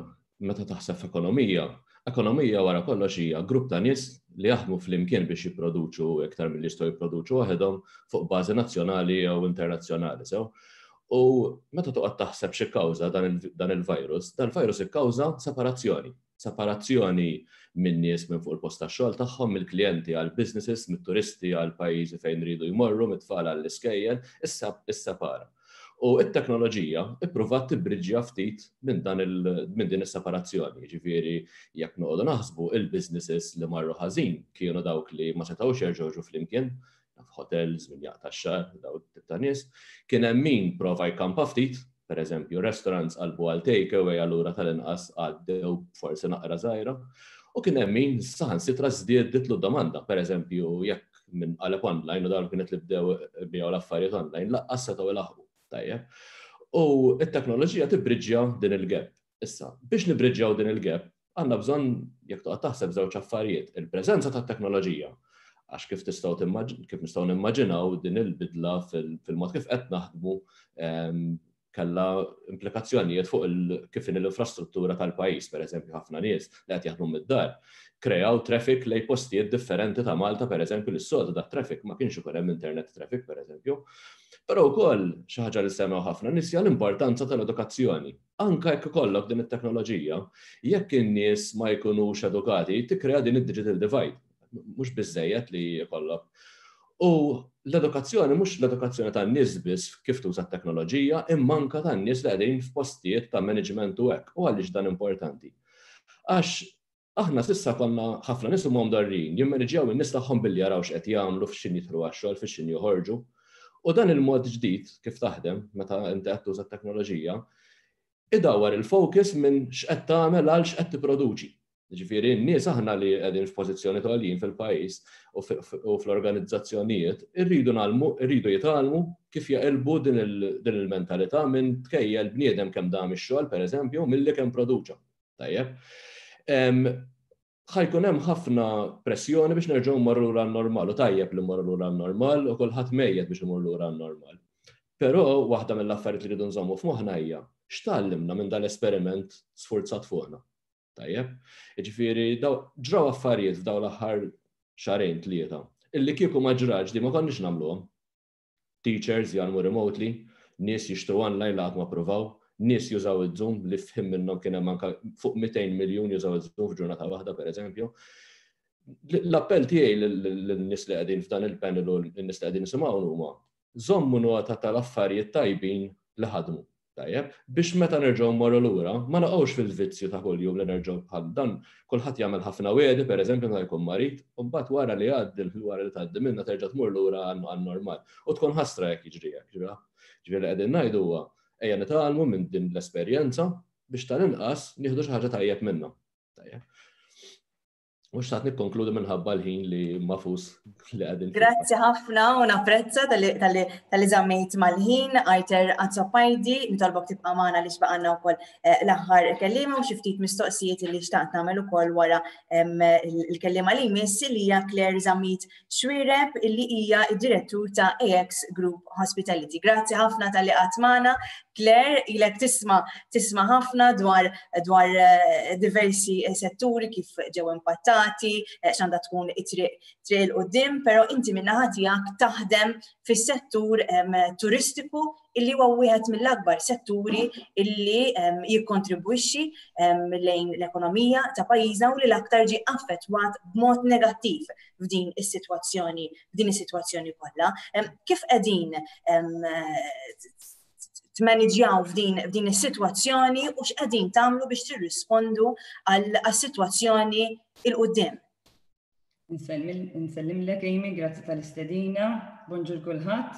meta taħseb f'ekonomija, ekonomija wara kollox hija grupp ta' nies li jaħdmu flimkien biex jipproduċu iktar milli jistgħu jipproduċu waħedhom fuq bażi nazzjonali jew internazzjonali. Sew. U meta toqgħod taħseb xi kkawża dan il-virus, dan il-virus ikkawża separazzjoni. Separazzjoni minn nies minn fuq il-post tax-xogħol tagħhom, mill-klijenti għal businesses, mit-turisti għal pajjiżi fejn ridu jmorru, mit-tfal għall-iskejjel, issa issepara. U it-teknoloġija ippruvat tibbriġġja ftit minn dan minn din is-separazzjoni. Ġifieri jekk noqogħdu naħsbu il-businesses li marru ħażin kienu dawk li ma setgħux jerġgħu flimkien, f'hotels, min jaqta' x-xagħar, daw tip ta' nies. Kien hemm min prova jkampa ftit, per eżempju, restaurants qalbu għal take away allura tal-inqas għaddew forsi naqra żgħira. U kien hemm min saħansitra żdieditlu domanda, per eżempju, jekk min qaleb online u dawn kienet li bdew biegħu l-affarijiet online, lanqas setgħu ilaħqu. Tajjeb. U it-teknoloġija tibbriġġja din il-gap. Issa, biex nibriġġjaw din il-gap, għandna bżonn jekk toqgħod taħseb żewġ affarijiet, il-preżenza tat-teknoloġija. Għax kif tistgħu kif nistgħu nimmaġinaw, din il-bidla fil-mod kif qed naħdmu kellha implikazzjonijiet fuq kif l-infrastruttura tal-pajjiż. Per eżempju, ħafna nies li qed jaħdmu mid-dar kreaw traffic lejn postijiet differenti ta' Malta, per eżempju, li s-soltu dat traffic ma kienx ikun hemm internet traffic, per eżempju. Però wkoll xi ħaġa li semmew ħafna nies hija l-importanza tal-edukazzjoni. Anka jekk ikollok din it-teknoloġija, jekk in-nies ma jkunux edukati, tikkrea din id-digital divide. Mhux biżejjed li jkollok. U l-edukazzjoni mhux l-edukazzjoni tan-nies biss kif tuża t-teknoloġija, imma anka tan-nies li qegħdin f'postijiet ta' management u hekk. U għaliex dan importanti? Għax aħna s'issa konna, ħafna nies huma mdorrijin jimmaniġjaw in-nies tagħhom billi jaraw x'qed jagħmlu, f'x'ħin jidħlu għax-xogħol, f'x'ħin joħorġu. U dan il-mod ġdid kif taħdem meta inti qed tuża t-teknoloġija, idawar il-focus minn x'qed tagħmel għal x'qed tipproduċi. Ġifieri n-nies aħna li qegħdin f'pożizzjoni għoljin fil-pajjiż u fl-organizzazzjonijiet irridu nagħmlu, irridu jitgħallmu kif jaqilbu din il-mentalità minn tkejjel bniedem kemm dam ix-xogħol, pereżempju, milli kemm produċa. Tajjeb. Ħa jkun hemm ħafna pressjoni biex nerġgħu mmorru lura normal u tajjeb li mmorru lura normal u kulħadd mejjet biex imur lura normal. Però waħda mill-affarijiet li rridu nżommu f'moħħna hija x'tgħallimna minn dal-esperiment sfurzat fuqna. Tajjeb. Ġifieri ġraw affarijiet f'daw l-aħħar xahrejn, tlieta, illi kieku ma ġrax di ma konniex nagħmluhom. Teachers jgħallmu remotely, nies jixtru online li ma provaw, nies jużaw il-Zoom, li f'ħin minnhom kien hemm anke fuq mitejn miljun jużaw il-Zoom f'ġurnata waħda, pereżempju. L-appell tiegħi lin-nies li qegħdin f'dan il-panel u lin-nies li qegħdin nisimgħu huma: żommu nota tal-affarijiet tajbin li ħadmu. Tajjeb, biex meta nerġgħu mmorru lura, ma naqgħux fil-vizzju ta' kuljum li nerġgħu bħal dan. Kulħadd jagħmel ħafna wegħdi, pereżempju meta jkun marid, u mbagħad wara li jgħaddi, wara li tgħaddi minna, terġa' tmur lura għan-normal. U tkun ħasra jekk jiġri hekk. Ġifieri li qegħdin ngħidu huwa ejja nitgħallmu minn din l-esperjenza biex tal-inqas nieħdu xi ħaġa tajjeb minnha. Tajjeb. U xtaqt nikkonkludi minħabba l-ħin li mafus li qegħdin. Grazzi ħafna u napprezza talli żammejt mal-ħin. Arthur Azzopardi, nitolbok tibqa' magħna li xbaqanna wkoll eh, l-aħħar kellima u xi ftit mistoqsijiet li xtaqt nagħmel ukoll wara il-kellima li jmiss, li hija Claire Zammit Xuereb, illi hija id-direttur ta' A X Group Hospitality. Grazzi ħafna talli qgħadt magħna. Claire, ilek tisma' tisma' ħafna dwar dwar eh, diversi setturi kif ġew impattati, eh, x'għandha tkun it-triq triq 'il quddiem, però inti min-naħa tiegħek taħdem fis-settur turistiku, illi huwa wieħed mill-akbar setturi illi jikkontribwixxi lejn l-ekonomija ta' pajjiżna u li l-aktar ġi affettwat b'mod negattiv f'din is-sitwazzjoni f'din is-sitwazzjoni kollha. Kif qegħdin tmaniġjaw f'din f'din is-sitwazzjoni u x'qegħdin tagħmlu biex tirrispondu għas-sitwazzjoni 'il quddiem? Nsellimlek, Amy, grazzi tal-istedina, bonġur kulħadd.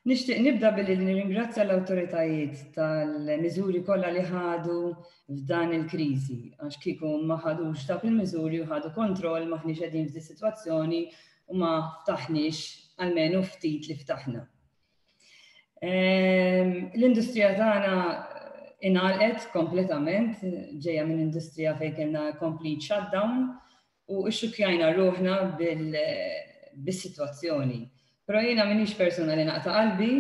Nixtieq nibda billi nirringrazzja l-awtoritajiet tal-miżuri kollha li ħadu f'dan il-kriżi, għax kieku ma ħadux dawk il-miżuri u ħadu kontroll, m'aħniex qegħdin f'di sitwazzjoni u ma ftaħniex, almenu ftit li ftaħna. Ehm, l-industrija tagħna ingħalqet kompletament, ġejja minn industrija fejn kellna complete shutdown u xxukkjajna ruħna bil-sitwazzjoni. Però jiena m'iniex persuna li naqta' qalbi,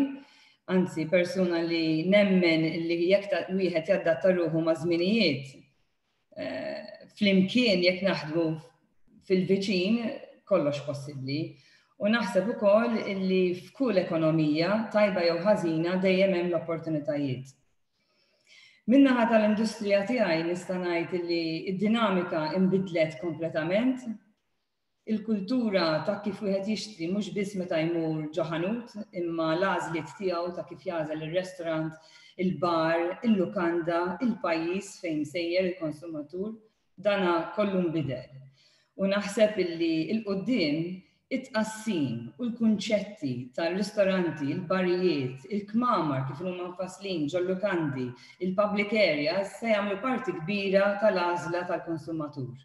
anzi persuna li nemmen li jekk wieħed jaddatta ruħu ma' żminijiet, eh, flimkien jekk naħdmu fil-viċin, kollox possibbli. U naħseb ukoll illi f'kull ekonomija, tajba jew ħażina, dejjem hemm l-opportunitajiet. Min-naħa tal-industrija tiegħi nista' ngħid illi id-dinamika inbidlet kompletament. Il-kultura ta' kif wieħed jixtri, mhux biss meta jmur ġo ħanut, imma l-għażliet tiegħu ta' kif jagħżel ir-restaurant, il-bar, il-lukanda, il-pajjiż fejn sejjer il-konsumatur, dana kollu nbidel. U naħseb illi 'l quddiem it-tqassim u l-kunċetti tal-ristoranti, il-barijiet, il-kmamar kif huma mfasslin ġol-lukandi, il-public areas se jagħmlu parti kbira tal-għażla tal-konsumatur.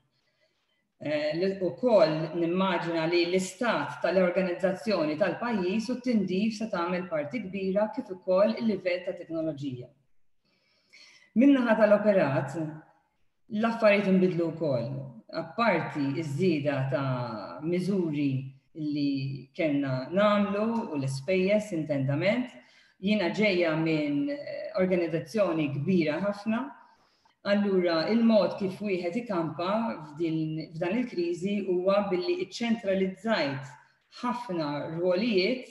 Eh, Ukoll nimmaġina li l-istat tal-organizzazzjoni tal-pajjiż u t-tindif se tagħmel parti kbira, kif ukoll il-livell ta' teknoloġija. Min-naħa tal-operat, l-affarijiet inbidlu wkoll. Apparti iż-żieda ta' miżuri li kellna nagħmlu u l-ispejjeż intendament. Jiena ġejja minn eh, organizzazzjoni kbira ħafna. Allura, il-mod kif wieħed ikampa f'dan il-kriżi huwa billi iċċentralizzajt ħafna rwolijiet,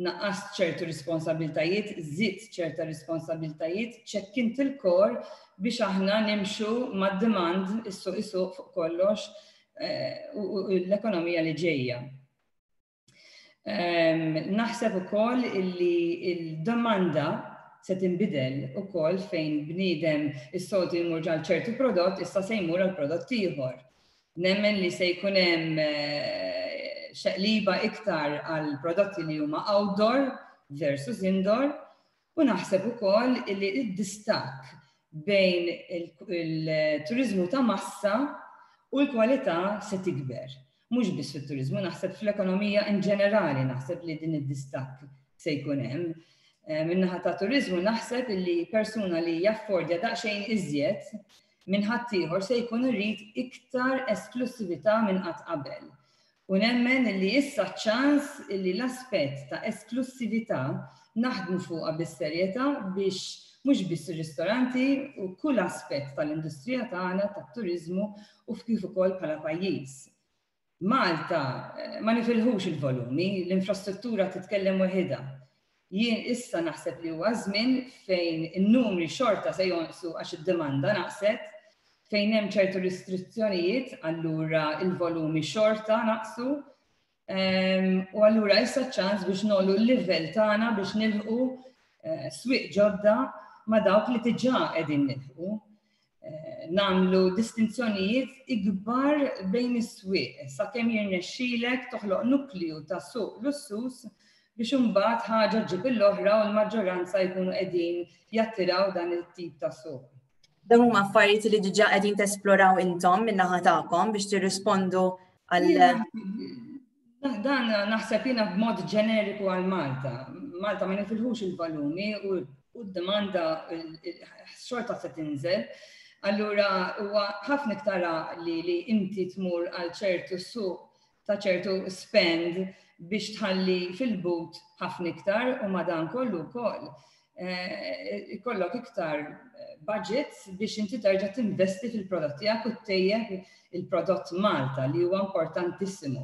naqqast ċertu responsabiltajiet, żidt ċerta responsabiltajiet, ċekkint il-kor biex aħna nimxu mad-demand, is-suq isuq fuq kollox eh, u l-ekonomija li ġejja. Naħseb ukoll illi il-domanda se tinbidel ukoll fejn bniedem is-soltu jmur għal ċertu prodott, issa se jmur għal prodott ieħor. Nemmen li se jkun hemm eh, xeqliba iktar għal prodotti li huma outdoor versus indoor u naħseb ukoll li id-distakk bejn il-turizmu ta' massa u l-kwalità se tikber. Mhux biss fit-turizmu, naħseb fl-ekonomija in ġenerali naħseb li din id-distakk se jkun hemm. Eh, min-naħa ta' turizmu naħseb li persuna li jaffordja daqsxejn iżjed minn ħaddieħor se jkun irid iktar esklusività minn qatt qabel. U nemmen li issa ċans li l-aspett ta' esklusività naħdmu fuqha bis-serjetà biex mhux biss ir-ristoranti u kull aspett tal-industrija tagħna tat-turiżmu u kif ukoll bħala pajjiż. Malta eh, ma nifilħux il-volumi, l-infrastruttura titkellem waħidha. Jien issa naħseb li huwa żmien fejn in-numri xorta se jonqsu għax id-demanda naqset, fejn hemm ċertu restrizzjonijiet, allura il-volumi xorta naqsu. Ehm, u allura issa ċans biex nollu l-livell tagħna biex nilħqu eh, swieq ġodda ma' dawk li diġà qegħdin nilħqu. Eh, nagħmlu distinzjonijiet ikbar bejn is-swieq sakemm jirnexxilek toħloq nukliju ta' suq lussus biex imbagħad ħaġa ġib l-oħra u l-maġġoranza jkunu qegħdin jattiraw dan it-tip ta' suq. Dan huma affarijiet li diġà qegħdin tesploraw intom min-naħa tagħkom biex tirrispondu għal Dan naħseb jiena b'mod ġeneriku għal Malta. Malta ma nifilħux il-volumi u d-domanda xorta se tinżel. Allura huwa ħafna iktar li li inti tmur għal ċertu suq ta' ċertu spend biex tħalli fil-but ħafna iktar u madan kollu wkoll eh, ikollok iktar budgets biex inti terġa' tinvesti fil-prodott tiegħek u ttejjeb il-prodott Malta li huwa importantissimu.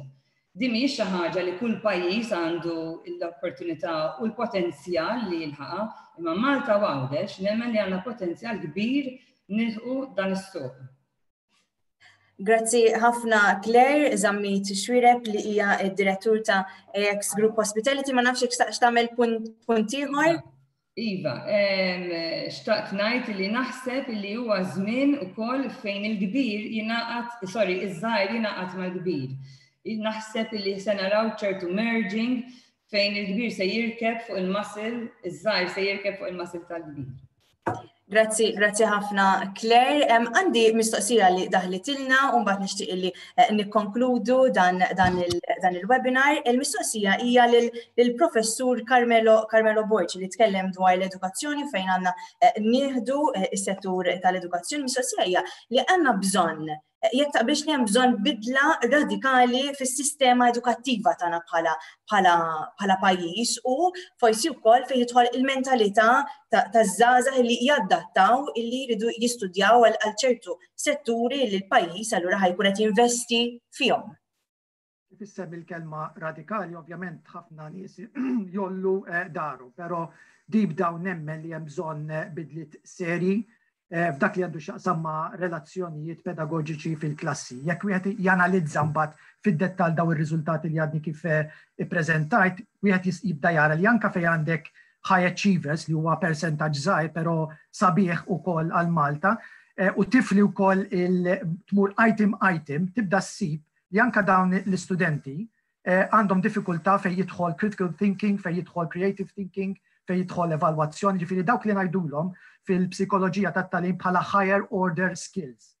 Din mhijiex xi ħaġa li kull pajjiż għandu l-opportunità u l-potenzjal li jilħaqha, imma Malta u Għawdex nemmen li għandna potenzjal kbir nilħqu dan is-suq. Grazzi ħafna Claire Zammit Xuereb li hija d-direttur ta' A X Group Hospitality. Ma nafx jekk tagħmel punt ieħor. Iva, xtaqt ngħid li naħseb li huwa żmien ukoll fejn il-kbir jingħaqad, sorry, iż-żgħir jingħaqad mal-kbir. Naħseb li se naraw ċertu merging fejn il-kbir se jirkeb fuq il-muscle, iż-żgħir se jirkeb fuq il-muscle tal-kbir. Grazzi, grazzi ħafna Claire. Għandi mistoqsija li daħlitilna u mbagħad nixtieq li eh, nikkonkludu dan, dan il-webinar. Il-mistoqsija hija lill-professur Carmelo, Carmelo Borg li tkellem dwar l-edukazzjoni fejn għandna eh, nieħdu eh, is-settur tal-edukazzjoni. Mistoqsija hija li għandna bżonn, jekk taqbilx li hemm bżonn bidla radikali fis-sistema edukattiva tagħna bħala bħala bħala pajjiż u forsi wkoll fejn jidħol il-mentalità taż-żgħażagħ li jaddattaw illi jridu jistudjaw għal ċertu setturi li l-pajjiż allura ħa jkun qed jinvesti fihom. Kif issemmi il-kelma radikali, ovvjament ħafna nies jollu eh, daru, però deep down nemmen li hemm bżonn eh, bidliet seri eh, f'dak li għandu x'jaqsam ma' relazzjonijiet pedagogiċi fil-klassi. Jekk wieħed janalizza mbagħad fid-dettall daw ir-riżultati li għadni kif eh, ippreżentajt, wieħed jibda jara li anka fejn għandek high achievers, li huwa percentaġġ żgħir però sabiħ ukoll għal Malta, eh, u tifli wkoll il-tmur item item, tibda ssib li anka dawn l-istudenti għandhom diffikultà fejn jidħol critical thinking, fejn jidħol creative thinking, fejn jidħol evalwazzjoni, ġifieri dawk li ngħidulhom fil-psikoloġija tat-tagħlim bħala higher order skills.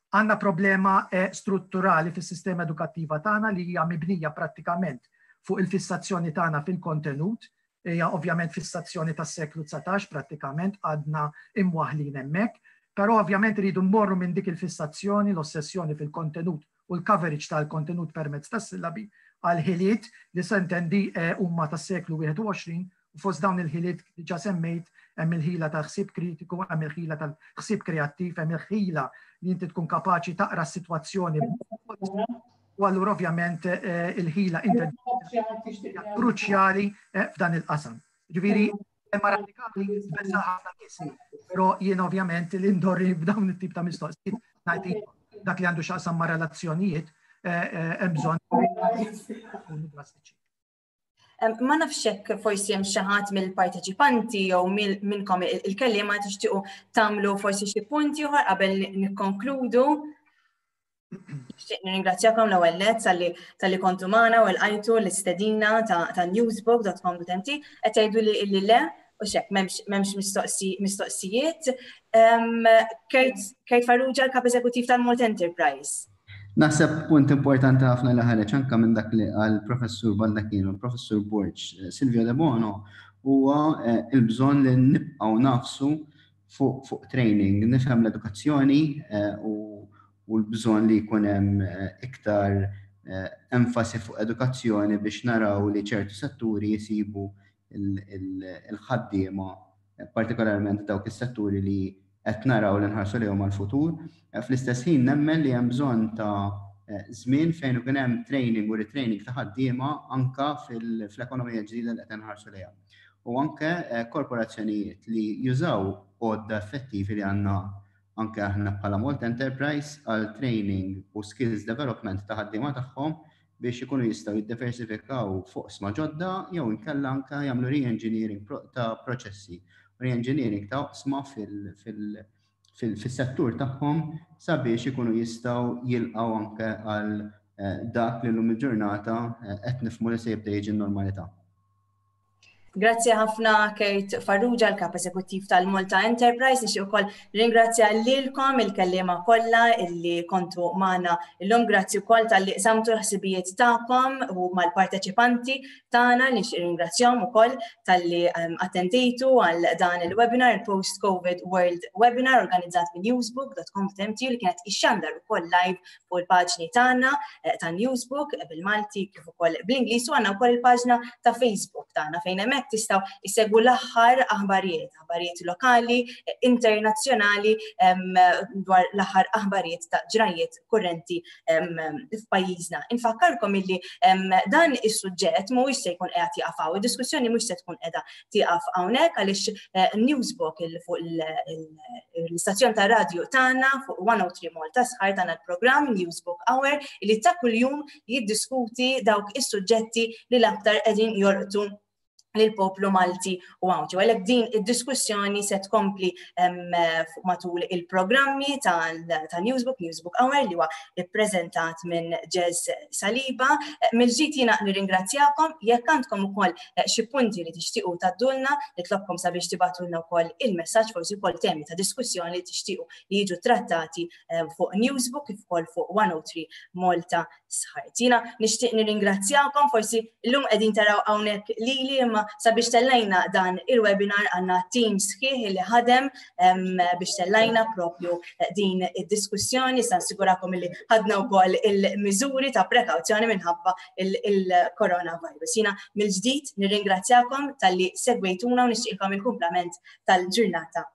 Għandna problema eh, strutturali fis-sistema edukattiva tagħna li hija mibnija prattikament fuq il-fissazzjoni tagħna fil-kontenut, hija ovvjament fissazzjoni tas-seklu dsatax, prattikament għadna imwaħlin hemmhekk, però ovvjament rridu mmorru minn dik il-fissazzjoni, l-ossessjoni fil-kontenut u l-coverage tal-kontenut permezz tas-sillabi għal ħiliet li s'intendi eh, huma tas-seklu wieħed u għoxrin u fost dawn il-ħiliet diġà semmejt hemm il-ħila ta' ħsieb kritiku, hemm il-ħila tal-ħsieb kreattiv, hemm il-ħila li inti tkun kapaċi taqra s-sitwazzjoni u allura ovvjament eh, il-ħila kruċjali eh, f'dan il-qasam. Ġifieri, imma radikali tbeżża' ħafna nies, però jien ovvjament li ndorri b'dawn it-tip ta' mistoqsijiet ngħid dak li għandu x'jaqsam ma' relazzjonijiet eh, hemm bżonn drastiċi. Ma nafx hekk forsi hemm xi ħadd mill-parteċipanti jew minnkom il-kelliema tixtiequ tagħmlu forsi xi punti oħra qabel nikkonkludu. Nixtieq nirringrazzjakom l-ewwel nett talli kontu magħna u lqajtu l-istedina ta' newsbook dot com dot M T. Qed tgħidu li illi le u xek m'hemmx mistoqsijiet. Kurt Farrugia, l-kap eżekuttiv tal-Malta Enterprise. Naħseb punt importanti ħafna li ħareġ anka minn dak li qal professur Baldacchino, professur Borg, eh, Silvio De Bono, huwa eh, il-bżonn li nibqgħu nagħfsu fuq fuq training, nifhem l-edukazzjoni eh, u l-bżonn li jkun hemm iktar enfasi fuq edukazzjoni biex naraw li ċertu setturi jisibu il-ħaddiema, partikolarment dawk is-setturi li qed naraw li nħarsu lejhom għall-futur. Eh, fl-istess ħin nemmen li hemm bżonn ta' eh, żmien fejn ikun hemm training u retraining ta' ħaddiema anka fl-ekonomija ġdida li qed nħarsu lejha. U anke eh, korporazzjonijiet li jużaw għodda effettivi li għandna anke aħna bħala Malta Enterprise għal training u skills development ta' ħaddiema tagħhom biex ikunu jistgħu jiddiversifikaw fuq oqsma ġodda jew inkella anke jagħmlu re-engineering ta' proċessi, re-engineering ta' oqsma fil-settur tagħhom sabiex ikunu jistgħu jilqgħu anke għal eh, dak li llum il-ġurnata eh, qed nifhmu li se jibda jiġi normalità. Grazzi ħafna, Kurt Farrugia, l-kap eżekuttiv tal-Malta Enterprise. Nixtieq ukoll ringrazzja lilkom il-kellima kollha illi kontu magħna illum. Grazzi wkoll talli qsamtu l-ħsibijiet tagħkom u mal-parteċipanti tagħna, nixtieq ringrazzjahom ukoll talli ehm, attendejtu għal dan il-webinar, il-Post-Covid World Webinar organizzat minn newsbook dot com dot M T li kienet ixxandar ukoll live fuq il-paġni tagħna eh, ta' Newsbook bil-Malti kif ukoll bl-Ingliż u għandna wkoll il-paġna ta' Facebook tagħna fejn hemmhekk tistgħu issegwu l-aħħar aħbarijiet, aħbarijiet lokali, internazzjonali, dwar l-aħħar aħbarijiet ta' ġrajiet kurrenti f'pajjiżna. Infakkarkom illi dan is-suġġett mhuwiex se jkun qiegħed jieqaf hawn, id-diskussjoni mhux se tkun qiegħda tieqaf hawnhekk għaliex eh, Newsbook fuq l-istazzjon ta' radju tagħna fuq one oh three Malta Sħar tagħna l-programm Newsbook Hour li ta' kuljum jiddiskuti dawk is-suġġetti li l-aktar qegħdin jolqtu lill-poplu Malti u Għawdxi. Għalhekk din id-diskussjoni se tkompli matul il-programmi ta' Newsbook, Newsbook Hour li huwa ippreżentat minn Jazz Saliba. Mill-ġdid jiena nirringrazzjakom. Jekk għandkom ukoll eh, xi punti li tixtiequ tgħaddulna, nitlobkom sabiex tibagħtulna wkoll il-messaġġ, forsi wkoll temi ta' diskussjoni li tixtiequ li jiġu trattati fuq Newsbook kif ukoll fuq one oh three Malta Sħart. Jiena nixtieq nirringrazzjakom. Forsi llum qegħdin taraw hawnhekk lili, imma sabiex tellajna dan il-webinar għandna team sħiħ li ħadem biex tellajna propju eh, din id-diskussjoni. Sa nassigurakom li ħadna wkoll il-miżuri ta' prekawzjoni minħabba il-coronavirus. Jiena mill-ġdid nirringrazzjakom talli segwejtuna u nixtieqilkom il-kumplament tal-ġurnata.